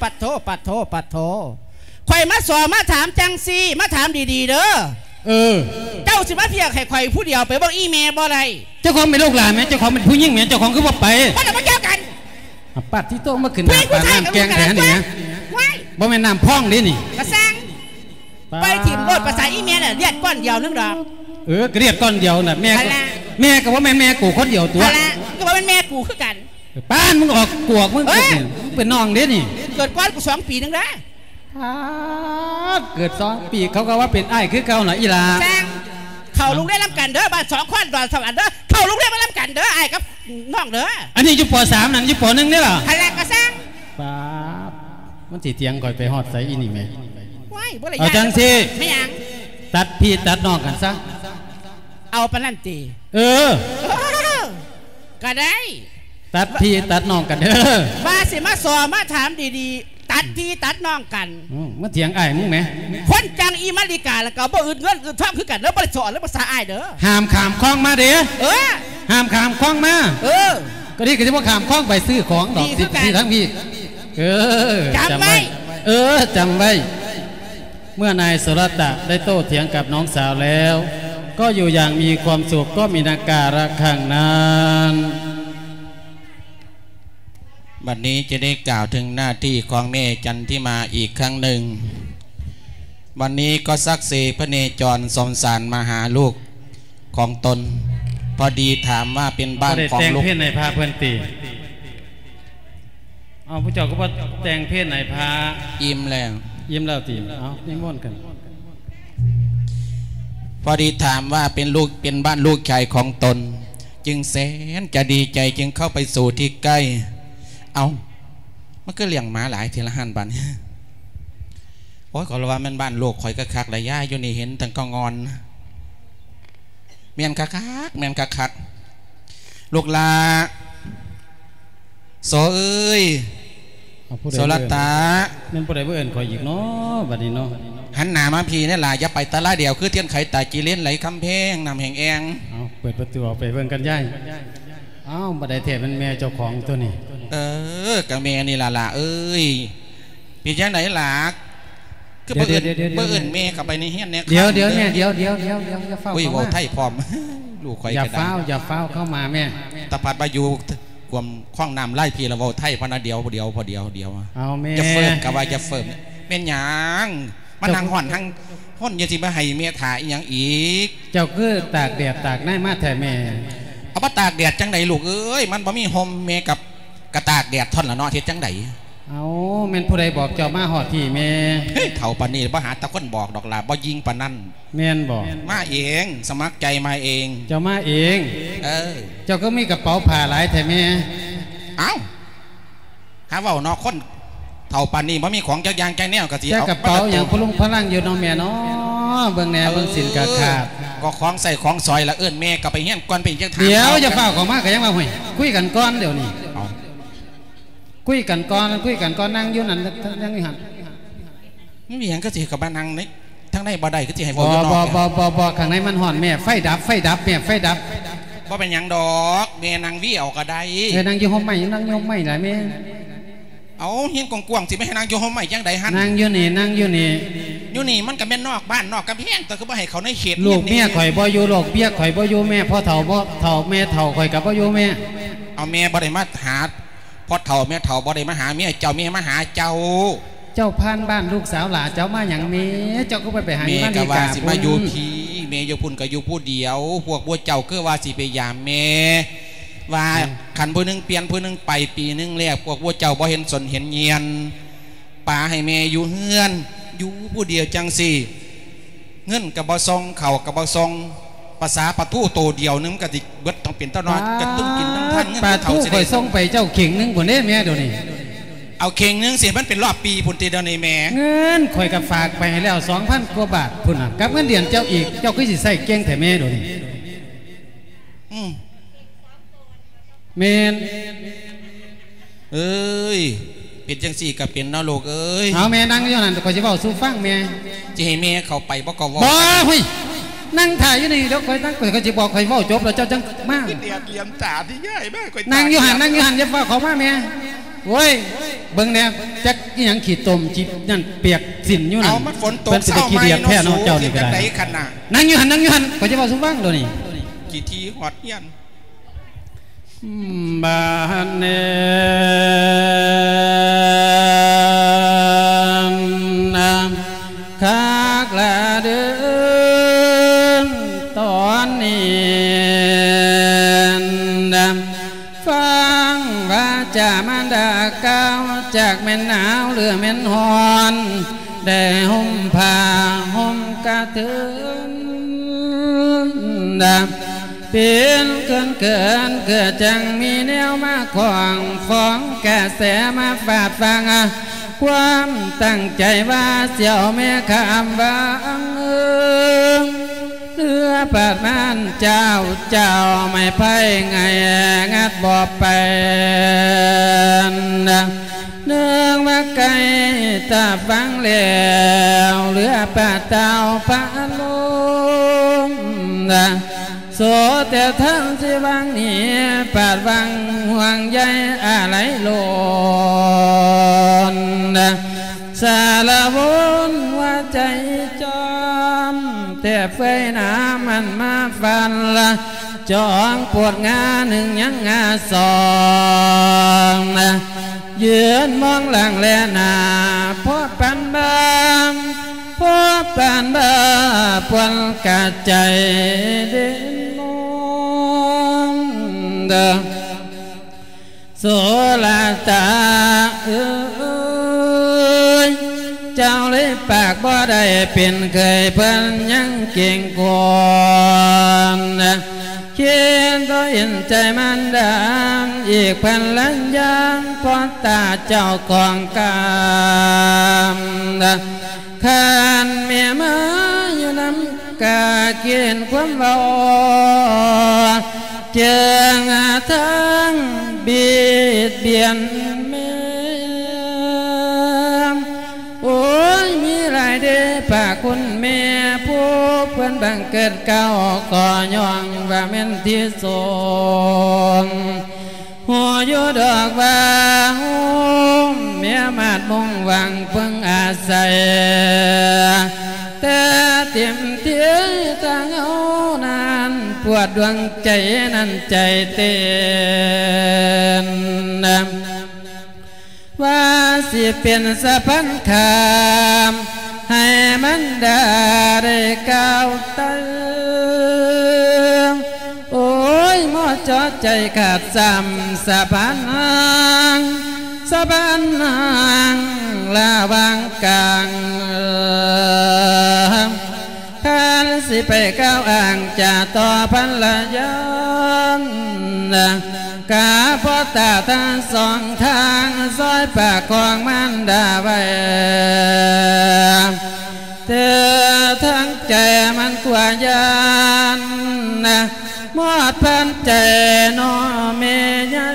ปัดโธ่ ปัดโธ่ ปัดโธ่ ข้อยมาสอบมาถามจั่งซี้ มาถามดีๆ เด้อ เออ เจ้าสิมาเพียกให้ข้อยผู้เดียวไปเบิ่งอีแม่บ่ได้ เจ้าของเป็นลูกหล่าแหม เจ้าของเป็นผู้หญิงแหม เจ้าของคือบ่ไป บ่ต้องมาเกี่ยวกัน อ่ะ ปาดที่โต๊ะมาขึ้นหน้าปากน้ำแกงแท้นี่นะ ว้าย บ่แม่นน้ำพองเด้นี่ กระซัง ปาด ไปถิ่มโลด ภาษาอีแม่น่ะ เลือดก้อนเดียวนึงดอก เออ ก็เลือดก้อนเดียวน่ะ แม่ก็ นั่นล่ะ แม่ก็บ่แม่นแม่กูคนเดียวตั่ว นั่นล่ะ ก็บ่แม่นแม่กูคือกัน ปานมึงออกกวก มึง เอ้ย มึงเป็นน้องเด้นี่ เกิดก่อนกูสองปีนึงเด้อ ปาด เกิดสองปี เขาก็ว่าเป็นอ้ายคือเก่าน่ะอีหล่า สร้าง เข้าโรงเรียนนำกันเด้อ บ้านสองคอนดอนสวรรค์เด้อ เข้าโรงเรียนมานำกันเด้อ อ้ายกับน้องเด้อ อันนี้อยู่ ป.สาม นั่นอยู่ ป.หนึ่ง นี่ล่ะ หั่นแหละกระซัง ปาด มันสิเถียงข่อยไปฮอดไสอีนี่แม่ ว้าย บ่ได้ เอาจั่งซี้ แม่นหยัง ตัดพี่ตัดน้องกันซะ เอาปานนั้นติ เออ เออ ก็ได้ ตัดพี่ตัดน้องกันเด้อ ว่าสิมาสอบมาถามดีๆ ต ຕັດພີ່ຕັດນ້ອງກັນ. ອືມ ມາຖຽງອ້າຍມຶງແໝ. ຄົນຈັ່ງອີມາລິກາ ແລ້ວກໍບໍ່ອຶດເງິນອຶດທອງຄືກັນເດີ ບໍ່ໄດ້ສອນເລີຍພາສາອ້າຍເດີ. ຫ້າມຂ້າມຄອງມາເດ້. ເອີ ຫ້າມຂ້າມຄອງມາ. ເອີ ກໍດີ ກໍຊິບໍ່ຂ້າມຄອງໄປຊື້ຂອງດອກ. ດີຄືກັນ. ທາງພີ້. ເອີ ຈຳໄວ້. ເອີ ຈຳໄວ້. ເມື່ອນາຍສຸລັດຕະໄດ້ໂຕ້ຖຽງກັບນ້ອງສາວແລ້ວ ກໍຢູ່ຢ່າງມີຄວາມສຸກ ກໍມີນາກາລະຄັ້ງນັ້ນ. ບັດນີ້ຈະໄດ້ກ່າວເຖິງໜ້າທີ່ຂອງແມ່ຈັນທິມາອີກຄັ້ງໜຶ່ງ. ວັນນີ້ກໍສັກເສພະເນຈອນສົງສານມາຫາລູກຂອງຕົນ. ພໍດີຖາມວ່າເປັນບ້ານຂອງລູກ ບໍ່ໄດ້ແຕ່ງເພນໃຫ້ພະເພິ່ນຕິ? ເອົາ ຜູ້ເຈົ້າກໍບໍ່ແຕ່ງເພນໃຫ້ພະ? ອີ່ມແລ້ວ. ອີ່ມແລ້ວຕິ? ເອົາ ນິມົນກັນ. ພໍດີຖາມວ່າເປັນລູກ ເປັນບ້ານລູກຊາຍຂອງຕົນ ຈຶ່ງແສນຈະດີໃຈ ຈຶ່ງເຂົ້າໄປສູ່ທີ່ໃກ້. ເອົ້າ ມັນຄືລ້ຽງໝາຫຼາຍແທ້ລະຫັ້ນບາດນີ້. ໂອ້ຍ ຂ້ອຍລະວ່າແມ່ນບ້ານລູກຂ້ອຍຄັກໆ ລະຍາຍ ຢູ່ນີ້ເຫັນຕັ້ງແຕ່ງອນ. ແມ່ນຄັກໆ ແມ່ນຄັກໆ ລູກຫຼ້າ. ໂສເອີຍ ເອົາ ຜູ້ໃດ ໂສລັດຕະ ເອີ້ນ? ແມ່ນຜູ້ໃດມາເອີ້ນຂ້ອຍອີກເນາະ ບັດນີ້ເນາະ? ຫັນໜ້າມາພີ້ແດ່ຫຼ້າ ຢ່າໄປຕະລະດຽວ ຄືທຽນໄຂຕາຈີເລນໄຫຼຄຳແພງ ນ້ຳແຫ້ງແອງ. ເອົາ ເປີດປະຕູອອກໄປເບິ່ງກັນຍາຍ. ເອົ້າ ບໍ່ໄດ້ແທ້ ແມ່ນແມ່ເຈົ້າຂອງຕົວນີ້. ເອີ ກະແມ່ນີ້ລະຫຼ້າເອີຍ. ເປັນຈັ່ງໃດຫຼ້າ ຄືບໍ່ເອີ້ນ ດຽວໆໆໆ ບໍ່ເອີ້ນແມ່ເຂົ້າໄປໃນເຮືອນແດ່? ດຽວໆແມ່ ດຽວໆໆໆ ຢ່າຟ້າວ ອຸ້ຍ ເຂົ້າມາ ເວົ້າໄທພ້ອມ ລູກຂ້ອຍ ຢ່າຟ້າວ ຢ່າຟ້າວເຂົ້າມາແມ່. ຕາພັດວ່າຢູ່ກວມຄອງນ້ຳລາຍພີລະເວົ້າໄທພະນະ. ດຽວ ດຽວ ດຽວ ດຽວ ເອົາແມ່ ຢ່າເຟີ້ມ ກະວ່າຢ່າເຟີ້ມ. ແມ່ນຫຍັງ ມານັ່ງຮ້ອນທັງຄົນ ຢ່າຊິມາໃຫ້ແມ່ຖ້າອີ່ຫຍັງອີກ? ເຈົ້າຄືຕາກແດດຕາກໃນມາແທ້ແມ່? ເອົາ ມາຕາກແດດຈັ່ງໃດລູກເອີຍ ມັນບໍ່ມີຮົ່ມ ແມ່ກະ ກະຕາກແດດທ່ອນລະເນາະ ເຮັດຈັ່ງໃດ? ເອົ້າ ແມ່ນຜູ້ໃດບອກເຈົ້າມາຮອດພີ້ແມ່? ເຮີ້ຍ ເຖົ້າປານນີ້ບໍ່ຫາແຕ່ຄົນບອກດອກຫຼ້າ ບໍ່ຍິ່ງປານນັ້ນ. ແມ່ນບໍ່? ມາເອງ ສະໝັກໃຈມາເອງ. ເຈົ້າມາເອງ? ເອີ. ເຈົ້າຄືມີກະເປົາຜ້າຫຼາຍແທ້ແມ່? ເອົ້າ ຫາເວົ້າເນາະ ຄົນເຖົ້າປານນີ້ບໍ່ມີຂອງຈັກຢ່າງຈັກແນວ ກະຊິເອົາ ແຕ່ກະເປົາຫຍັງພະລຸງພະລັງຢູ່ເນາະແມ່ເນາະ. ເບິ່ງແດ່ ເອີ ເບິ່ງສິ້ນກະຂາດ ກໍຂອງໃຊ້ຂອງສອຍລະ. ເອີ້ນແມ່ກະໄປເຮືອນກ່ອນ ເປັນຫຍັງຈະຖາມ? ດຽວ ເຂົາ ຢ່າຟ້າວເຂົ້າມາ ກະຍັງວ່າ ຫ້ວຍ ຄຸຍກັນກ່ອນດຽວນີ້. ເອົ້າ ຄຸຍກັນກ່ອນ ຄຸຍກັນກ່ອນ ນັ່ງຢູ່ຫັ້ນ ນັ່ງຢູ່ຫັ້ນ. ມີຫຍັງຄືຊິເຂົ້າມານັ່ງໃນທາງໃນບໍ່ໄດ້ ຄືຊິໃຫ້ເວົ້າຢູ່ນອກ? ບໍ່ ບໍ່ ບໍ່ ບໍ່ ຂ້າງໃນມັນຮ້ອນແມ່. ໄຟດັບ ໄຟດັບແມ່ ໄຟດັບ. ບໍ່ເປັນຫຍັງດອກ ແມ່ນັ່ງວີເອົາກໍໄດ້. ເອີ ນັ່ງຢູ່ຮົ່ມໄມ້ ນັ່ງຢູ່ຮົ່ມໄມ້ຫຼາຍແມ່. ເອົາ ເຮືອນກວ້າງໆ ຊິໄປໃຫ້ນັ່ງຢູ່ຮົ່ມໄມ້ຈັ່ງໃດຫັ້ນ? ນັ່ງຢູ່ນີ້ ນັ່ງຢູ່ນີ້. ຢູ່ນີ້ມັນກໍແມ່ນນອກບ້ານນອກກຳແພງ ແຕ່ຄືບໍ່ໃຫ້ເຂົ້າໃນເຂດ? ລູກເມຍຂ້ອຍບໍ່ຢູ່ ລູກເມຍຂ້ອຍບໍ່ຢູ່ແມ່. ພໍ່ເຖົ້າບໍ່ເຖົ້າ ແມ່ເຖົ້າຂ້ອຍກໍບໍ່ຢູ່ແມ່. ເອົາ ແມ່ບໍ່ໄດ້ມາຫາ ພໍ່ເຖົ້າແມ່ເຖົ້າບໍ່ໄດ້ມາຫາເມຍເຈົ້າ ແມ່ມາຫາເຈົ້າ. ເຈົ້າຜ່ານບ້ານລູກສາວຫຼ້າ ເຈົ້າມາຫຍັງແມ່? ເຈົ້າຄືບໍ່ໄປຫາຢູ່ບ້ານອີກາ? ແມ່ກໍວ່າຊິມາຢູ່ພີ້ ແມ່ຢູ່ພຸ້ນກໍຢູ່ຜູ້ດຽວ. ພວກພວກເຈົ້າຄືວ່າຊິໄປຢາມແມ່ ວ່າ ອືມ ຄັນຜູ້ໜຶ່ງປ່ຽນຜູ້ໜຶ່ງໄປ ປີໜຶ່ງແລ້ວ ພວກພວກເຈົ້າບໍ່ເຫັນສົນເຫັນຍຽນ ປາໃຫ້ແມ່ຢູ່ເຮືອນ ຢູ່ຜູ້ດຽວຈັ່ງຊີ້. ເງິນກໍບໍ່ສົ່ງ ເຂົ້າກໍບໍ່ສົ່ງ ປາສາປາທູໂຕດຽວໜຶ່ງ ມັນກໍຊິເບິດ ຕ້ອງເປັນຕານອນ ປາ ກະຕຸ້ນກິນນຳທ່ານເງິນ ປາທູ ຜູ້ເຖົ້າຊິໄດ້ ຂ້ອຍສົ່ງໄປເຈົ້າເຂ່ງໜຶ່ງພຸ້ນເດ້ແມ່ ດຽວນີ້. ເອົາເຂ່ງໜຶ່ງຊິ ມັນເປັນຮອບປີພຸ້ນຕິ ດຽວນີ້ແມ່? ເງິນຂ້ອຍກໍຝາກໄປໃຫ້ແລ້ວ ສອງພັນກວ່າບາດພຸ້ນນະ ກັບເງິນເດືອນເຈົ້າອີກ ເຈົ້າຄືຊິໃຊ້ເກັ່ງແທ້ແມ່ ດຽວນີ້? ອືມ ແມ່ນ. ເອີຍ ເປັນຈັ່ງຊີ້ກໍເປັນເນາະລູກເອີຍ. ເອົາແມ່ນັ່ງຢູ່ຫັ້ນ ຂ້ອຍຊິເວົ້າສູ່ຟັງແມ່. ຊິໃຫ້ແມ່ເຂົ້າໄປບໍ່ກໍເວົ້າ? ບໍ່ ຫຸ້ຍ ນັ່ງຖ້າຢູ່ນີ້ ດຽວຂ້ອຍນັ່ງ ຂ້ອຍຊິບອກ ຂ້ອຍເວົ້າຈົບແລ້ວເຈົ້າຈັ່ງມາ. ແດດຫຼຽມຕາທີ່ຍາຍມາ ຂ້ອຍ ນັ່ງຢູ່ຫັ້ນ ນັ່ງຢູ່ຫັ້ນ ຢ່າຟ້າວເຂົ້າມາແມ່. ໂອ້ຍ ເບິ່ງແດ່ ຈັກອີ່ຫຍັງຂີ້ຕົມຂີ້ນັ້ນປຽກສິ້ນຢູ່ນັ້ນ. ເອົາ ມັນຝົນຕົກ ເຊົາໃໝ່ເນາະ ເຈົ້ານີ້ກໍໄດ້. ນັ່ງຢູ່ຫັ້ນ ນັ່ງຢູ່ຫັ້ນ ຂ້ອຍຊິເວົ້າສູ່ຟັງດຽວນີ້. ຂີ້ຖີ່ຮອດເຮືອນ. ບາດນີ້ນະ ຄັກລະເດີ ຕອນນີ້ນະ ຟັງວາຈາມານດາກ່າວ ຈັກແມ່ນໜາວຫຼືແມ່ນຮ້ອນ ໄດ້ຫົ່ມຜ້າຫົ່ມກະເທີນ ເປັນເຂີນເຂີນ ຄືຈັ່ງມີແນວມາຂວາງ ຟ້ອງກະແສມາຟາດຟັງ ຄວາມຕັ້ງໃຈວ່າຊິເອົາແມ່ຂ້າມວັງ ເຮືອບາດມານເຈົ້າ ເຈົ້າໄມ້ໄຜ່ໄຫງ່ງັດບໍ່ໄປ ເນື່ອງວ່າໄກ ຟັງແລ້ວເຫຼືອປາດຕາວປາລົມ ໂສແຕ່ທ່ານຊິວາງໜີ ປາດວາງຫ່ວງໃຍອາໄລລົ້ນ ສາລະວົນຫົວໃຈຈອມ ແຕ່ເຟື່ອຍໜາມັນມາຟັນລະ ຈອງປວດງາໜຶ່ງຍັງງາສອງ ຢືນມອງຫຼັງແລໜ້າ ພໍປານບ້າ ພໍປານບ້າ ປວນກາດໃຈເດນມອງ ໂສລະຕາເອີຍ ເຈົ້າເລີຍປາກບໍ່ໄດ້ເປັນເຂີຍ ເພິ່ນຍັງເກງກົວນ ຄິດບໍ່ເຫັນໃຈມານດາ ອີກພັນລັນຍາ ພໍຕາເຈົ້າຂອງກາມ ຄັນແມ່ມາຢູ່ນຳກະເກນຄວາມເວົ້າ ເຈີງທາງບຽດບຽນແມ່ ໂອ້ຍ ມີຫຼາຍເດ້ພະຄຸນແມ່ ຜູ້ເພິ່ນບັງເກີດເກົ້າ ກໍຍ້ອນວ່າແມ່ນທີ່ສຸດ ຮູ້ຢູ່ດອກວ່າໂຮມແມ່ມາດມຸງຫວັງເພິ່ງອາໄສ ແຕ່ເຕັມທີ່ທາງເຮົານັ້ນ ປວດດວງໃຈນັ້ນໃຈເຕັ້ນ ວ່າຊິເປັນສະພານຂ້າມ ໃຫ້ມັນດາໄດ້ກ້າວໄຕ່. ໂອ້ຍ ໝໍເຈາະໃຈຂາດຊ້ຳ ສະພານຮ່າງ ສະພານຮ່າງລະຫວ່າງກາງ ຄັນຊິໄປກ່າວອ້າງຈາຕໍ່ພັນລະຍາ ກະພໍຕາທັງສອງທາງ ຊ່ອຍປະຄອງມານດາໄວ້ ແຕ່ທາງໃຈມັນກວ່າຢ້ານ ໝອດພັນໃຈນ້ອງແມ່ໃຫຍ່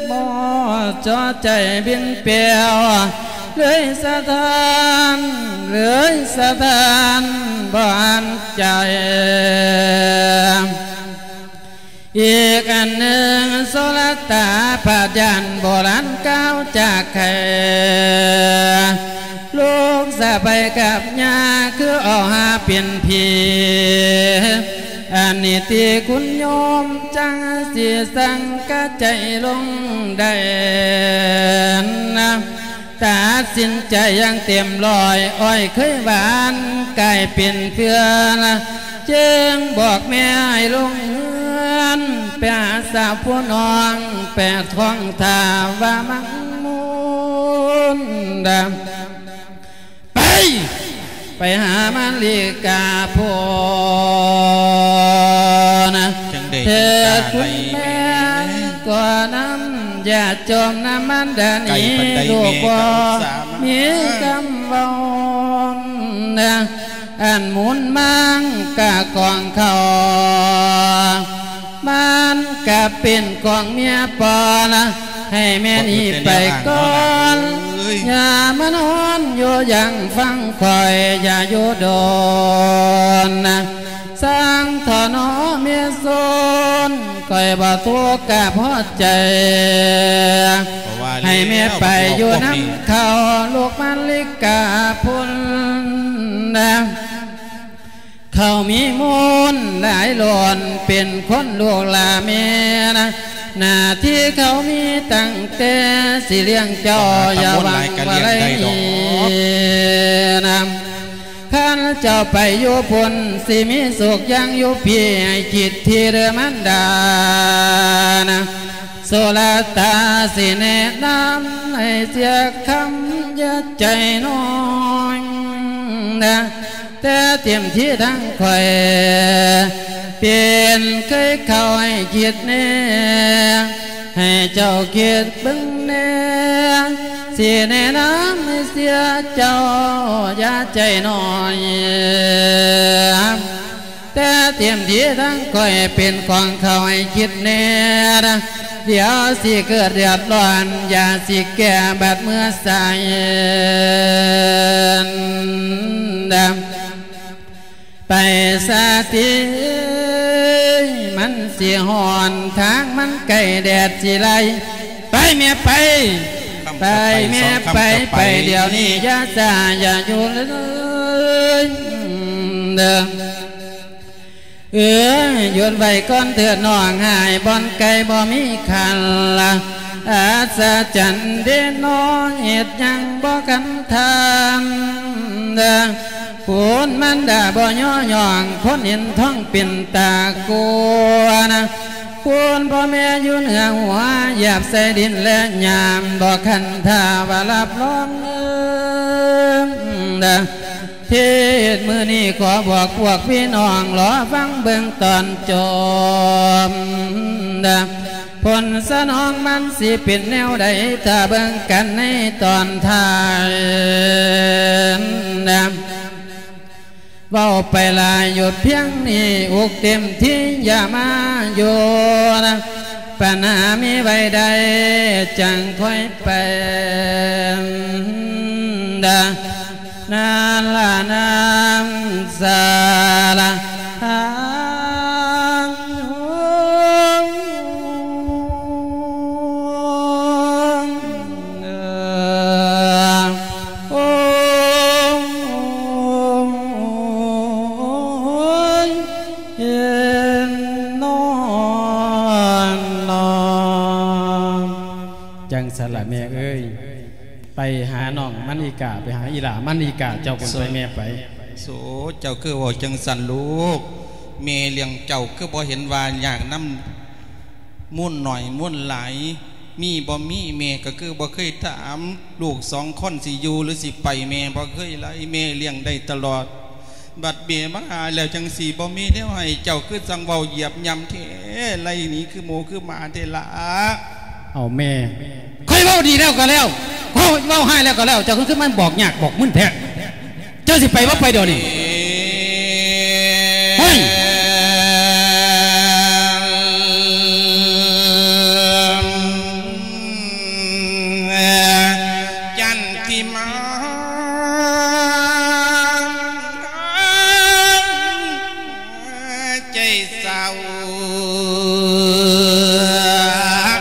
ໝໍເຈາະໃຈບິນແປວ ເລີຍສະທ້ານ ເລີຍສະທ້ານບໍ່ອັນໃຈ. ອີກອັນໜຶ່ງ ໂສລະຕາ ພະຍານໂບລານກ່າວຈາກໄຂ ລູກສະໃພ້ກັບຍ່າ ຄືເອົາຫາເປັນຜີ ອັນນີ້ຕິຄຸນໂຍມ ຈັ່ງຊິສັງກະໃຈລົງໄດ້ນະ ຕັດສິນໃຈຢ່າງເຕັມຮ້ອຍ ອ້ອຍເຄີຍຫວານກາຍເປັນເພື່ອນ ຈຶ່ງບອກແມ່ໃຫ້ລົງເຮືອນ ໄປຫາສາວຜູ້ນ້ອງ ແປທ້ອງຖ້າວ່າມັກມຸນດາ ໄປ ໄປຫາມາລິກາພຸ້ນ ຈັ່ງໃດ ເທີດຄຸນແມ່ ກໍນຳ ຢ່າຈົ່ມນຳມັນດາໜີ ໄກປານໃດ ລູກບໍ່ມີຄຳເວົ້ານະ ອັນໝູນມັງກະຂອງເຂົາ ມັນກະເປັນຂອງເມຍປ່ອນ ໃຫ້ແມ່ໜີໄປກ່ອນ ຢ່າມານອນຢູ່ຢ່າງຟັງຂ້ອຍ ຢ່າຢູ່ດົນ ຊ່າງເຖາະເນາະເມຍໂສນ ຂ້ອຍບໍ່ທຸກກະພໍໃຈ ໃຫ້ແມ່ໄປຢູ່ນຳເຂົາ ລູກມາລິກາພຸ້ນນະ ເຂົາມີມູນຫຼາຍລ້ອນ ເປັນຄົນລູກຫຼ້າແມ່ນະ ໜ້າທີ່ເຂົາມີຕັ້ງແຕ່ຊິລ້ຽງເຈົ້າ ຢ່າຫວັງວ່າໄດ້ນຳ ຄັນເຈົ້າໄປຢູ່ພຸ້ນ ຊິມີສຸກຢ່າງຢູ່ພີ້ ໃຫ້ຄິດທີ່ເດີມານດານະ ໂສລະຕາຊິແນະນຳໃຫ້ເສຍຄຳ ຢ່າໃຈນ້ອຍນະ ແຕ່ເຕັມທີ່ທັງຂ້ອຍ ເປັນເຄີຍເຂົ້າໃຫ້ຄິດແນ່ ໃຫ້ເຈົ້າຄິດເບິ່ງແນ່ ຊິແນະນຳໃຫ້ເສຍເຈົ້າ ຢ່າໃຈນ້ອຍ ເຕັມທີ່ທັງຂ້ອຍເປັນຂອງເຂົາໃຫ້ຄິດແດ່ ດຽວຊິເກີດເດືອດຮ້ອນ ຢ່າຊິແກ້ບາດເມື່ອໃສ ໄປສາຕິ ມັນຊິຮ້ອນ ທາງມັນໃກ້ແດດຊິໄລ່ ໄປແມ່ໄປ ໄປແມ່ໄປ ໄປດຽວນີ້ ຢ່າຊ້າ ຢ່າຢູ່ເລີຍ ເດີ ເອີ ຢຸດໄວ້ກ່ອນເທີດນ້ອງ ຫາຍບ່ອນໄກບໍ່ມີຄັນລະ ອັດສະຈັນເດເນາະ ເຮັດຫຍັງບໍ່ຄັນທັນ ຄຸນມານດາບໍ່ຍໍຍ້ອງ ຄົນເຫັນທ້ອງເປັນຕາກົວນະ ຄຸນພໍ່ແມ່ຢູ່ເໜືອຫົວ ຢາບໃສ່ດິນແລະຫຍ້າ ບໍ່ຄັນຖ້າວ່າຮັບຮອງ ເອີ ເທດມື້ນີ້ຂໍບອກພວກພີ່ນ້ອງ ລໍຟັງເບິ່ງຕອນຈົບ ຜົນສະໜອງມັນຊິເປັນແນວໃດ ຖ້າເບິ່ງກັນໃນຕອນທ້າຍ ເວົ້າໄປຫຼາຍ ຢຸດພຽງນີ້ ອຸກເຕັມທີ່ ຢ່າມາຢູ່ນະ ປັນຫາມີໄວ້ໃດ ຈັ່ງຄ່ອຍໄປ ນາລະນາສາລະທາງ ໂອ້ຍ ເຫັນນອນນອນ ຈັ່ງຊັ້ນລະແມ່ເອີຍ ໄປຫານ້ອງມະນີກາ ໄປຫາອີ່ຫຼ້າມະນີກາ ເຈົ້າຄົນໄປແມ່ໄປ. ໂອ້ ເຈົ້າຄືເວົ້າຈັ່ງຊັ້ນລູກ ແມ່ລ້ຽງເຈົ້າຄືບໍ່ເຫັນວ່າຍາກນຳ ມູນໜ້ອຍມູນຫຼາຍ ມີບໍ່ມີ ແມ່ກໍຄືບໍ່ເຄີຍຖາມ ລູກສອງຄົນຊິຢູ່ຫຼືຊິໄປ ແມ່ບໍ່ເຄີຍໄລ່ ແມ່ລ້ຽງໄດ້ຕະຫຼອດ ບັດແມ່ມາຫາແລ້ວຈັ່ງຊິບໍ່ມີແນວໃຫ້ ເຈົ້າຄືຈັ່ງເວົ້າຢຽບຫຍ້ຳແທ້ ໄລ່ໜີຄືໝູຄືໝາແທ້ລະ. ເອົາແມ່ ຂ້ອຍເວົ້າດີແລ້ວກໍແລ້ວ ຂ້ອຍເວົ້າຮ້າຍແລ້ວກໍແລ້ວ ເຈົ້າຄືມາບອກຍາກບອກມຶນແທ້. ເຈົ້າຊິໄປບໍ່ໄປດຽວນີ້? ໂອ້ຍ ຈັນທິມາ ໃຈເສົ້າ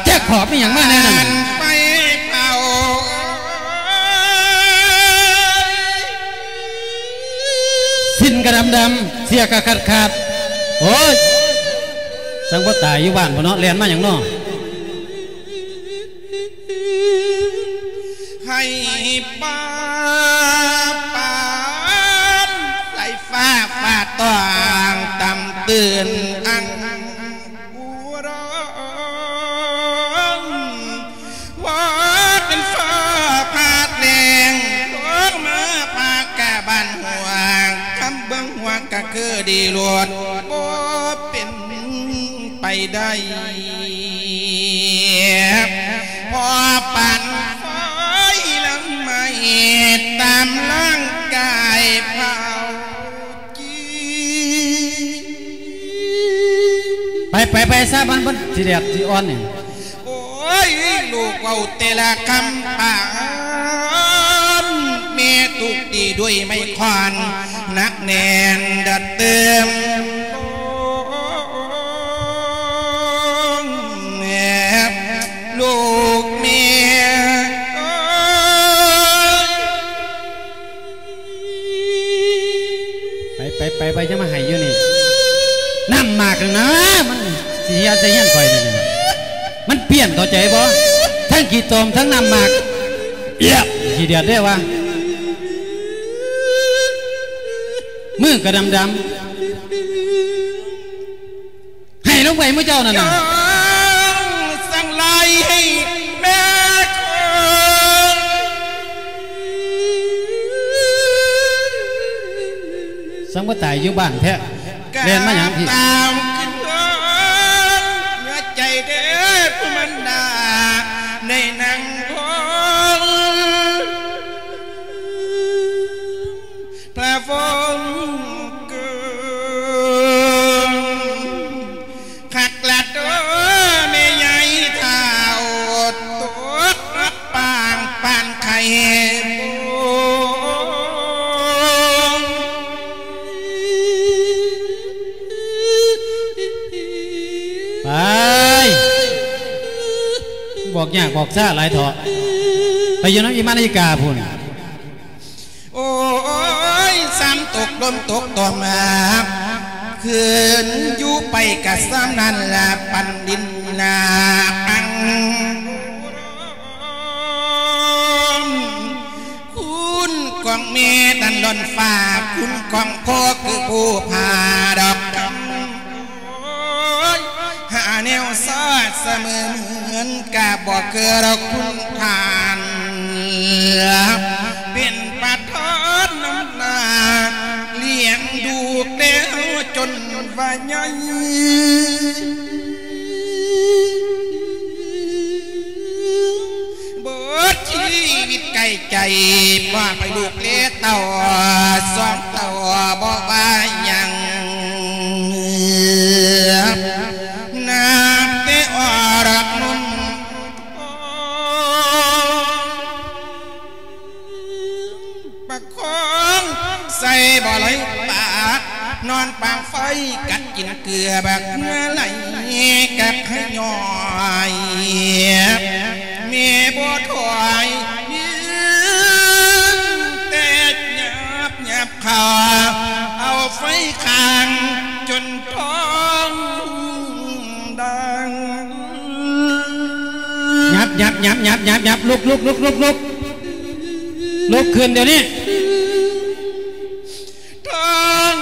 ແຈກຂອບອີ່ຫຍັງມາແນວນັ້ນ? ໄປເຜົາ ສິ້ນກະດຳໆ ເສື້ອກະຂາດໆ ໂອ້ຍ ສັງບໍ່ຕາຍຢູ່ບ້ານພຸ້ນເນາະ ແລ່ນມາຫຍັງເນາະ? ໃຫ້ປ້າປານ ໃສ່ຟ້າຟ້າຕ້ອງ ຕຳຕື່ນອັງອຸດອງ ວ່າເປັນຟ້າພາດແລງ ລົງມາພາກະບ້ານຫ້ວງ ຄຳເບິ່ງຫ້ວງກະຄືດີໂລດ ບໍ່ເປັນໄປໄດ້ ພໍປານໄຟລຳໄໝ ຕາມຮ່າງກາຍເຜົາຈີ ໄປ ໄປ ໄປຊະ ມັນ ມັນຊິແດດຊິອ່ອນນີ້. ໂອ້ຍ ລູກເວົ້າແຕ່ລະຄຳປານ ແມ່ທຸບຕີດ້ວຍໄມ້ຄ້ອນ ໜັກແໜ້ນດັດຕື່ມ ລູກແມ່ເອີຍ. ໄປ ໄປ ໄປ ໄປ ຢ່າມາໃຫ້ຢູ່ນີ້ ນ້ຳໝາກນັ້ນນະ ມັນຊິເຫຍໃສ່ເຮືອນຂ້ອຍນີ້ນະ ມັນປ່ຽນ ເຂົ້າໃຈບໍ່? ທັງຂີ້ຕົມ ທັງນ້ຳໝາກ ເອີຍ ຂີ້ດຽດເດ້ວ່າ ມືກໍດຳໆ. ໃຫ້ລົງໄປໝູ່ເຈົ້ານັ້ນນະ ຈັ່ງໄລ່ໃຫ້ແມ່ຄົນ ສັງບໍ່ຕາຍຢູ່ບ້ານແທ້ ແລ່ນມາຫຍັງພີ້? ຕາມຂຶ້ນເຮືອນ ເໜືອໃຈເດ້ຜູ້ມານດາ ໃນນາງຄົນ ພະວົງເກີດ ໄປ ບອກຍາກບອກຊ້າຫຼາຍເຖາະ ໄປຢູ່ນຳອີ່ມານາຍກາພຸ້ນ. ໂອ້ຍ ຊ້ຳຕົກລົມຕົກຕອມ ຄືນຢູ່ໄປກະຊ້ຳນັ້ນລະ ປັນດິນນາອັງ ຄູນຂອງແມ່ດັນດອນຟ້າ ຄູນຂອງພໍ່ຄືພູຜາດອກຄຳ. ໂອ້ຍ ຫາແນວຊາດສະເໝີເໝືອນ ກະບໍ່ເຄີຍດອກຄຸນທ່ານ ເປັນປະທານນຳໜ້າ ລ້ຽງດູແຕ່ເຮົາຈົນວ່າໃຫຍ່. ເບິດຊີວິດໃກ້ໃຈ ມອບໃຫ້ລູກແລເຕົ້າສອງເຕົ້າ ບໍ່ວ່າຫຍັງ ນັບແຕ່ອອກນມ ປະຄອງໃສ່ບໍ່ໄຫຼປາກ ນອນປາງໄຟກັດກິນເກືອ ບັກເຫື່ອໄຫຼກັບໄຫຍ້ອຍ ແມ່ບໍ່ຖອຍ ຍິງແຕ່ຫຍາບຫຍາບຂາ ເອົາໄຟຄ້າງຈົນທ້ອງດັງ. ຫຍັບ ຫຍັບ ຫຍັບ ຫຍັບ ຫຍັບ ຫຍັບ ລຸກ ລຸກ ລຸກ ລຸກ ລຸກ ລຸກຂຶ້ນດຽວນີ້. ທ້ອງ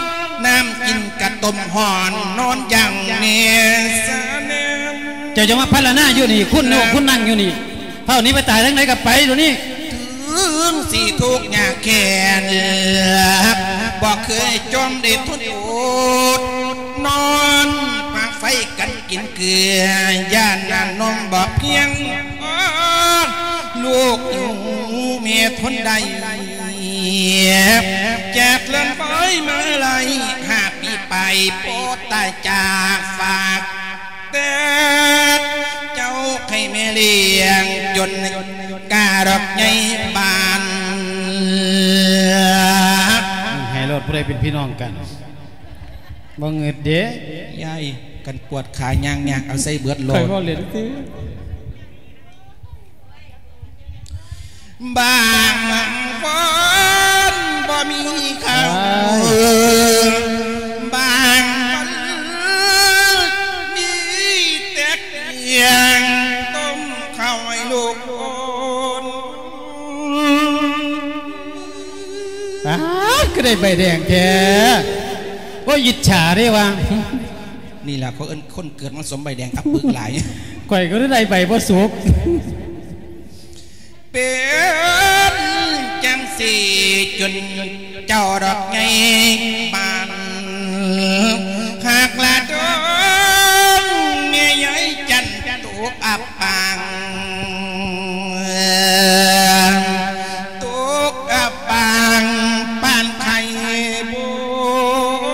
ນ້ຳກິນກະຕົ້ມຮ້ອນ ນອນຢ່າງແນສະແນມ. ເຈົ້າຈະມາພັນລະນາຢູ່ນີ້ ຄຸນຢູ່ ຄຸນນັ່ງຢູ່ນີ້ ເຝົ້າໜີໄປຕາຍທາງໃດກະໄປດຽວນີ້. ເຖິງຊິທຸກຍາກແຄ້ນ ບໍ່ເຄີຍຈອມໄດ້ທົນອົດ ນອນປາງໄຟກັນກິນເກືອ ຢ້ານນ້ຳນົມບໍ່ພຽງ ອອ ລູກຫິວແມ່ທົນໄດ້ ຈາກເຮືອນໄປມາໄດ້ຫ້າປີປາຍ ພໍ່ຕາຍຈາກຝາກ ແຕ່ເຈົ້າໃຫ້ແມ່ລ້ຽງຈົນກະດອກໃຫຍ່ບານ. ໃຫ້ໂລດ ຜູ້ໃດເປັນພີ່ນ້ອງກັນ ບໍ່ງຶດເດ້. ຍາຍ ຄັນປວດຂາຍ່າງຍາກເອົາໃສ່ເບິດໂລດ. ຂ້ອຍເວົ້າເລ່ນຕິ. ບາງວັນບໍ່ມີເຂົ້າ ບາງວັນມີແຕ່ກຽງ ຕົ້ມເຂົ້າໃຫ້ລູກໂອນ. ປາດ ຄືໄດ້ໃບແດງແທ້ ໂອ້ຍ ອິດສາເດ້ວ່າ. ນີ້ລະເຂົາເອີ້ນຄົນເກີດມາສົມໃບແດງອັບປຶກຫຼາຍ. ຂ້ອຍກໍໄດ້ໃບບໍ່ສຸກ. ເປັນຈັ່ງຊີ້ຈົນເຈົ້າດອກໃຫຍ່ບານ ຫາກລະດອງແມ່ໃຫຍ່ຈັນຕົກອັບປາງ ຕົກອັບປາງປານໄຂ່ບົງ.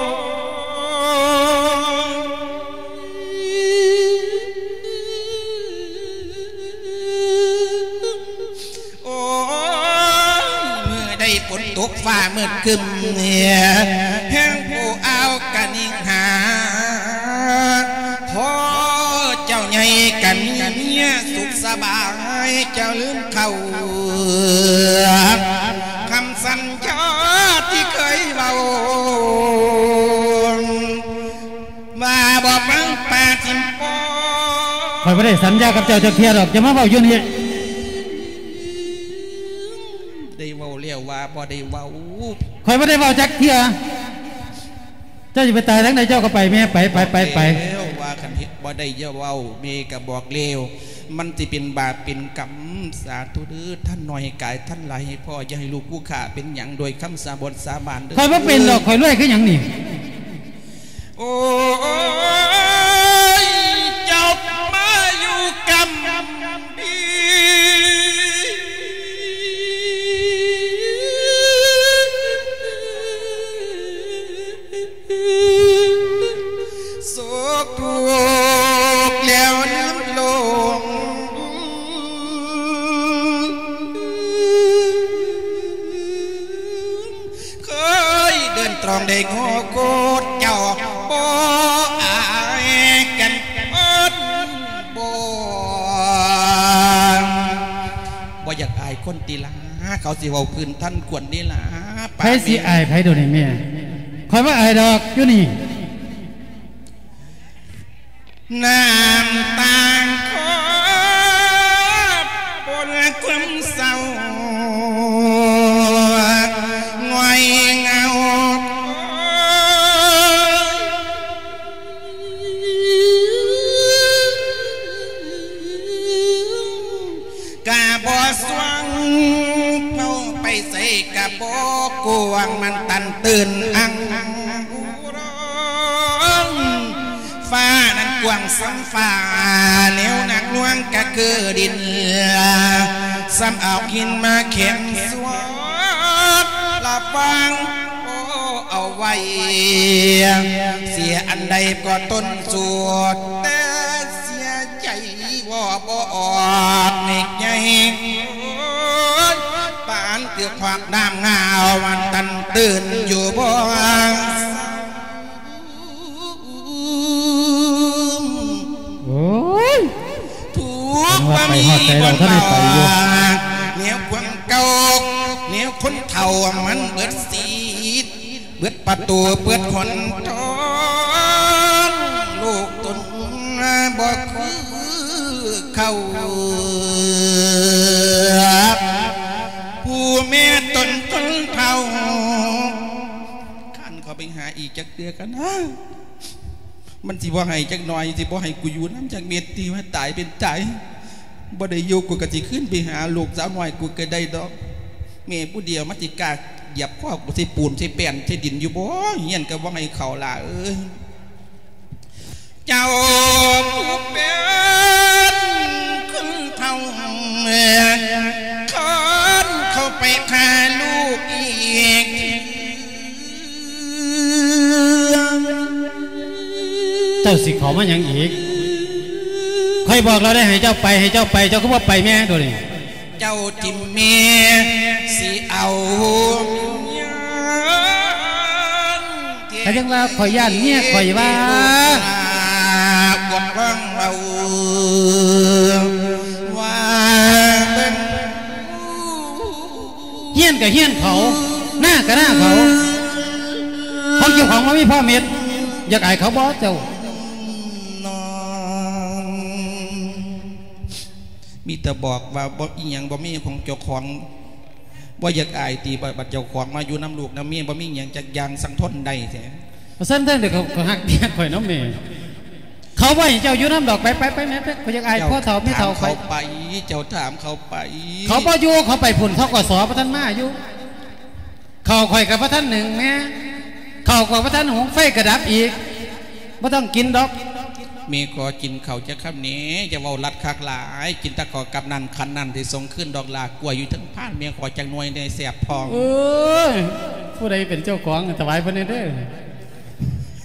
ໂອ້ຍ ມື້ໃດຝົນຕົກຟ້າມືດຄຶ້ມ ແຮງຜູ້ອ່າວກະນິ່ງຫາ ພໍ່ເຈົ້າໃຫຍ່ກະມີເມຍສຸກສະບາຍ ເຈົ້າລືມເຂົ້າ ຄຳສັນຍາທີ່ເຄີຍເວົ້າ ວ່າບໍ່ຟັງປາຖິ້ມປໍ. ຂ້ອຍບໍ່ໄດ້ສັນຍາກັບເຈົ້າຈັກເທື່ອດອກ ຢ່າມາເວົ້າຢູ່ນີ້. ໄດ້ເວົ້າແລ້ວວ່າບໍ່ໄດ້ເວົ້າ. ຂ້ອຍບໍ່ໄດ້ເວົ້າຈັກເທື່ອ. ເຈົ້າຊິໄປຕາຍທາງໃດເຈົ້າກໍໄປແມ່ ໄປ ໄປ ໄປ ໄປ. ແລ້ວວ່າຄັນເຮັດບໍ່ໄດ້ຢ່າເວົ້າ ແມ່ກໍບອກແລ້ວ ມັນຊິເປັນບາບເປັນກຳ. ສາທຸເດີ້ ທ່ານໜ້ອຍໃຫ້ກາຍ ທ່ານຫຼາຍໃຫ້ພໍ້ ຢ່າໃຫ້ລູກຜູ້ຂ້າເປັນຫຍັງ ດ້ວຍຄຳສາບົນສາບານເດີ້. ຂ້ອຍບໍ່ເປັນດອກ ຂ້ອຍລວຍຄືຫຍັງນີ້. ໂອ້ຍ ເຈົ້າມາຢູ່ກຳພີ ໂສກທຸກແລ້ວລືມລົງ ເຄີຍເດີນຕອງໄດ້ງໍໂຄດ ເຈົ້າບໍ່ອາຍກັນ. ຄົນຕິລາ ເຂົາຊິເວົ້າພື້ນທັນຄວນເດລາ. ໃຜຊິອາຍໃຜໂດນີ້ແມ່? ຂ້ອຍບໍ່ອາຍດອກ ຢູ່ນີ້. ນ້ຳຕາງຂໍປົນຄວາມເສົ້າ ງ່ອຍເຫງົາ ກະບໍ່ສວ່າງ ເວົ້າໄປໃສກະບໍ່ກວ້າງ ມັນຕັນຕື່ນອັງ ຟ້ານັ້ນກວ້າງສ່ຳຟ້າ ແນວໜັກໜ່ວງກະຄືດິນ ສ່ຳເອົາຫີນມາແຂນສວດ ລະວັງ ໂອ້ ເອົາໄວ້ ເສຍອັນໃດກໍຕົນສວດ ແຕ່ເສຍໃຈເວົ້າບໍ່ອອກ ເນັກໃຫຍ່ປານຖືກຂວາກນ້ຳງາວ ມັນຕັນຕື່ນຢູ່ບໍ່ ໂອ້ຍ ທຸກບໍ່ມີບ່ອນລາ ແນວຄວາມເກົ່າ ແນວຄົນເຖົ້າມັນເບິດສິດ ເບິດປະຕູເປີດຫົນທາງ ລູກຕົນບໍ່ຄືເຂົາ ຜູ້ແມ່ຕົນຄົນເຖົ້າ ຄັນເຂົາໄປຫາອີກຈັກເທື່ອກັນນະ ມັນຊິບໍ່ໃຫ້ຈັກໜ່ອຍ ຊິບໍ່ໃຫ້ກູຢູ່ນຳຈັກເມັດ ທີ່ວ່າຕາຍເປັນຕາຍ ບໍ່ໄດ້ຢູ່ ກູກໍຊິຄືນໄປຫາລູກສາວນ້ອຍກູກໍໄດ້ດອກ ແມ່ຜູ້ດຽວມັນຊິກ້າຢຽບຄໍກູໃສ່ປູນໃສ່ແປ້ນໃສ່ດິນຢູ່ບໍ່? ຮຽນກໍບໍ່ໃຫ້ເຂົ້າຫຼ້າເອີຍ ເຈົ້າຜູ້ເປັນຄົນເຖົ້າ ຄັນເຂົ້າໄປຂ້າລູກອີກ ເຈົ້າຊິເຂົ້າມາຫຍັງອີກ? ຂ້ອຍບອກແລ້ວໄດ໋ ໃຫ້ເຈົ້າໄປ ໃຫ້ເຈົ້າໄປ ເຈົ້າຄືບໍ່ໄປແມ່ໂດນີ້? ເຈົ້າຖິ້ມແມ່ ຊິເອົາເມຍ ກະຍັງວ່າຂ້ອຍຢ້ານເມຍຂ້ອຍວ່າ ກວດເບິ່ງເວົ້າ ວ່າເບິ່ງ ຮຽນກະຮຽນເຂົາ ນາກະນາເຂົາ ຂອງເຈົ້າຂອງບໍ່ມີພໍເມັດ ຢາກອາຍເຂົາບໍ່ເຈົ້າ? ມີແຕ່ບອກວ່າບໍ່ ອີ່ຫຍັງບໍ່ມີຂອງເຈົ້າຂອງ ບໍ່ຢາກອາຍຕິ ບັດເຈົ້າຂອງມາຢູ່ນຳລູກນຳເມຍ ບໍ່ມີຫຍັງຈັກຢ່າງ ສັ່ງທົນໄດ້ແທ້. ວ່າຊັ້ນເຖິງໄດ້ ເຂົາ ເຂົາຮັກເມຍຂ້ອຍນຳແມ່ ເຂົາບໍ່ໃຫ້ເຈົ້າຢູ່ນຳດອກ ໄປ ໄປ ໄປແມ່ ໄປ ຂ້ອຍຢາກອາຍພໍ່ເຖົ້າແມ່ເຖົ້າຂ້ອຍ. ເຈົ້າຖາມເຂົາໄປ ເຂົາບໍ່ຢູ່ ເຂົາໄປພຸ້ນ ທກສ ບໍ່ທັນມາຢູ່. ເຂົ້າຂ້ອຍກໍບໍ່ທັນໜຶ້ງແມ່ ເຂົ້າກໍບໍ່ທັນຫຸງ ໄຟກໍດັບອີກ ບໍ່ຕ້ອງກິນດອກ. ແມ່ຂໍກິນເຂົ້າຈັກຄຳແດ່ ຢ່າເວົ້າລັດຄັກຫຼາຍ ກິນແຕ່ເຂົ້າກັບນັ້ນຂັນນັ້ນ ຊິສົ່ງຄືນດອກຫຼ້າ ກ້ວຍຢູ່ເທິງພານ ແມ່ຂໍຈັກໜ່ວຍແດ່ ແຊບທ້ອງ. ໂອ້ຍ ຜູ້ໃດເປັນເຈົ້າຂອງ ຖວາຍເພິ່ນແດ່ເດີ.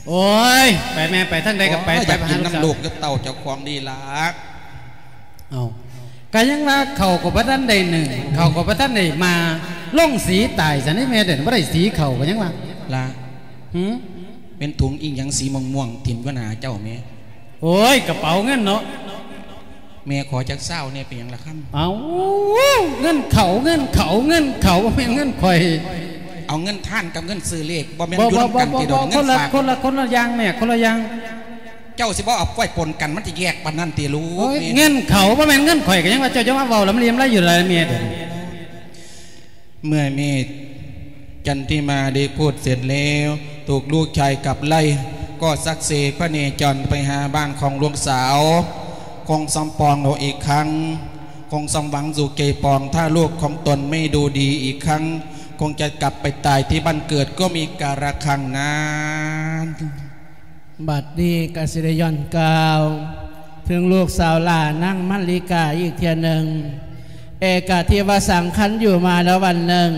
ໂອ້ຍ ໄປແມ່ ໄປທາງໃດກໍໄປ ໂອ້ຍ ໄປ ຢາກກິນນຳລູກກັບເຕົ້າເຈົ້າຂອງນີ້ລະ. ເອົ້າ ກະຍັງວ່າເຂົາກໍບໍ່ທັນໄດ້ໜຶ້ງ ເຂົາກໍບໍ່ທັນໄດ້ມາ ລົງສີຕາຍຊັ້ນນີ້ແມ່ ເດີບໍ່ໄດ້ສີເຂົາ ກະຍັງວ່າ ລະ ຫື ແມ່ນຖົງອີ່ຫຍັງສີມ່ວງໆ ຖິ້ມຢູ່ໜ້າເຈົ້າແມ່? ໂອ້ຍ ກະເປົາເງິນເນາະ ແມ່ຂໍຈັກຊາວແດ່ ເປັນຫຍັງລະຄຳ? ເອົ້າ ເງິນເຂົາ ເງິນເຂົາ ເງິນເຂົາ ບໍ່ແມ່ນເງິນຂ້ອຍ. ເອົາເງິນທານກັບເງິນຊື້ເລກ ບໍ່ແມ່ນຢູ່ນຳກັນຕິດອກ ເງິນຝາກ ຄົນລະ ຄົນລະຢ່າງແມ່ ຄົນລະຢ່າງ. ເຈົ້າຊິບໍ່ເອົາໄວ້ປົນກັນ ມັນຈະແຍກປານນັ້ນຕິລູກ? ໂອ້ຍ ແມ່ ເງິນເຂົາ ບໍ່ແມ່ນເງິນຂ້ອຍ ກະຍັງວ່າເຈົ້າຈະມາເວົ້າລຳລຽມລະຢູ່ລະແມ່ເດີ. ເມື່ອແມ່ຈັນທິມາໄດ້ພູດເສັດແລ້ວ ທຸກລູກຊາຍກັບໄລ່ ກໍສັກເສພະເນຈອນໄປຫາບ້ານຂອງລູກສາວ ຄົງສຳປອງເອົາອີກຄັ້ງ ຄົງສຳຫວັງສູ່ເກປອງ ຖ້າລູກຂອງຕົນໄມ່ດູດີອີກຄັ້ງ ຄົງຈະກັບໄປຕາຍທີ່ບ້ານເກີດກໍມີກາລະຄັ້ງນັ້ນ. ບັດນີ້ກະຊິໄດ້ຍ້ອນກ່າວເຖິງລູກສາວຫຼ້ານາງມາລິກາອີກເທື່ອໜຶ່ງ. ເອກະທິວະສັງ ຄັນຢູ່ມາແລ້ວວັນໜຶ່ງ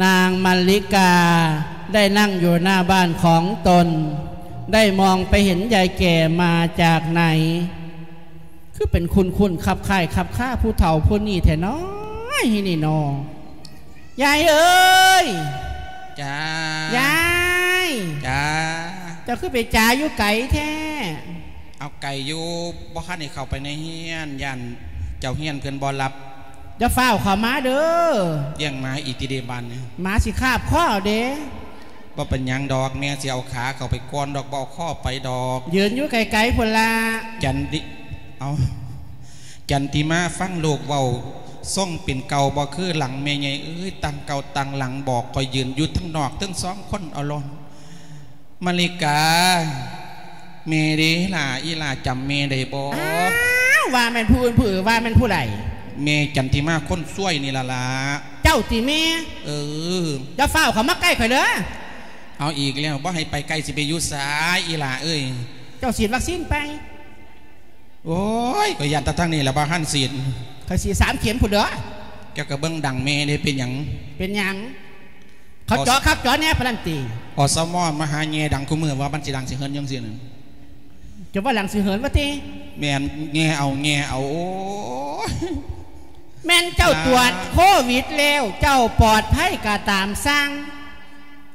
ນາງມາລິກາໄດ້ນັ່ງຢູ່ໜ້າບ້ານຂອງຕົນ ໄດ້ມອງໄປເຫັນຍາຍແກ່ມາຈາກໃນ ຄືເປັນຄຸ້ນໆ ຄັບຄ້າຍຄັບຄາຜູ້ເຖົ້າຜູ້ນີ້ແທ້ນ້ອຍນີ້ນໍ. ຍາຍເອີຍ! ຈ້າ. ຍາຍ! ຈ້າ. ເຈົ້າຄືໄປຈາຢູ່ໄກແທ້? ເອົາ ໄກຢູ່ ບໍ່ທັນໄດ້ເຂົ້າໄປໃນເຮືອນ ຢ້ານເຈົ້າເຮືອນເພິ່ນບໍ່ຮັບ. ຢ່າฟ้าวເຂົ້າມາເດີ້. ລ້ຽງໝາອີກຕິເດບາດນີ້. ໝາຊິຄາບຄໍເດ້. ບໍ່ເປັນຫຍັງດອກ, ແມ່ຊິເອົາຂາເຂົ້າໄປກ່ອນດອກ, ບໍ່ເອົາຄໍໄປດອກ. ຢືນຢູ່ໄກລໆພຸ້ນລະ. ຈັນຕິ ເອົາ ຈັນຕິມາ ຟັງລູກເວົ້າ, ຊົງເປັນເກົ່າບໍ່ຄືຫຼັງ. ແມ່ໃຫຍ່ເອີຍ, ຕັ້ງເກົ່າຕັ້ງຫຼັງ, ບອກຂ້ອຍຢືນຢູ່ທັງນອກທັງສອງຄົນເອົາໂລດ. ມະລິກາ ແມ່ເດ້ຫຼ້າ, ອີຫຼ້າຈຳແມ່ໄດ້ບໍ່? ອ້າວ ວ່າແມ່ນຜູ້ອື່ນຜູ້ອື່ນ, ວ່າແມ່ນຜູ້ໃດ? ແມ່ຈັນທິມາຄົນຊ່ວຍນີ້ລະລະ. ເຈົ້າຕິແມ່? ເອີ. ຢ່າຟ້າວເຂົ້າມາໃກ້ຂ້ອຍເດີ້. ເອົາອີກແລ້ວ, ບໍ່ໃຫ້ໄປໃກ້, ຊິໄປຢູ່ໃສອີຫຼ້າເອີຍ? ເຈົ້າສີດວັກຊີນໄປ? ໂອ້ຍ ຂ້ອຍຢ້ານແຕ່ທາງນີ້ລະ ບໍ່ທັນສີດ. ຂ້ອຍສີດສາມເຂັມພຸ້ນເດີ້. ເຈົ້າກໍເບິ່ງດັງແມ່ເດ້, ເປັນຫຍັງ? ເປັນຫຍັງ? ເຂົາເຈາະຄັກເຈາະແນ່ປານນັ້ນຕິ? ອສມ ມາຫາແຍ່ດັງຄູ່ມື້ ວ່າມັນຊິດັງຊິເຫີນຈັ່ງຊີ້ນັ້ນ. ເຈົ້າວ່າດັງຊິເຫີນວ່າຕິ? ແມ່ນ, ແຍ່ເອົາ ແຍ່ເອົາ. ໂອ້ຍ ແມ່ນເຈົ້າ ລະ ຕວດໂຄວິດແລ້ວ ເຈົ້າປອດໄພກໍຕາມຊ່າງ,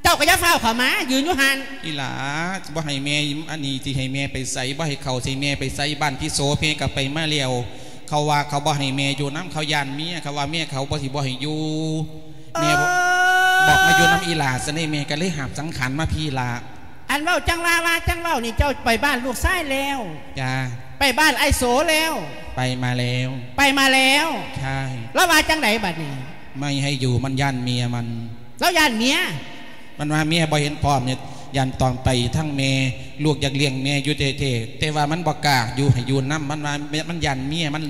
ເຈົ້າກໍຢ່າຟ້າວເຂົ້າມາ, ຢືນຢູ່ຫັ້ນ. ອີຫຼ້າ ບໍ່ໃຫ້ແມ່ ອັນນີ້ ຊິໃຫ້ແມ່ໄປໃສ? ບໍ່ໃຫ້ເຂົ້າໃສ່ແມ່ໄປໃສ? ບ້ານທີ່ໂສແມ່ກໍໄປມາແລ້ວ. ເຂົາວ່າເຂົາບໍ່ໃຫ້ແມ່ຢູ່ນຳ, ເຂົາຢ້ານເມຍ, ເຂົາວ່າເມຍເຂົາບໍ່ ຊິບໍ່ໃຫ້ຢູ່. ແມ່ບອກ ເອີ ບອກມາຢູ່ນຳອີຫຼ້າຊັ້ນເດ້, ແມ່ກໍເລີຍຫາບສັງຂານມາພີ້ລະ. ອັນເວົ້າຈັ່ງວ່າ ວ່າຈັ່ງເວົ້ານີ້, ເຈົ້າໄປບ້ານລູກຊາຍແລ້ວ? ຈ້າ. ໄປບ້ານອ້າຍໂສແລ້ວ? ໄປມາແລ້ວ. ໄປມາແລ້ວ? ໃຊ່. ລາວວ່າຈັ່ງໃດບາດນີ້? ບໍ່ໃຫ້ຢູ່, ມັນຢ້ານເມຍມັນ. ລາວຢ້ານເມຍ? ມັນວ່າເມຍບໍ່ເຫັນພ້ອມນີ້, ຢ້ານຕອນໄປທາງແມ່, ລູກຢາກລ້ຽງແມ່ຢູ່ແທ້ໆ ແຕ່ວ່າມັນບໍ່ກ້າຢູ່ ໃຫ້ຢູ່ນຳ. ມັນວ່າມັນຢ້ານເມຍມັນ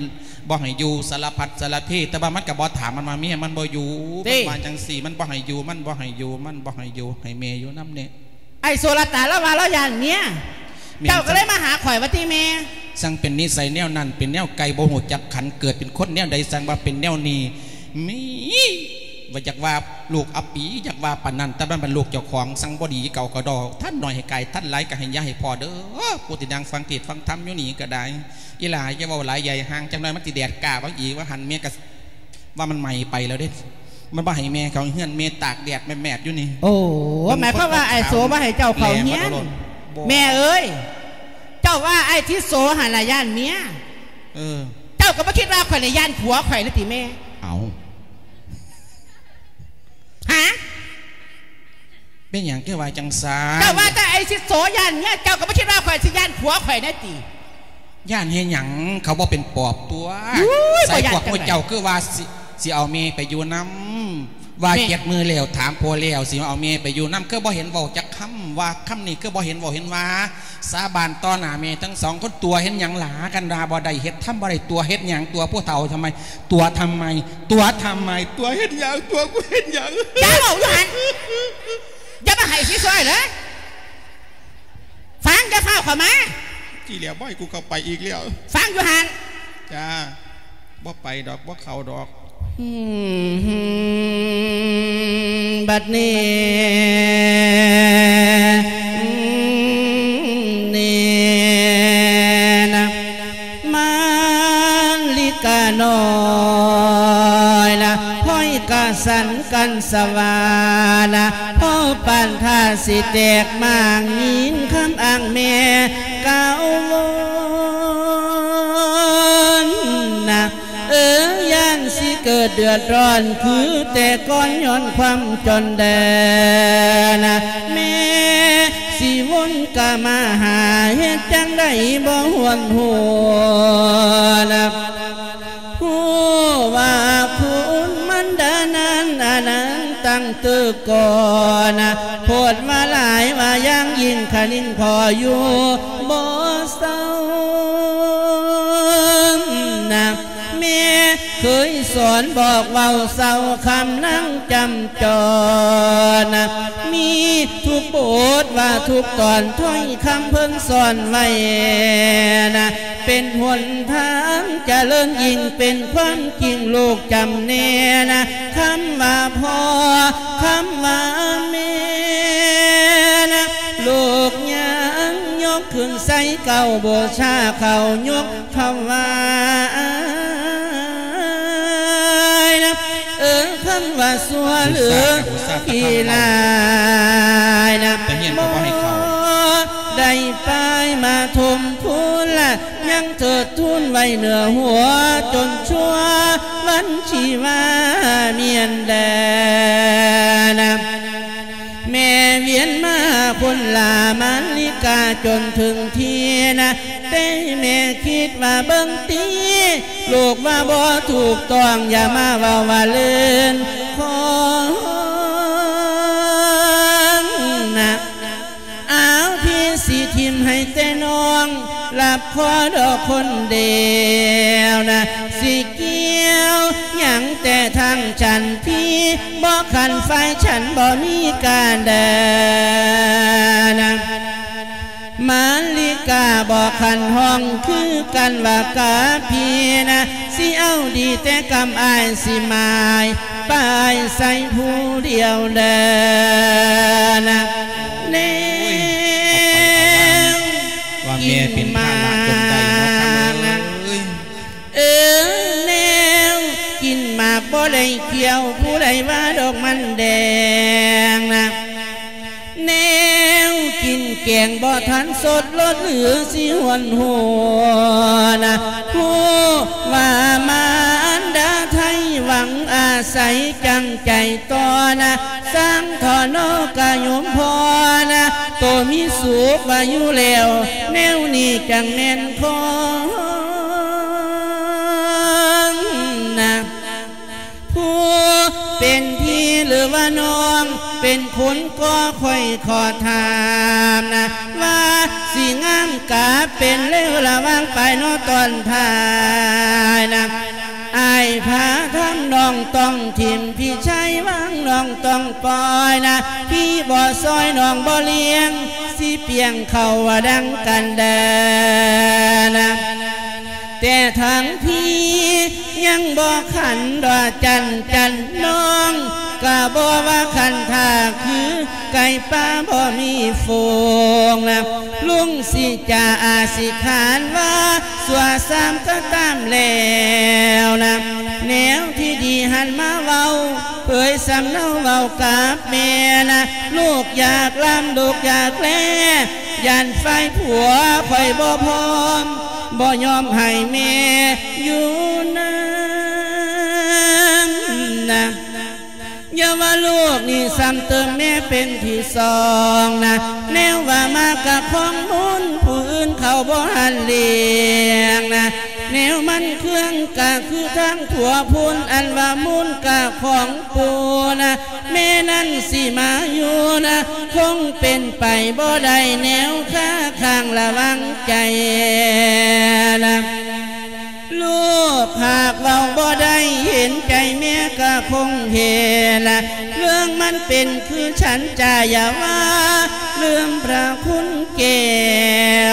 ບໍ່ໃຫ້ຢູ່ ສາລະພັດສາລະເພ, ແຕ່ວ່າມັນກໍບໍ່ຖາມ, ມັນວ່າເມຍມັນບໍ່ຢູ່. ຕິ ມັນວ່າຈັ່ງຊີ້, ມັນບໍ່ໃຫ້ຢູ່, ມັນບໍ່ໃຫ້ຢູ່, ມັນບໍ່ໃຫ້ຢູ່, ໃຫ້ແມ່ຢູ່ນຳແດ່. ອ້າຍໂສລະຕາລາວວ່າລາວຢ້ານເມຍ. ແມ່ນ. ເຈົ້າກໍເລີຍມາຫາຂ້ອຍວ່າຕິແມ່? ຊ່າງເປັນນິໄສແນວນັ້ນ, ເປັນແນວໄກ່ບໍ່ຮູ້ຈັກຂັນ, ເກີດເປັນຄົນແນວໃດ ຊ່າງວ່າເປັນແນວນີ້. ມີ ວ່າຢາກວ່າລູກອັບປີ ຢາກວ່າປານນັ້ນ, ແຕ່ມັນເປັນລູກເຈົ້າຂອງ, ຊ່າງບໍ່ດີເກົ່າກໍດອກ. ທ່ານໜ້ອຍໃຫ້ກາຍ, ທ່ານຫຼາຍກໍໃຫ້ຢ່າໃຫ້ພໍເດີ້. ຜູ້ທີ່ນັ່ງຟັງເທດຟັງທຳຢູ່ນີ້ກໍໄດ້. ອີຫຼ້າ ຢ່າເວົ້າຫຼາຍ ຢ່າໃຫ້ຫ່າງ, ຈັກໜ້ອຍມັນຊິແດດກ້າເບິ່ງອີກ. ວ່າຫັ້ນແມ່ກໍວ່າມັນໄໝ້ໄປແລ້ວເດ້, ມັນບໍ່ໃຫ້ແມ່ເຂົ້າເຮືອນ, ແມ່ຕາກແດດແມບໆຢູ່ນີ້. ໂອ້ ມັນ ໝາຍຄວາມວ່າອ້າຍໂສບໍ່ໃຫ້ເຈົ້າເຂົ້າເຮືອນ? ແລ່ມາໂລດ. ບໍ່. ແມ່ເອີຍ, ເຈົ້າວ່າອ້າຍທິດໂສຫັ້ນລະຢ້ານເມຍ. ເອີ. ເຈົ້າກໍບໍ່ຄິດວ່າຂ້ອຍລະຢ້ານຜົວຂ້ອຍລະຕິແມ່? ເອົ້າ. ຫາ? ເປັນຫຍັງຄືວ່າຈັ່ງຊັ້ນ? ເຈົ້າວ່າແຕ່ອ້າຍທິດໂສຢ້ານເມຍ, ເຈົ້າກໍບໍ່ຄິດວ່າຂ້ອຍຊິຢ້ານຜົວຂ້ອຍແດ່ຕິ? ຢ້ານເຮັດຫຍັງ? ເຂົາບໍ່ເປັນປອບຕົວະ. ອູ້ຍ ໃສ່ພວກໝູ່ເຈົ້າຄືວ່າຊິ ຊິເອົາແມ່ໄປຢູ່ນຳ. ວ່າ ແມ່ ເຈັດມື້ແລ້ວ ຖາມພໍ່ແລ້ວ ຊິເອົາແມ່ໄປຢູ່ນຳ, ຄືບໍ່ເຫັນເວົ້າຈັກຄຳ ວ່າຄຳນີ້ ຄືບໍ່ເຫັນເວົ້າເຫັນວ່າ. ສາບານຕໍ່ໜ້າແມ່ທັງສອງຄົນ, ຕົວະເຮັດຫຍັງຫຼາ? ຄັນວ່າບໍ່ໄດ້ເຮັດທຳບໍ່ໄດ້, ຕົວະເຮັດຫຍັງ? ຕົວະຜູ້ເຖົ້າທຳໄມ? ຕົວະທຳໄມ? ຕົວະທຳໄມ? ຕົວະເຮັດຫຍັງ? ຕົວະກູເຮັດຫຍັງ? ຢ່າເວົ້າຢູ່ຫັ້ນ, ຢ່າມາໃຫ້ຊິຊ່ອຍເລີຍ. ຟັງ, ຢ່າຟ້າວເຂົ້າມາ. ຈີ້ແລ້ວ ບໍ່ໃຫ້ກູເຂົ້າໄປອີກແລ້ວ. ຟັງຢູ່ຫັ້ນ. ຈ້າ. ບໍ່ໄປດອກ, ບໍ່ເຂົ້າດອກ. ອືມ ບັດນີ້ ນີ້ນະ ມາລິການ້ອຍນະ ຫ້ອຍກະສັນກັນສະຫວານະ ພໍປານທ່າຊິແຕກມ້າງ ຍິນຄຳອ້າງແມ່ກ່າວວົນນະ ເອີ ຢ້ານຊິເກີດເດືອດຮ້ອນຄືແຕ່ກ່ອນ ຍ້ອນຄວາມຈອນແດນະ ແມ່ຊິວົນກະມາຫາ ເຮັດຈັ່ງໃດບໍ່ຫວນຫົວນະ ຮູ້ວ່າຄຸນມັນດານັ້ນ ອັນນັ້ນຕັ້ງແຕ່ກ່ອນນະ ໂພດວ່າຫຼາຍວ່າຢ່າງຍິ່ງ ຄະນິງພໍຢູ່ບໍ່ເຊົານະ ແມ່ເຄີຍສອນບອກເວົ້າເຊົາຄຳນາງຈຳຈອນນະ ມີທຸກບົດວ່າທຸກຕອນ ຖ້ອຍຄຳເພິ່ນສອນໄວ້ນະ ເປັນຫົນທາງຈະເລີນຍິ່ງ ເປັນຄວາມຈິງລູກຈຳແນນະ ຄຳວ່າພໍ່ ຄຳວ່າແມ່ນະ ລູກຍັງຍົກຂຶ້ນໃສ່ເກົ້າ ບູຊາເຂົ້າຍົກຖວາຍນະ ເອີ ຄຳວ່າຊົ່ວຫຼືຂີ້ຮ້າຍນະ ບໍ່ໄດ້ປາຍມາຖົມພູນລະ ຍັງເທີດທູນໄວ້ເໜືອຫົວ ຈົນຊົ່ວວັນຊີວາມຽນແດນະ. ແມ່ວຽນມາຄົນລາມາລິກາຈົນເຖິງທີ່ນະ ແຕ່ແມ່ຄິດວ່າເບິ່ງຕິ ລູກວ່າບໍ່ຖືກຕ້ອງ ຢ່າມາເວົ້າວ່າເລື່ນຂອງນະ. ອາວ ພີ່ຊິຖິ້ມໃຫ້ແຕ່ນ້ອງ ລັບຂໍດອກຄົນດຽວນະ ຊິກ່ຽວຫຍັງແຕ່ທາງສັນພີ ບໍ່ຂັນຝ່າຍສັນບໍ່ມີການເດີນະ. ມາລິກາບໍ່ຂັນຫ້ອງຄືກັນວ່າກັບພີ່ນະ ຊິເອົາດີແຕ່ກຳອ້າຍ ຊິໝາຍປາຍໃສ່ຜູ້ດຽວເດີນະ. ແນວ ວ່າແມ່ເປັນພາລະຈົນໄດ້ເນາະ ເອີຍ ເອີ ແນວກິນໝາກບໍ່ໄດ້ກ່ຽວ ຜູ້ໃດວ່າດອກມັນແດງນະ ແນວກິນແກງບໍ່ທັນສົດ ລົດຫຼືຊິຫວນຫົວນະ ຜູ້ວ່າມານດາໄທຫວັງອາໄສຈັງໃຈຕໍ່ນະ ສ້າງທໍນອກກະຍົມພໍນະ ໂຕມີສຸກວ່າຢູ່ແລ້ວ ແນວນີ້ຈັ່ງແມ່ນຂອງນະ. ຜູ້ເປັນພີ່ຫຼືວ່ານ້ອງເປັນຄົນກໍຂ້ອຍຂໍຖາມນະ ວ່າຊິງາມກະເປັນເລວລະຫວ່າງປາຍເນາະຕອນທ້າຍນະ ອ້າຍພາທຳນ້ອງຕ້ອງຖິ້ມ ພີ່ຊາຍຫວັງນ້ອງຕ້ອງປ່ອຍນະ ພີ່ບໍ່ຊ່ອຍນ້ອງບໍ່ລ້ຽງ ຊິປ່ຽງເຂົ້າວ່າດັ່ງກັນເດີນະ. ແຕ່ທາງພີ່ຍັງບໍ່ຂັນດອກຈັນຈັນ ນ້ອງກະບໍ່ວ່າຂັນຖ້າຄືໄກ່ປ່າບໍ່ມີຝູງນະ ລຸງຊິຈາອາຊິຂານວ່າຊົ່ວຊ້ຳກະຕາມແລ້ວນະ ແນວທີ່ດີຫັນມາເວົ້າ ເຜີຍສຳເນົາເວົ້າກັບແມ່ນະ ລູກຢາກລ່ຳລູກຢາກແລ ຢ້ານຝ່າຍຜົວຂ້ອຍບໍ່ພ້ອມ ບໍ່ຍອມໃຫ້ແມ່ຢູ່ນຳນະ. ຢ່າວ່າລູກນີ້ຊ້ຳເຕີມແມ່ເປັນທີສອງນະ ແນວວ່າມາກະຂອງມູນ ຜູ້ອື່ນເຂົາບໍ່ຫັນລ້ຽງນະ ແນວມັນເຄື່ອງກະຄືທາງຜົວພຸ້ນ ອັນວ່າມູນກະຂອງປູ່ນະ ແມ່ນັ້ນຊິມາຢູ່ນະ ຄົງເປັນໄປບໍ່ໄດ້ ແນວຄາຄ້າງລະວັງໃຈນະ. ລູກຫາກເວົ້າບໍ່ໄດ້ ເຫັນໃຈແມ່ກະຄົງເຫັນນະ ເລື່ອງມັນເປັນຄືສັນຈາ ຢ່າວ່າລືມພະຄຸນແກ້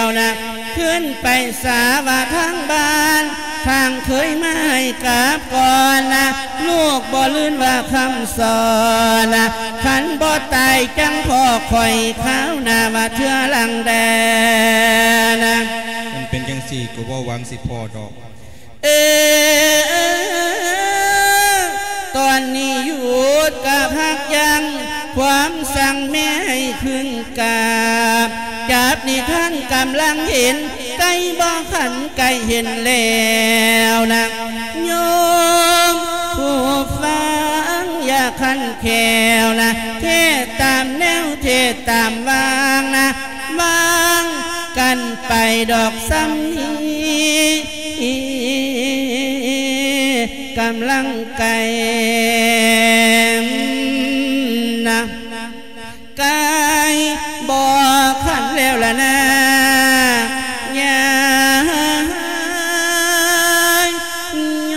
ວນະ ຄືນໄປສາວ່າທາງບ້ານ ທາງເຄີຍມາໃຫ້ກັບກ່ອນນະ ລູກບໍ່ລືມວ່າຄຳສອນນະ ຄັນບໍ່ຕາຍຈັ່ງພໍ້ຂ້ອຍຄາວໜ້າວ່າເທື່ອຫຼັງແດ່ນະ. ມັນເປັນຈັ່ງຊີ້ກະບໍ່ຫວັງຊິພໍ້ດອກ ເອີ ຕອນນີ້ຢຸດກະພັກຢັ້ງ ຄວາມສັ່ງແມ່ໃຫ້ຂຶ້ນກາບ ຈັບນິທານກຳລັງເຫັນ ໄກ່ບໍ່ຂັນໄກ່ເຫັນແລ້ວນະ ໂຍມຜູ້ຟັງຢ່າຂັນແຂ້ວນະ ເທດຕາມແນວເທດຕາມວາງນະ ວາງກັນໄປດອກສ່ຳນີ້ ກຳລັງໄກ່ນະ ໄກ່ບໍ່ຂັນແລ້ວລະນາ ຍາຍໂຍ.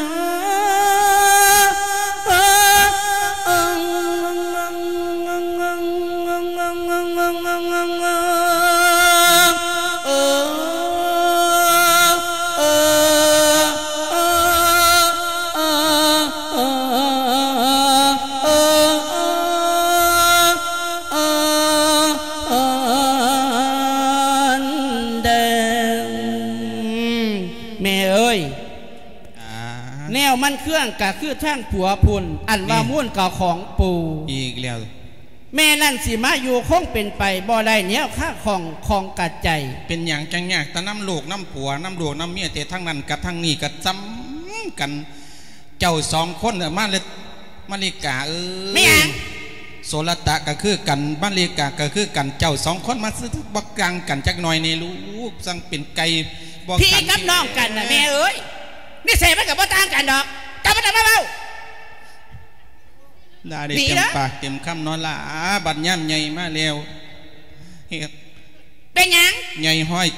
ແມ່ເອີຍ ອາ ແນວມັນເຄືອງກະຄືທາງຜົວພຸ້ນ ອັນວ່າ ນີ້ ມູນກະຂອງປູ່ ອີກແລ້ວ. ແມ່ນັ້ນຊິມາຢູ່ຄົງເປັນໄປບໍ່ໄດ້ແນວຄາຂອງຂອງກະໃຈ. ເປັນຫຍັງຈັ່ງຍາກແຕ່ນຳລູກນຳຜົວ ນຳລູກນຳເມຍ ແຕ່ທາງນັ້ນກັບທາງນີ້ກໍສ່ຳກັນ. ເຈົ້າສອງຄົນ ເອີ ມາເລັດ ມາລິກາເອີຍ ແມ່ນຫຍັງ? ໂສລະຕະກໍຄືກັນ ມາລິກາກໍຄືກັນ ເຈົ້າສອງຄົນມາຊື້ບໍ່ຕ່າງກັນຈັກໜ້ອຍນີ້ລູກ ຈັ່ງເປັນໄກ່ບໍ່ຂັນ ພີ່ກັບນ້ອງກັນນະແມ່ເອີຍ ນິໄສມັນກໍບໍ່ຕ່າງກັນດອກ ເຈົ້າບໍ່ຕ້ອງມາເວົ້າ. ລາໄດ້ເຕັມປາກເຕັມຄຳເນາະຫຼ້າ ບັດຍາມໃຫຍ່ມາແລ້ວ ເຮັດ ເປັນຫຍັງ? ໃຫຍ່ຮ້ອຍ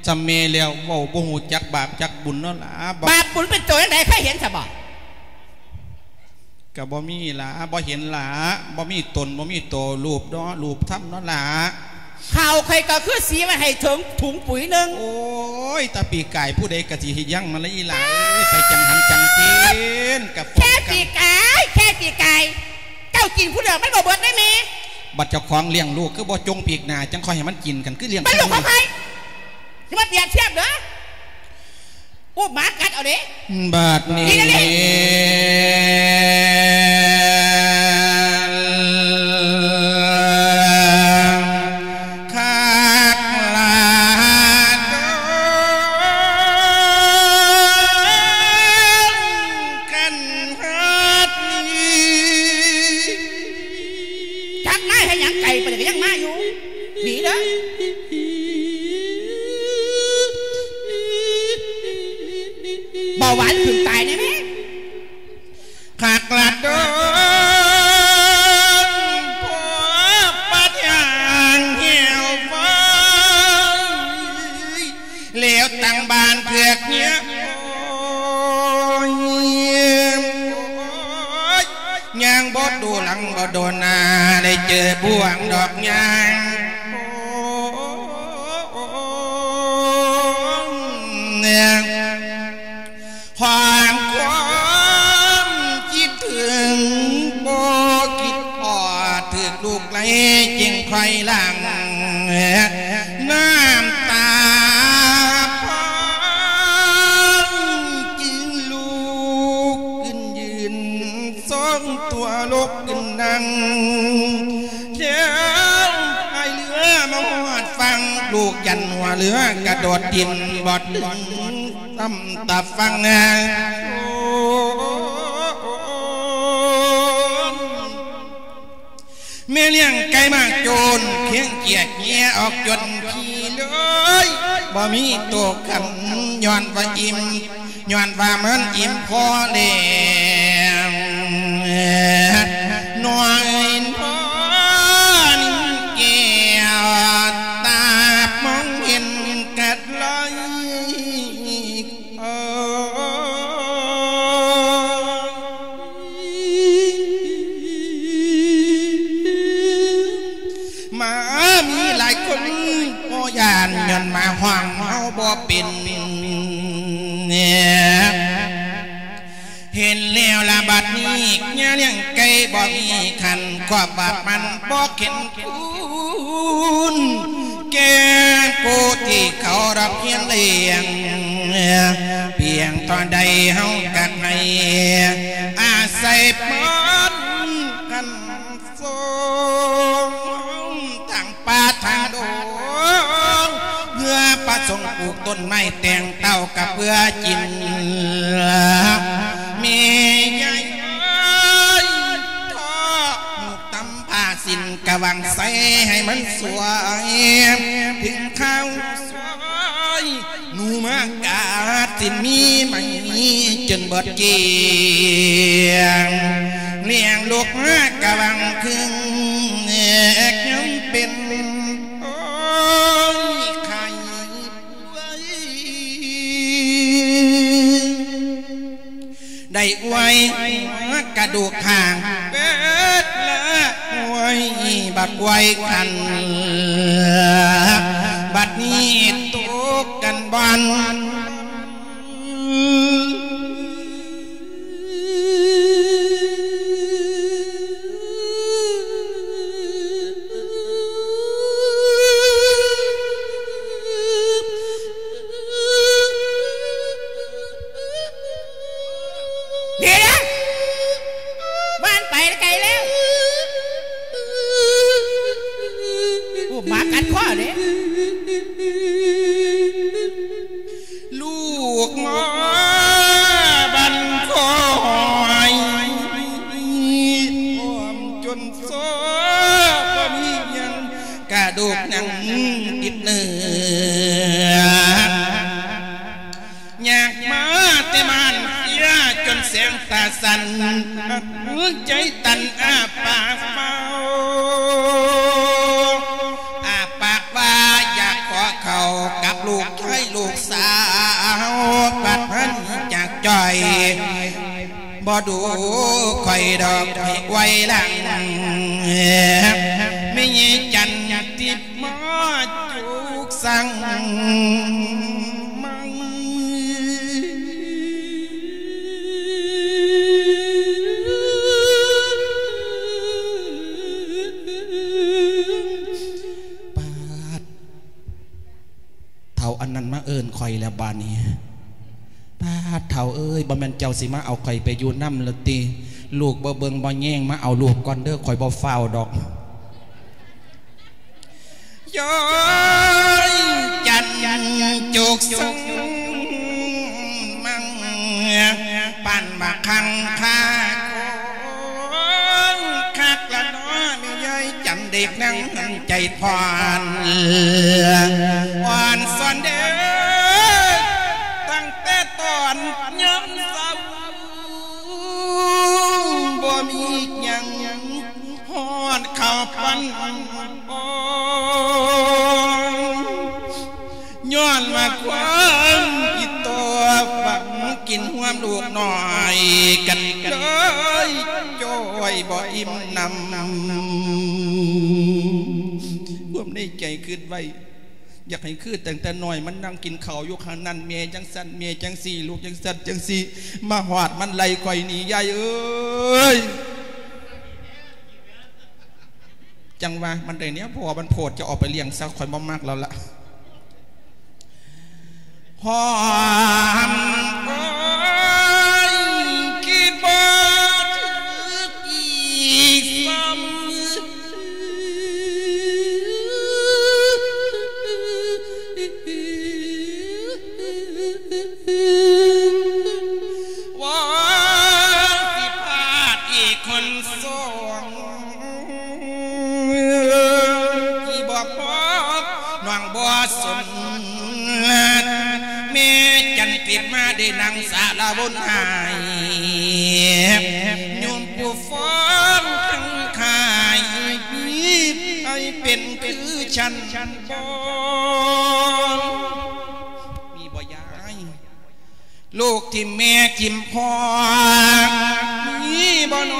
ສ່ຳແມ່ແລ້ວ ເວົ້າບໍ່ຮູ້ຈັກບາບຈັກບຸນເນາະຫຼ້າ. ບາບບຸນເປັນໂຕຈັ່ງໃດ ເຄີຍເຫັນຊະບໍ່? ກໍບໍ່ມີຫຼ້າ ບໍ່ເຫັນຫຼ້າ ບໍ່ມີຕົນ ບໍ່ມີໂຕ ຮູບເນາະ ຮູບທຳເນາະຫຼ້າ. ເຂົ້າຂ້ອຍກໍຄືສີໄວ້ໃຫ້ເຖິງຖົງປຸ໋ຍໜຶ່ງ. ໂອ້ຍ ແຕ່ປີກາຍຜູ້ໃດກໍຊິເຮັດຫຍັງມາລະອີຫຼ້າເອີຍ ໄປຈັ່ງຫັນຈັ່ງເຫັນ ກັບແຄ່ປີກາຍ ແຄ່ປີກາຍ ເຈົ້າກິນຜູ້ດຽວມັນບໍ່ເບິດໄດ້ແມ່. ບັດເຈົ້າຂອງລ້ຽງລູກຄືບໍ່ຈົ່ງປີກໜ້າ ຈັ່ງຄ່ອຍໃຫ້ມັນກິນກັນ ຄືລ້ຽງ ມັນລູກຂອງໃຜ? ຢ່າມາປຽບທຽບເດີ. ອຸບໝາກັດເອົາເດ້. ບາດນີ້ ນີ້ ນີ້ ນີ້ ຄັກຫຼາຍ ຄັນຮັກນີ້ ຈັກມາເຮັດຫຍັງໄກປານນີ້ກໍຍັງມາຢູ່ ໜີເດີ. ເບົາຫວານຂຶ້ນຕາຍແນ່ແມ້ ຄັກລະດົນ ພໍປັດຫາງແຫ້ວໄວ້ ແລ້ວຕັ້ງບ້ານເຜືອກເຫຍ ໂອ້ຍ ໂອ້ຍ ຍ່າງບໍ່ດູຫຼັງບໍ່ດູໜ້າ ໄດ້ເຈີບ່ວງດອກຍາງ ຄວາມຄວາມຄິດເຖິງ ບໍ່ຄິດພໍດ ຖືກລູກໄລ່ຈຶ່ງຄ່ອຍຫຼັ່ງ ນ້ຳຕາພອງຈຶ່ງລຸກຂຶ້ນຢືນ ຊົງຕົວລຸກຂຶ້ນນັ່ງ ແລ້ວພາຍເຮືອມາຮອດຝັ່ງ ລູກຢັນຫົວເຮືອກະໂດດຖິ້ມບໍ່ເຖິງ ຕຳຕາຝັ່ງ ແມ່ລ້ຽງໄກ່ມາໂຈນ ພຽງກຽກເຫຍອອກຈົນຂີ້ເລີຍ ບໍ່ມີໂຕຂັນ ຍ້ອນວ່າອີ່ມ ຍ້ອນວ່າມັນອີ່ມພໍແລ້ວ ນ້ອຍນອນແກ້ວ ຕາມອງເຫັນກັດໄລ ໝາມີຫຼາຍຄົນບໍ່ຢ້ານ ຍ້ອນໝາຫ້ອງເຮົາບໍ່ເປັນ. ເຫັນແລ້ວລະບັດນີ້ ຍາລ້ຽງໄກ່ບໍ່ມີຂັນ ຄວາມບາບມັນບໍ່ເຂັນຄູນ ແກ່ຜູ້ທີ່ເຂົາຮັບຮຽນລ້ຽງ ພຽງເທົ່າໃດເຮົາກໍໃຫ້ອາໄສເພິ່ນ ຄັນ ສົ່ງທາງປ່າທາງດົງ ເພື່ອປະສົງປູກຕົ້ນໄມ້ແຕ່ງເຕົ້າກະເພື່ອກິນ ແມ່ໃຫຍ່ເອີຍ ທອກໜູກຕຳຜ້າສິ້ນກະຫວັງໃສ່ໃຫ້ມັນສວຍ ເຖິງຄາວສວຍ ໜູມາກັດຊິນມີໄໝ ຈົນເບິດກ້ຽງ ລ້ຽງລູກມາກະຫວັງເຄິ່ງ ແອກຍັງເປັນ ໂອ້ຍ ໄຂ້ປ່ວຍ ໄດ້ອວຍ ກະດູກຂ້າງເບິດລະ ໂອ້ຍ ບັກອວຍຄັນ ບັດນີ້ຕົກກັນບ່ອນ. ເດ ວ່າມັນໄປໄກແລ້ວ. ໄດ້ ບໍ່ດູຂ້ອຍດອກໃຫ້ໄວຫຼັງ ແມ່ໃຫຍ່ຈັນທິບມາຈຸກສັງມັງ. ປາດ ເຖົ້າອັນນັ້ນມາເອີ້ນຂ້ອຍແລ້ວບາດນີ້. ປາດ ເຖົ້າເອີຍ ບໍ່ແມ່ນເຈົ້າຊິມາເອົາຂ້ອຍໄປຢູ່ນຳລະຕິ? ລູກບໍ່ເບິ່ງບໍ່ແຍງ ມາເອົາລູກກ່ອນເດີ ຂ້ອຍບໍ່ຟ້າວດອກ. ຍ້ອຍຈັນຈຸກສັງມັງ ປານບັກຄັງຄາ ຄົນຄັກລະເນາະ ແມ່ໃຫຍ່ຈັນເດັກນາງໃຈທອນ ອ່ອນຊອນເດີ ຕັ້ງແຕ່ຕອນຍາມເຊົ້າ ບໍ່ມີຫຍັງ ຮອດເຂົ້າປັນອ່ອນ ຍ້ອນວ່າຄວາມອີ່ຕົວ ຝັງກິນຮ່ວມລູກນ້ອຍກັນເລີຍ ຈ່ອຍບໍ່ອີ່ມໜຳ. ຄວາມໃນໃຈຄິດໄວ້ ຢາກໃຫ້ຄືຕັ້ງແຕ່ນ້ອຍ ມັນນັ່ງກິນເຂົ້າຢູ່ຂ້າງນັ້ນ ແມ່ຈັ່ງຊັ້ນ ແມ່ຈັ່ງຊີ້ ລູກຈັ່ງຊັ້ນຈັ່ງຊີ້ ມາຮອດມັນໄລ່ຂ້ອຍໜີ ຍາຍເອີຍ. ຈັ່ງວ່າມັນໄດ້ແນວ ເພາະວ່າມັນໂພດ ຈະເອົາໄປລ້ຽງຊະ ຂ້ອຍບໍ່ມັກແລ້ວລະ. ຫອມ ໂອ້ຍ ຄິດບໍ່ຖືກອີກຊ້ຳ ວ່າຊິພາດອີກຄົນສອງ ທີ່ບໍ່ພໍ ນ້ອງບໍ່ສົນ ແມ່ຈັນຕິດມາໄດ້ນັ່ງສາລະວົນຫາຍ ໂຍມຜູ້ຟັງທັງຂາຍ ມີໃຜເປັນຄືສັນບໍ່? ມີບໍ່ຍາຍ? ລູກຖິ້ມແມ່ຖິ້ມພໍ່ ມີບໍ່ນໍ?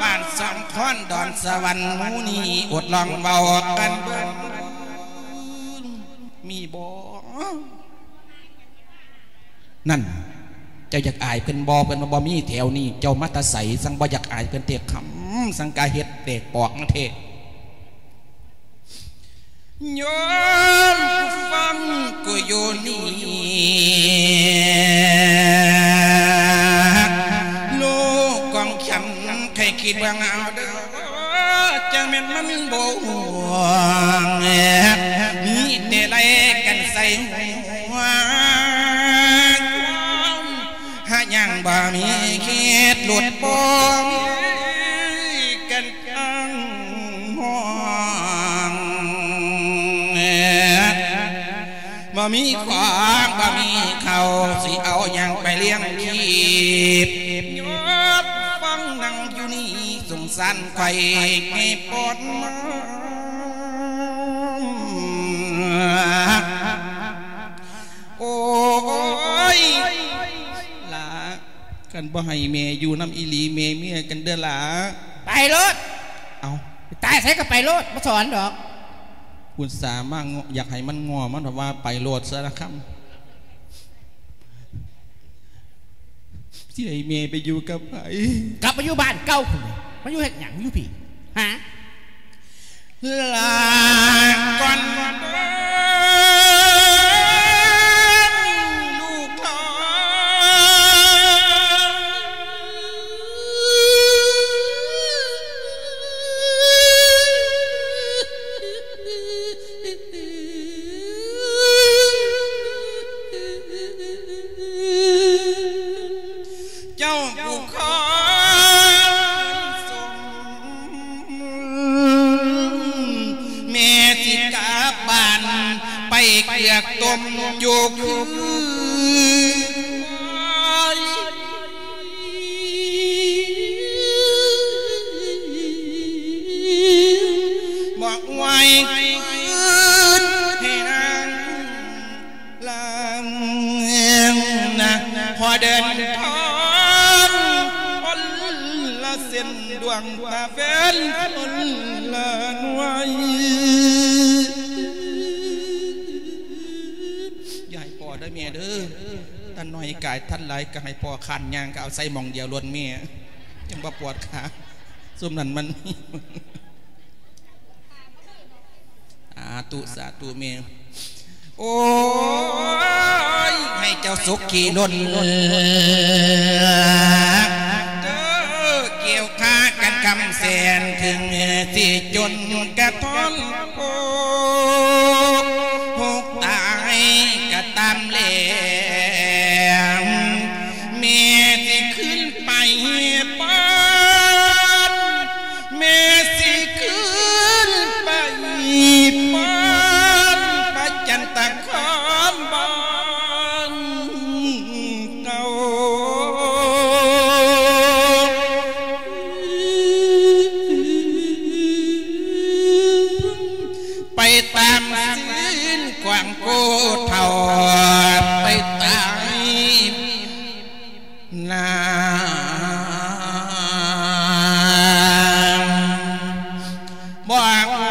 ບ້ານສອງຄອນດອນສະຫວັນ ໝູ່ນີ້ອົດລອງເວົ້າກັນເບິ່ງ ມີບໍ່? ນັ້ນ ເຈົ້າຢາກອາຍເພິ່ນບໍ່? ເພິ່ນວ່າບໍ່ມີແຖວນີ້ ເຈົ້າມາແຕ່ໃສ? ສັງບໍ່ຢາກອາຍເພິ່ນແທ້ ຄຳສັງກະເຮັດແຕກປອກມາແທ້. ໂຍມຜູ້ຟັງຜູ້ຢູ່ນີ້ ລູກຂອງສັນໃຫ້ຄິດເບິ່ງເອົາເດີ ຈັ່ງແມ່ນມັນບໍ່ຫ່ວງ ມີແຕ່ໄລ່ກັນໃສ່ຫົວ ຄວາມຫາຍັງບໍ່ມີເຂດຫຼຸດປ່ອງ ກັນ ອັງຫ້ອງ ບໍ່ມີຂອງບໍ່ມີເຂົ້າ ຊິເອົາຫຍັງໄປລ້ຽງຊີບ? ຍອດຟັງນັ່ງຢູ່ນີ້ ສົງສານໄຂ້ໃຫ້ປອດມາ ໂອ້ຍ ຫຼ້າ ຄັນບໍ່ໃຫ້ແມ່ຢູ່ນຳອີ່ຫຼີ ແມ່ເມືອກັນເດີຫຼ້າ. ໄປໂລດ. ເອົ້າ ຕາຍໃສກໍໄປໂລດ ບໍ່ສອນດອກ. ອຸດສ່າມາງໍ້ ຢາກໃຫ້ມັນງໍ້ ມັນວ່າໄປໂລດຊະລະຄຳ. ຊິໃຫ້ແມ່ໄປຢູ່ກັບໃຜ? ກັບໄປຢູ່ບ້ານເກົ່າພຸ້ນ. ມາຢູ່ເຮັດຫຍັງຢູ່ພີ້? ຫາ ລາກ່ອນເດີລູກຫຼານ ເຈົ້າຜູ້ຄອນສົມ ແມ່ຊິກັບບ້ານໄປເກືອກຕົ້ມຢູ່ຄື ບໍ່ໄຫວຄືນໃຫ້ນາງລຳນະ ຂໍ ເດີນທາງຄົນລະເສັ້ນ ດວງຕາແຟນຄົນລະໜ່ວຍ. ຢ່າໃຫ້ພໍ້ເດີແມ່ເດີ, ທ່ານໜ້ອຍກາຍທ່ານຫຼາຍ ກໍໃຫ້ພໍ້ຄານຍ່າງ ກໍເອົາໃສ່ໝ່ອງດຽວໂລດແມ່ ຈັ່ງບໍ່ປວດຂາ. ຊຸມນັ້ນມັນ ສາທຸ ສາທຸແມ່. ໂອ້ຍ ໃຫ້ເຈົ້າສຸກຂີ້ລົ້ນເດີ ກ່ຽວຂ້າກັນຄຳແສນ ເຖິງຊິຈົນກະທ້ອນໂພກ ໂພກຕາຍກະຕາມແລງ ແມ່ຊິຄືນໄປບ້ານ ແມ່ຊິຄືນໄປບ້ານ ໄປຈັນຕະຄອນບ້ານເກົ່າ ໄປຕາມຊີ້ນຂວາງຜູ້ເຖົ້າ ໄປຕາຍ ນາງບອກວ່າ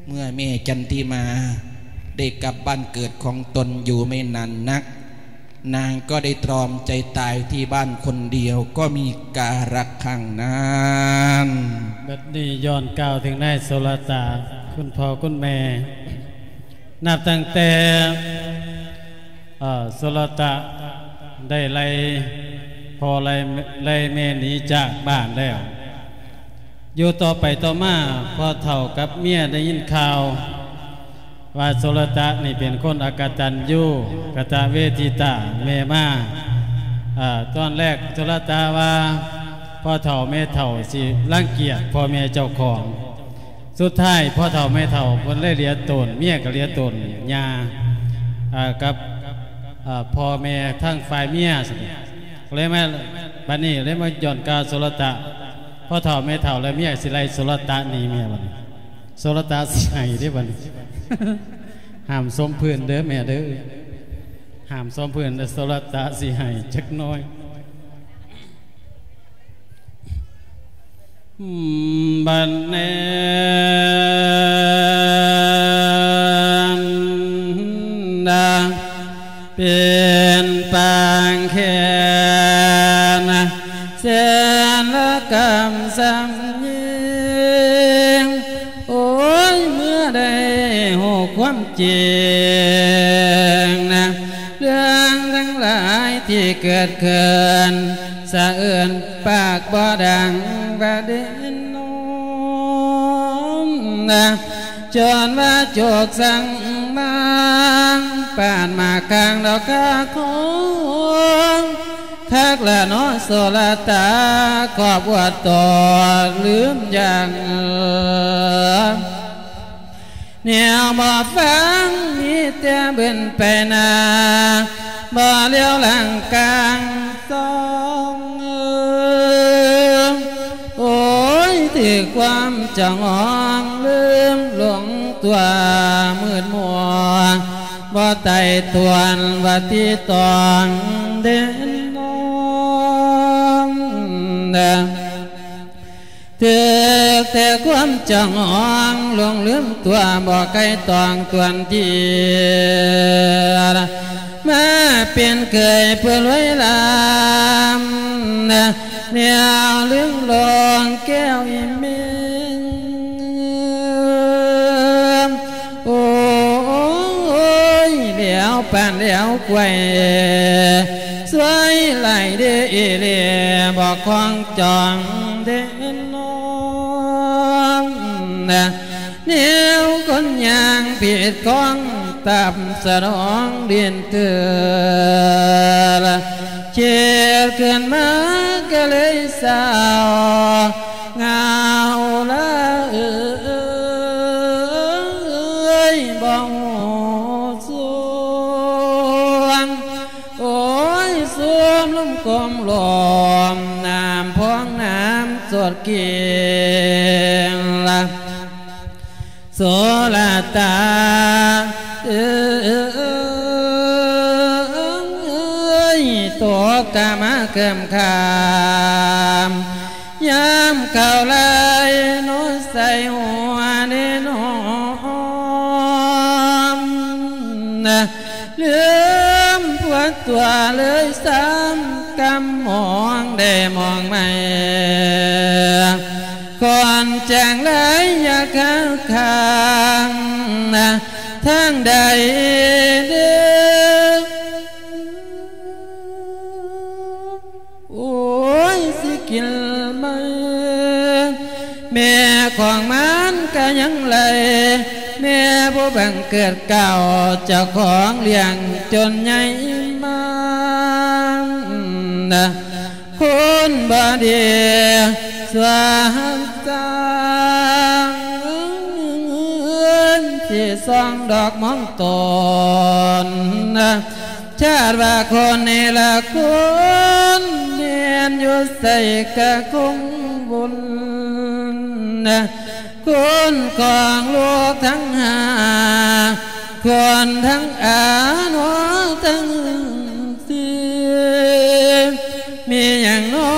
ເມື່ອແມ່ຈັນທິມາໄດ້ກັບບ້ານເກີດຂອງຕົນຢູ່ໄມ່ນານນັກ, ນາງກໍໄດ້ຕຣອມໃຈຕາຍທີ່ບ້ານຄົນດຽວ, ກໍມີກາລະຄັ້ງນັ້ນ. ບັດນີ້ຍ້ອນກ່າວເຖິງນາຍໂສລະຕະ, ຄຸນພໍ່ຄຸນແມ່ ນັບຕັ້ງແຕ່ ເອີ ໂສລະຕະໄດ້ໄລ່ພໍ່ໄລ່ ໄລ່ແມ່ໜີຈາກບ້ານແລ້ວ, ຢູ່ຕໍ່ໄປຕໍ່ມາ ພໍ່ເຖົ້າກັບເມຍໄດ້ຍິນຂ່າວວ່າໂສລະຕະນີ້ເປັນຄົນອະກະຕັນຍູ ກະຕະເວທິຕາ ແມ່ມາ. ເອີ ຕອນແລກໂສລະຕະວ່າ ພໍ່ເຖົ້າແມ່ເຖົ້າຊິລັງກຽດພໍ່ແມ່ເຈົ້າຂອງ. ສຸດທ້າຍພໍ່ເຖົ້າແມ່ເຖົ້າເພິ່ນເລີຍເຫຼືອຕົນ, ເມຍກໍເຫຼືອຕົນ ຍ່າ ເອີ ກັບ ເອີ ພໍ່ແມ່ທາງຝ່າຍເມຍ ກໍເລີຍມາ ບັດນີ້ເລີຍມາຍ້ອນກ່າວໂສລະຕະ, ພໍ່ເຖົ້າແມ່ເຖົ້າ ແລະ ເມຍຊິໄລ່ໂສລະຕະໜີແມ່ບັດນີ້. ໂສລະຕະຊິໄຫ້ເດ້ບັດນີ້. ຫ້າມສົມພື້ນເດີແມ່ເດີ, ຫ້າມສົມພື້ນເດີ, ໂສລະຕະຊິໄຫ້ຈັກໜ້ອຍ. ບັດແນນນະ ເປັນປາງແຂນ ແສນລະກຳສຳຍິງ ໂອ້ຍ ເມື່ອໄດ້ຮູ້ຄວາມຈິງນະ ເລື່ອງທັງຫຼາຍທີ່ເກີດຂຶ້ນ ສະເອີນປາກບໍ່ດັງວ່າເດນອມນະ ຈົນວ່າໂຈກສັງມາງ ປານໝາກກາງດອກກາຂອງ ຄັກລະເນາະໂສລະຕາ ຄອບອວດໂຕລືມຢ່າງ ແນວບໍ່ຟັງມີແຕ່ບືນໄປໜ້າ ບໍ່ຫຼຽວຫຼັງກາງຊອງ. ໂອ້ຍ ຖືກຄວາມຈະງອງລືມຫຼົງຕົວມືດມົວ ບໍ່ໄຕ່ຕວນວ່າຕິຕອງເດນອມ ຖືກແຕ່ຄວາມຈະງອງຫຼົງລືມຕົວ ບໍ່ໄກ່ຕອງຕວນທີ ມາເປັນເຄີຍຜູ້ລວຍລ້ຳ ແນວລືມລອງແກ້ວອີເມງ ໂອ້ຍ ແລ້ວປານແລ້ວກວຍ ຊ່ວຍໄລ່ເດເອເລ ບໍ່ຄອງຈອງເດນອມ ແນວຄົນຍ່າງຜິດຂອງ ຕາມສະໜອງດິນເທື່ອ ເຈັດຂຶ້ນມາກໍເລີຍເສົ້າ ເຫງົາລະເອີ. ງລະ ໂສລະຕາເອີຍ ຕົກກະມາເກີມຄາມ ຍາມເຂົ້າໄລ່ໂນໃສ່ຫົວເດ້ນ້ອງ ນະ ລືມຜົວຕົວເລີຍຊ້ຳ ກຳມອງໄດ້ມອງໃໝ່ ກ່ອນຈາງໄລຍະກາງ ນະ ທາງໃດເດີ ໂອ້ຍ ຊິກິນໄມ້ ແມ່ຂອງມັນກະຍັງໄລ່ ແມ່ຜູ້ບັງເກີດເກົ້າ ເຈົ້າຂອງລ້ຽງຈົນໃຫຍ່ມາ ນະ ຄົນບໍ່ດີຊົ່ວຊ່າງ ຊິສ່ອງດອກມອງຕົນ ນະ ຊາດວ່າຄົນນີ້ລະຄົນ ແມ່ນຢູ່ໃສກະຄົງວຸ່ນ ນະ ຄົນຂອງໂລກທັງຫ້າ ຄົນທັງອານອທັງສີ່ ມີຫຍັງນໍ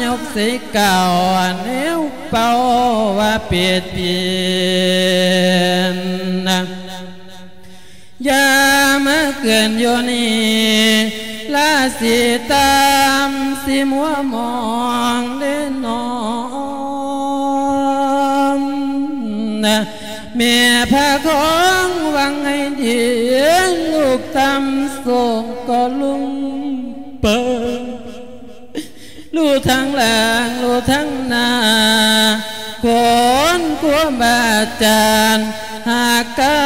ຍົກໃສ່ກ້າວ ແນວເປົ່າວ່າເປັດປີນ ນະ ຢ່າມາເກີນຢູ່ນີ້ ລາສີຕາມຊິມົວມອງເດ້ນ້ອງ ນະ ແມ່ພະຄອງຫວັງໃຫ້ດີ ລູກຕ່ຳສູງກໍລົງໄປ ຮູ້ທັງຫຼັງ ຮູ້ທັງໜ້າ ຄົນຄູບາອາຈານ ຫາກກາ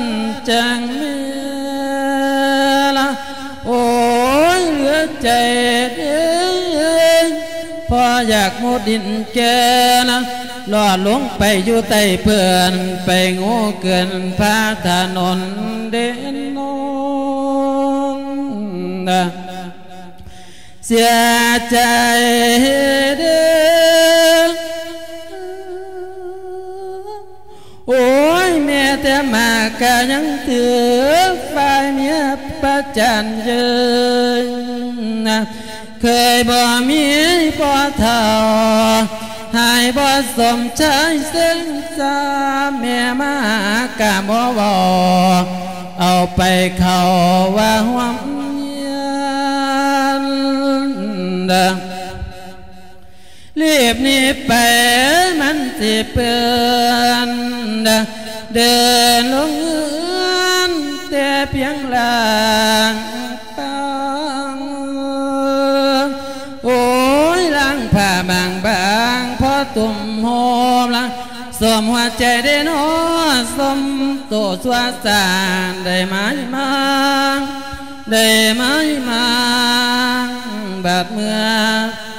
ນຈັ່ງແມ່ລະ ໂອ້ຍ ເຫຼືອໃຈເດ້ ພໍຢາກມຸດດິນແກ່ນະ ລອດລົງໄປຢູ່ໃຕ້ເພິ່ນ ໄປໂງ່ເກີນພາຖະໜົນເດ້ນ້ອງນະ ເສຍໃຈເດີ ໂອ້ຍ ແມ່ແຕ່ມາກະຍັງຖືກຝ່າຍເມຍປະຈານເຍີນ ເຄີຍບໍ່ມີພໍ່ເຖົ້າ ໃຫ້ບໍ່ສົມຊາຍເສັງຊາ ແມ່ມາຫາກະບໍ່ເວົ້າ ເອົາໄປເຂົ້າວ່າຮ່ວມຮຽນ ລີບໜີໄປມັນຊິເປື້ອນ ເດີນລົງເຮືອນແຕ່ພຽງລ່າງປາງ ໂອ້ຍ ລ່າງຜ້າບາງໆ ພໍຕຸ້ມໂຮມລະ ສົມຫົວໃຈເດ້ນໍ ສົມໂຕຊົ່ວຊ້າງ ໄດ້ໝາຍມາງ ໄດ້ໝາຍມາງ ບາດເມື່ອ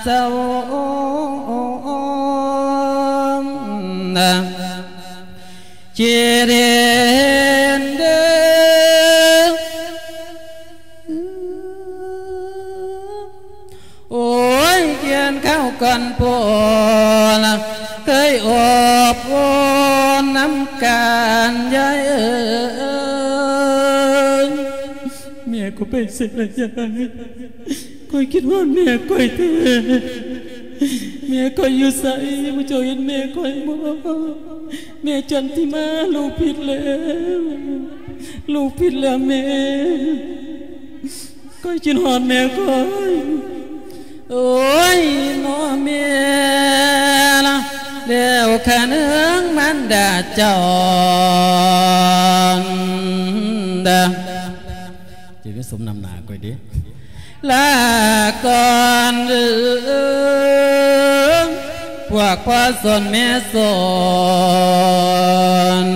ເຈົ້ານະ ຊິເຫັນເດີ ໂອ້ຍ ກ່ຽນເຂົ້າກ່ອນໂພນ ເຄີຍອົບອຸ່ນນຳກັນ ຍາຍເອີຍ. ແມ່ຂ້ອຍໄປໃສລະຍາຍ? ຂ້ອຍຄິດຮອດແມ່ຂ້ອຍແທ້. ແມ່ຂ້ອຍຢູ່ໃສ? ໝູ່ເຈົ້າເຫັນແມ່ຂ້ອຍບໍ່? ແມ່ຈັນທິມາ ລູກຜິດແລ້ວ ລູກຜິດແລ້ວແມ່. ຂ້ອຍຄິດຮອດແມ່ຂ້ອຍ. ໂອ້ຍ ນ້ອງແມ່ລະ ແລ້ວຂະເໜືອງມານດາເຈົ້າດາ ຈະໄດ້ສົມນຳໜ້າຂ້ອຍເດ້. ລາກ່ອນເດີ ພວກພໍ່ສົນແມ່ສົນ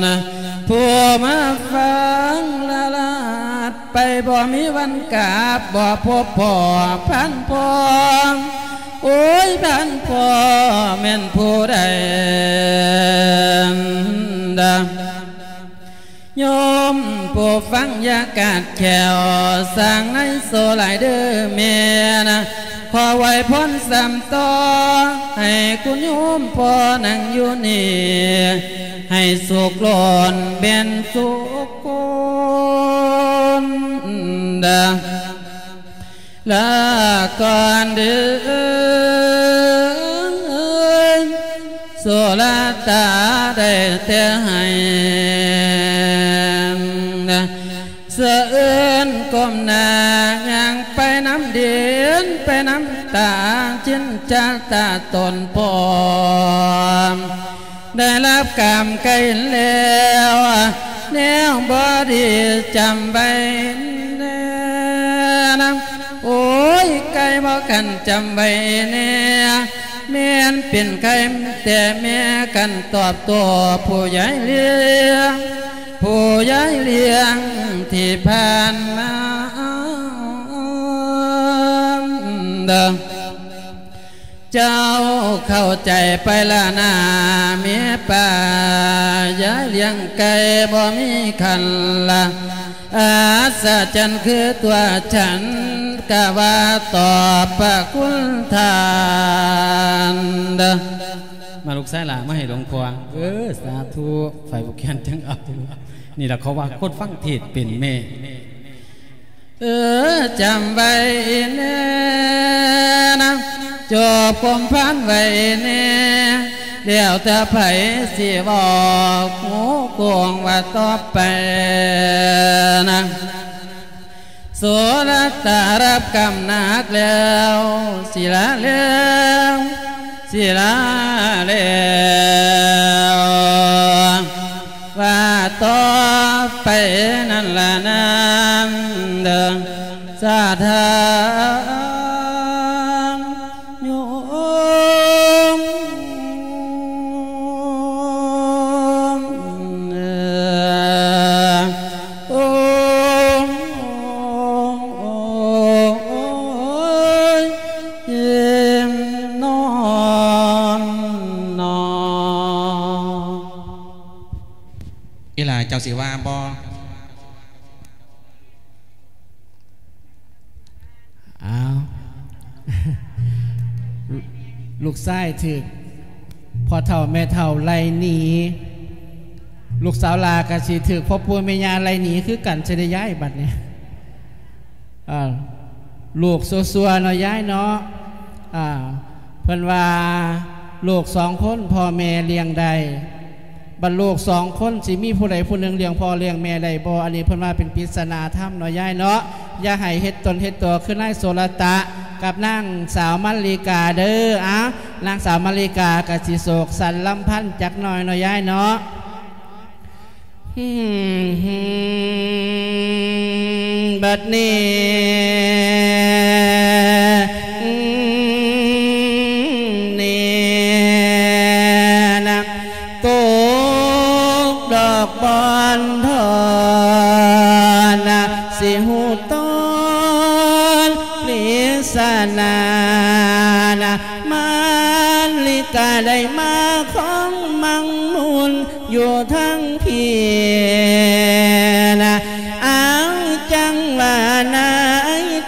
ຜູ້ມາຟັງລະລາດ ໄປບໍ່ມີວັນກັບ ບໍ່ພົບພໍ້ພັນພໍ່. ໂອ້ຍ ພັນພໍ່ແມ່ນຜູ້ໃດດາ? ໂຍມຜູ້ຟັງຢ່າກາດແຂ້ວ ສ້າງໃນໂສຫຼາຍເດີແມ່ນະ ຂໍໄຫວ້ພອນຊ້ຳຕໍ່. ໃຫ້ຄຸນໂຍມພໍ່ນັ່ງຢູ່ນີ້ ໃຫ້ສຸກລ້ນເປັນສຸກຄົນເດີ້ ລາກ່ອນເດີ ໂສລະຕາໄດ້ແຕ່ໃຫ້ ສະເອີນກົ້ມໜ້າຍ່າງໄປນຳດິນ ໄປນຳຕາ ຈິນຈາຕາຕົນພ້ອມ ໄດ້ຮັບກຳໄກ່ແລ້ວ ແນວບໍ່ດີຈຳໄວ້ແນ່ນະ ໂອ້ຍ ໄກ່ບໍ່ຄັນຈຳໄວ້ແນ່ ແມ່ນເປັນໄຂ່ແຕ່ແມ່ກັນຕອບໂຕ້ຜູ້ໃຫຍ່ລ້ຽງ ຜູ້ໃຫຍ່ລ້ຽງທີ່ຜ່ານມາ ເຈົ້າເຂົ້າໃຈໄປລະນາແມ່ປ້າ ຢາຍລ້ຽງໄກ່ບໍ່ມີຄັນລະ ອັດສະຈັນຄືຕົວສັນ ກະວ່າຕອບພະຄຸນທ່ານເດີ້. ມາລູກຊາຍຫຼ້າມາໃຫ້ຫຼວງພໍ່. ເອີ ສາທຸ. ຝ່າຍຜູ້ຂຽນຈັ່ງເອົາ. ນີ້ລະເຂົາວ່າຄົນຟັງເທດເປັນແມ່. ເອີ ຈຳໄວ້ແນ່ນະ ຈອບຄວາມພັນໄວ້ແນ່ ແລ້ວແຕ່ໃຜຊິເວົ້າ ຫູກວ້າງວ່າຕໍ່ໄປນະ ໂສລະຕາຮັບກຳໜັກແລ້ວ ສິລາແລ້ວ ສິລາແລ້ວ ວ່າຕໍ່ໄປນັ້ນລະນາງເດີ ສາທາໂຍມ ໂອມ ໂອມ ໂອຍ ເອີມ ນອມ ນອມ. ອີ່ຫຼ້າເຈົ້າຊິວ່າບໍ່? ອ້າວ ລູກຊາຍຖືກພໍ່ເຖົ້າແມ່ເຖົ້າໄລ່ໜີ ລູກສາວຫຼ້າກະຊິຖືກພໍ່ປູ່ແມ່ຍ່າໄລ່ໜີຄືກັນ ຊິໄດ້ຍ້າຍບັດນີ້. ອ່າ ລູກຊົ່ວໆເນາະ ຍາຍເນາະ. ອ່າ ເພິ່ນວ່າລູກສອງຄົນພໍ່ແມ່ລ້ຽງໄດ້ ບັດລູກສອງຄົນຊິມີຜູ້ໃດຜູ້ໜຶ່ງລ້ຽງພໍ່ລ້ຽງແມ່ໄດ້ບໍ່? ອັນນີ້ເພິ່ນວ່າເປັນປິດສະໜາທຳເນາະ ຍາຍເນາະ. ຢ່າໃຫ້ເຮັດຕົນເຮັດຕົວຄືນາຍໂສລະຕະກັບນາງສາວມາລິກາເດີ. ອ່າ ນາງສາວມາລິກາກະຊິໂສກສັນລຳພັນຈັກໜ້ອຍເນາະ ຍາຍເນາະ. ບັດນີ້ ນີ້ນະ ຕົກດອກບອນທອນນະ ຊິຮູ້ຕອນລິດສະໜານະ ມາລິກາໄດ້ມາຂອງມັງມຸນ ຢູ່ທາງພີ້ນະ ອາງຈັງວ່າໃນ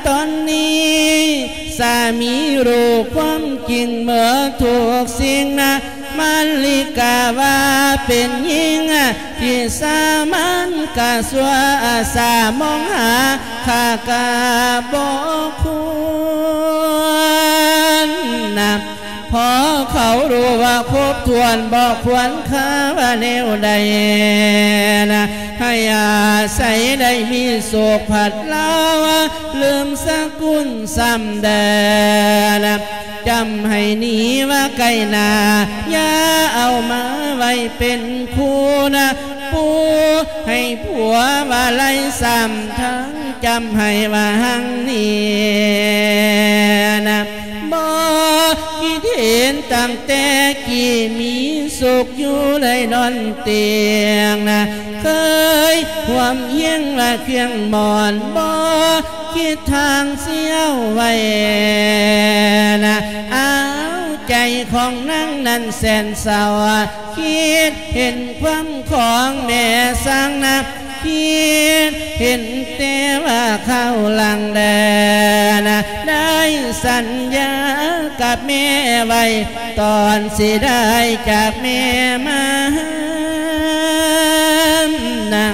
ຕອນນີ້ ສາມີຮູ້ຄວາມຈິງເໝິດທຸກສິ່ງນະ ມາລິກາວ່າເປັນຍິງທີ່ສາມັນກະຊົ່ວ ອາສາມອງຫາຂ້າກະບໍ່ຄວນນະ. ພໍເຂົາຮູ້ວ່າຄົບຖ້ວນບໍ່ຄວນຄ່າວ່າແນວໃດນະ ໃຫ້ອາໄສໄດ້ມີໂຊກພັດລາວ ລືມສະກຸນຊ້ຳແດ່ນະ ຈຳໃຫ້ໜີວ່າໄກໜ້າ ຢ່າເອົາມາໄວ້ເປັນຄູ່ນະ ປູໃຫ້ຜົວວ່າໄລຊ້ຳທັງ ຈຳໃຫ້ວ່າຮັ່ງນີ້ນະ ບໍ່ຄິດເຫັນຕັ້ງແຕ່ກີ້ມີສຸກຢູ່ໄດ້ນອນຕຽງນະ ເຄີຍຮ່ວມຮຽງວ່າຄຽງໝອນ ບໍ່ຄິດທາງຊິເອົາໄວ້ນະ ອ້າວ ໃຈຂອງນາງນັ້ນແສນເສົ້າ ຄິດເຫັນຄວາມຂອງແມ່ຊ້າງນະ ຄິດເຫັນແຕ່ວ່າຄາວຫຼັງແດ່ນະ ໄດ້ສັນຍາກັບແມ່ໄວ້ ຕອນຊິໄດ້ຈາກແມ່ມານະ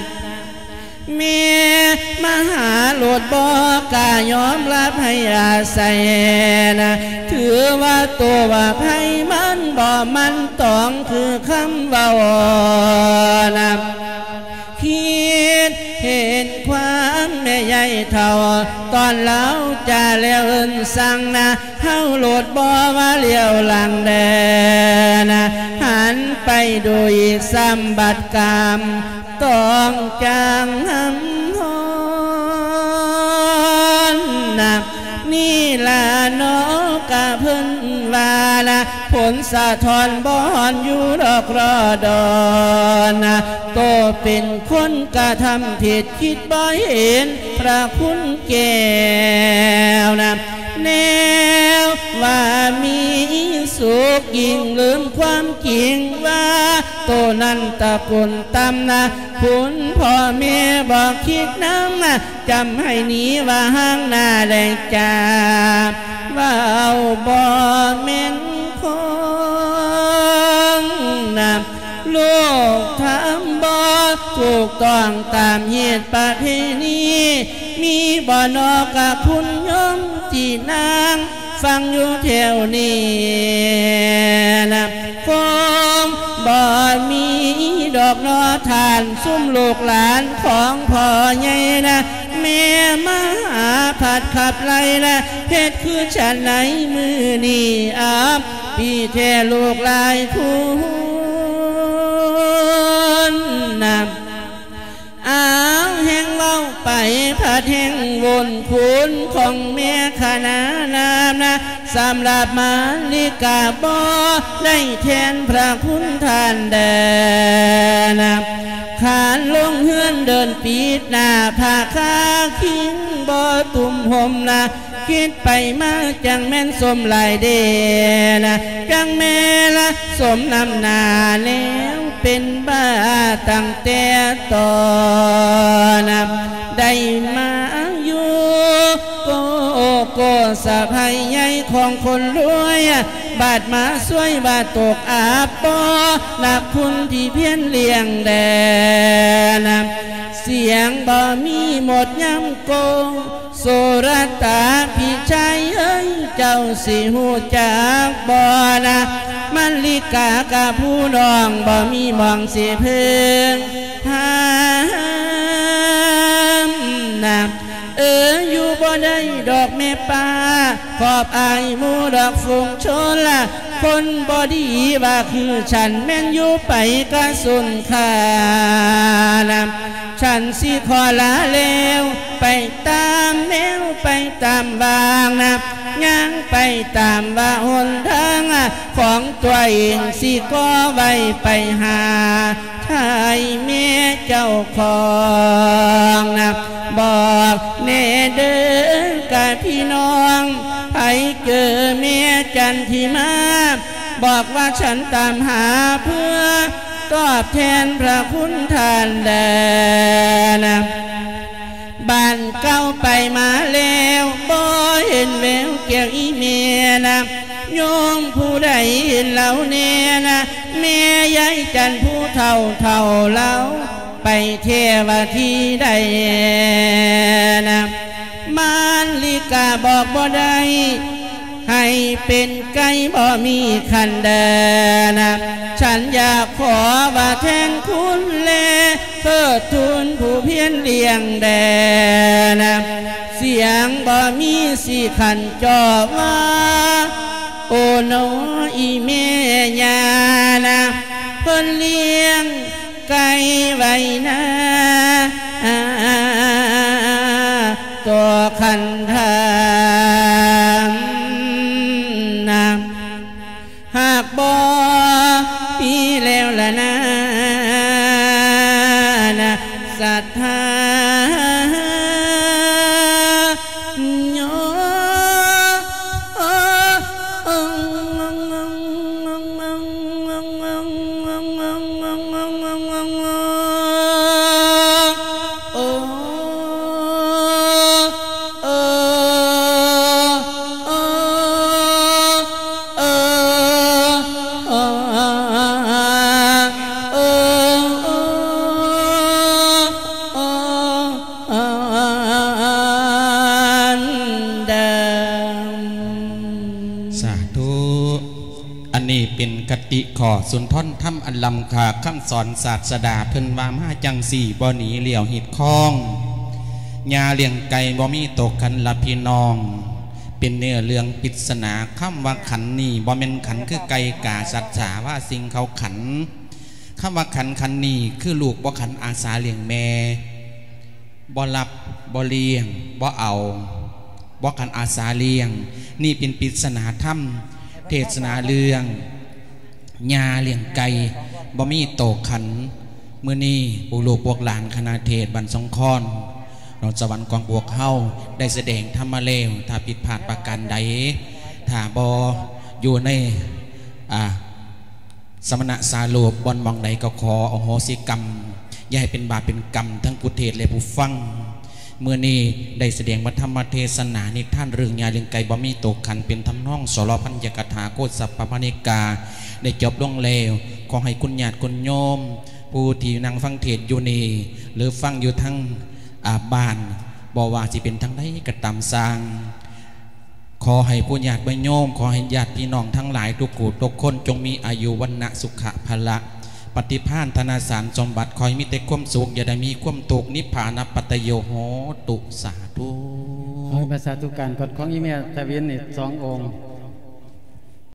ແມ່ມາຫາໂລດບໍ່ ກະຍອມຮັບໃຫ້ອາໄສນະ ຖືວ່າໂຕວ່າໃຜມັນບໍ່ໝັ້ນຕອງ ຄືຄຳເວົ້ານະ ຄິດເຫັນຄວາມແມ່ໃຫຍ່ເຖົ້າ ຕອນລາວຈາແລ້ວເອີ້ນສັ່ງນະ ເຮົາໂລດບໍ່ວ່າຫຼຽວຫຼັງແດ່ນະ ຫັນໄປດູອີກຊ້ຳບັດກຳ ຕ້ອງຈາງຫຳຮ້ອນນະ ນີ້ລະເນາະກະເພິ່ນວ່ານະ ຜົນສະທ້ອນບໍ່ຮອນຢູ່ດອກລໍດອນນະ ໂຕເປັນຄົນກະທຳຜິດ ຄິດບໍ່ເຫັນພະຄຸນແກ້ວນະ ແນວວ່າມີສຸກ ຍິ່ງລືມຄວາມຈິງວ່າ ໂຕນັ້ນຕະກຸນຕ່ຳນະ ຄຸນພໍ່ແມ່ບໍ່ຄິດນຳນະ ຈຳໃຫ້ໜີວ່າຫ່າງໜ້າແລະຈາ ເວົ້າບໍ່ແມ່ນຄວາມນະ ລູກທຳບໍ່ຖືກຕ້ອງຕາມຮີດປະເພນີ ມີບໍ່ນໍກະຄຸນໂຍມຈີ່ນາງ ຟັງຢູ່ແຖວນີ້ນະ ຄົງບໍ່ມີດອກນໍທ່ານ ຊຸມລູກຫຼານຂອງພໍ່ໃຫຍ່ນະ ແມ່ມະຫາພັດຂັບໄລ່ນະ ເຮັດຄືສັນໃນມື້ນີ້ ອັບປີແທ້ລູກຫຼາຍຄຸນນະ ອ້າວ ແຮ່ງເວົ້າໄປພັດແຮ່ງວົນ ຄຸນຂອງແມ່ຂະໜານາມນະ ສຳລັບມາລິກາບໍ່ໄດ້ແທນພະຄຸນທ່ານແດ່ນະ ຄານລົງເຮືອນເດີນປິດໜ້າ ຜ້າຄາຄິງບໍ່ຕຸ້ມຫົ່ມນະ ຄິດໄປມາຈັ່ງແມ່ນສົມຫຼາຍເດນະ ຈັ່ງແມ່ນລະສົມນຳໜ້າແລ້ວ ເປັນບ້າຕັ້ງແຕ່ຕອນນະ ໄດ້ມາຢູ່ໂກໂກສະໃພໃຫຍ່ຂອງຄົນລວຍ ບາດມາຊ່ວຍວ່າຕົກອັບບໍ່ນັບຄຸນທີ່ພຽນລ້ຽງແດ່ນະ ສຽງບໍ່ມີໝົດຍາມໂກ ໂສລະຕາພີ່ຊາຍເອີຍ ເຈົ້າຊິຮູ້ຈັກບໍ່ນະ ມາລິກາກັບຜູ້ນ້ອງ ບໍ່ມີໝ່ອງຊິເພິ່ງພານະ ເອີ ຢູ່ບໍ່ໄດ້ດອກແມ່ປ້າ ຂອບອາຍໝູ່ດອກຝູງຊົນລະ ຄົນບໍ່ດີວ່າຄືສັນ ແມ່ນຢູ່ໄປກະສຸນຄານະ ສັນຊິຂໍລາແລ້ວ ໄປຕາມແນວໄປຕາມວາງນະ ຍ່າງໄປຕາມວ່າຫົນທາງຂອງຕົວເອງ ຊິກໍໄວໄປຫາໄທແມ່ເຈົ້າຂອງນະ ບອກແດ່ເດີກະພີ່ນ້ອງ ໃຜເຈີແມ່ຈັນທິມາ ບອກວ່າສັນຕາມຫາເພື່ອຕອບແທນພະຄຸນທ່ານແດ່ນະ ບ້ານເກົ່າໄປມາແລ້ວ ບໍ່ເຫັນແວວແກ້ວອີ່ແມ່ນະ ໂຍມຜູ້ໃດເຫັນລາວແດ່ນະ ແມ່ຍາຍຈັນຜູ້ເຖົ້າເຖົ້າລາວ ໄປແທ້ວ່າທີ່ໃດນະ ມານລິກາບອກບໍ່ໄດ້ ໃຫ້ເປັນໄກ່ບໍ່ມີຂັນເດີນະ ສັນຢາກຂໍວ່າແທນຄຸນແລ ເທີດທູນຜູ້ພຽນລ້ຽງແດ່ນະ ສຽງບໍ່ມີຊິຂັນຈອບວ່າ ໂອໂນອີ່ແມ່ຍ່ານະ ເພິ່ນລ້ຽງ ໄກ່ໄວ້ນາ ຕົວຄັນທານນະ ຫາກບໍ່ມີແລ້ວລະນານະ ສັດທາໂຍ ຄະຕິຂໍ້ສຸນທອນທຳອັນລ້ຳຄ່າ ຄຳສອນສາດສະດາເພິ່ນວ່າມາຈັ່ງຊີ້ ບໍ່ໜີລ້ຽວຮີດຄອງ ຍ່າລ້ຽງໄກ່ບໍ່ມີໂຕຂັນລະພີ່ນ້ອງ ເປັນເນື້ອເລື່ອງປິດສະໜາ ຄຳວ່າຂັນນີ້ບໍ່ແມ່ນຂັນຄືໄກ່ກາສັດສາວ່າສິ່ງເຂົາຂັນ ຄຳວ່າຂັນ ຂັນນີ້ຄືລູກບໍ່ຂັນອາສາລ້ຽງແມ່ ບໍ່ຮັບ ບໍ່ລ້ຽງ ບໍ່ເອົາ ບໍ່ຂັນອາສາລ້ຽງ ນີ້ເປັນປິດສະໜາທຳ ເທດສະໜາເລື່ອງ ຍ່າລ້ຽງໄກ່ບໍ່ມີໂຕຂັນ. ມື້ນີ້ພວກລູກພວກຫຼານຄະນະເທດບ້ານສົງຄອນ ນອນສະຫວັນຂອງພວກເຮົາໄດ້ສະແດງທຳມາແລ້ວ ຖ້າຜິດພາດປະການໃດ ຖ້າບໍ່ຢູ່ໃນ ອ່າ ສະມະນະສາໂລບ ບ່ອນໝ່ອງໃດກໍຂໍອະໂຫສິກຳ ຢ່າໃຫ້ເປັນບາບເປັນກຳທັງຜູ້ເທດ ແລະ ຜູ້ຟັງ. ມື້ນີ້ໄດ້ສະແດງພະທຳມະເທສະໜານິທານເລື່ອງຍ່າລ້ຽງໄກ່ບໍ່ມີໂຕຂັນ ເປັນທຳນອງສລະພັນຍະກະຖາໂຄດສັບພະມະນິກາ ໄດ້ຈົບລົງແລ້ວ. ຂໍໃຫ້ຄຸນຍາດຄຸນໂຍມ ຜູ້ທີ່ນັ່ງຟັງເທດຢູ່ນີ້ ຫຼື ຟັງຢູ່ທາງ ອາ ບ້ານ ບໍ່ວ່າຊິເປັນທາງໃດກໍຕາມຊ່າງ ຂໍໃຫ້ຜູ້ຍາດໂຍມ ຂໍໃຫ້ຍາດພີ່ນ້ອງທັງຫຼາຍທຸກຜູ້ທຸກຄົນ ຈົ່ງມີອາຍຸວັນນະສຸຂະພະລະ ປະຕິພານທະນະສານສົມບັດ ຂໍໃຫ້ມີແຕ່ຄວາມສຸກ ຢ່າໄດ້ມີຄວາມທຸກ ນິບພານະປັດຕະໂຍໂຫຕຸ ສາທຸ. ຂໍໃຫ້ມາສາທຸການ ກອດຂອງອີແມ່ທະວິນນີ້ສອງອົງ.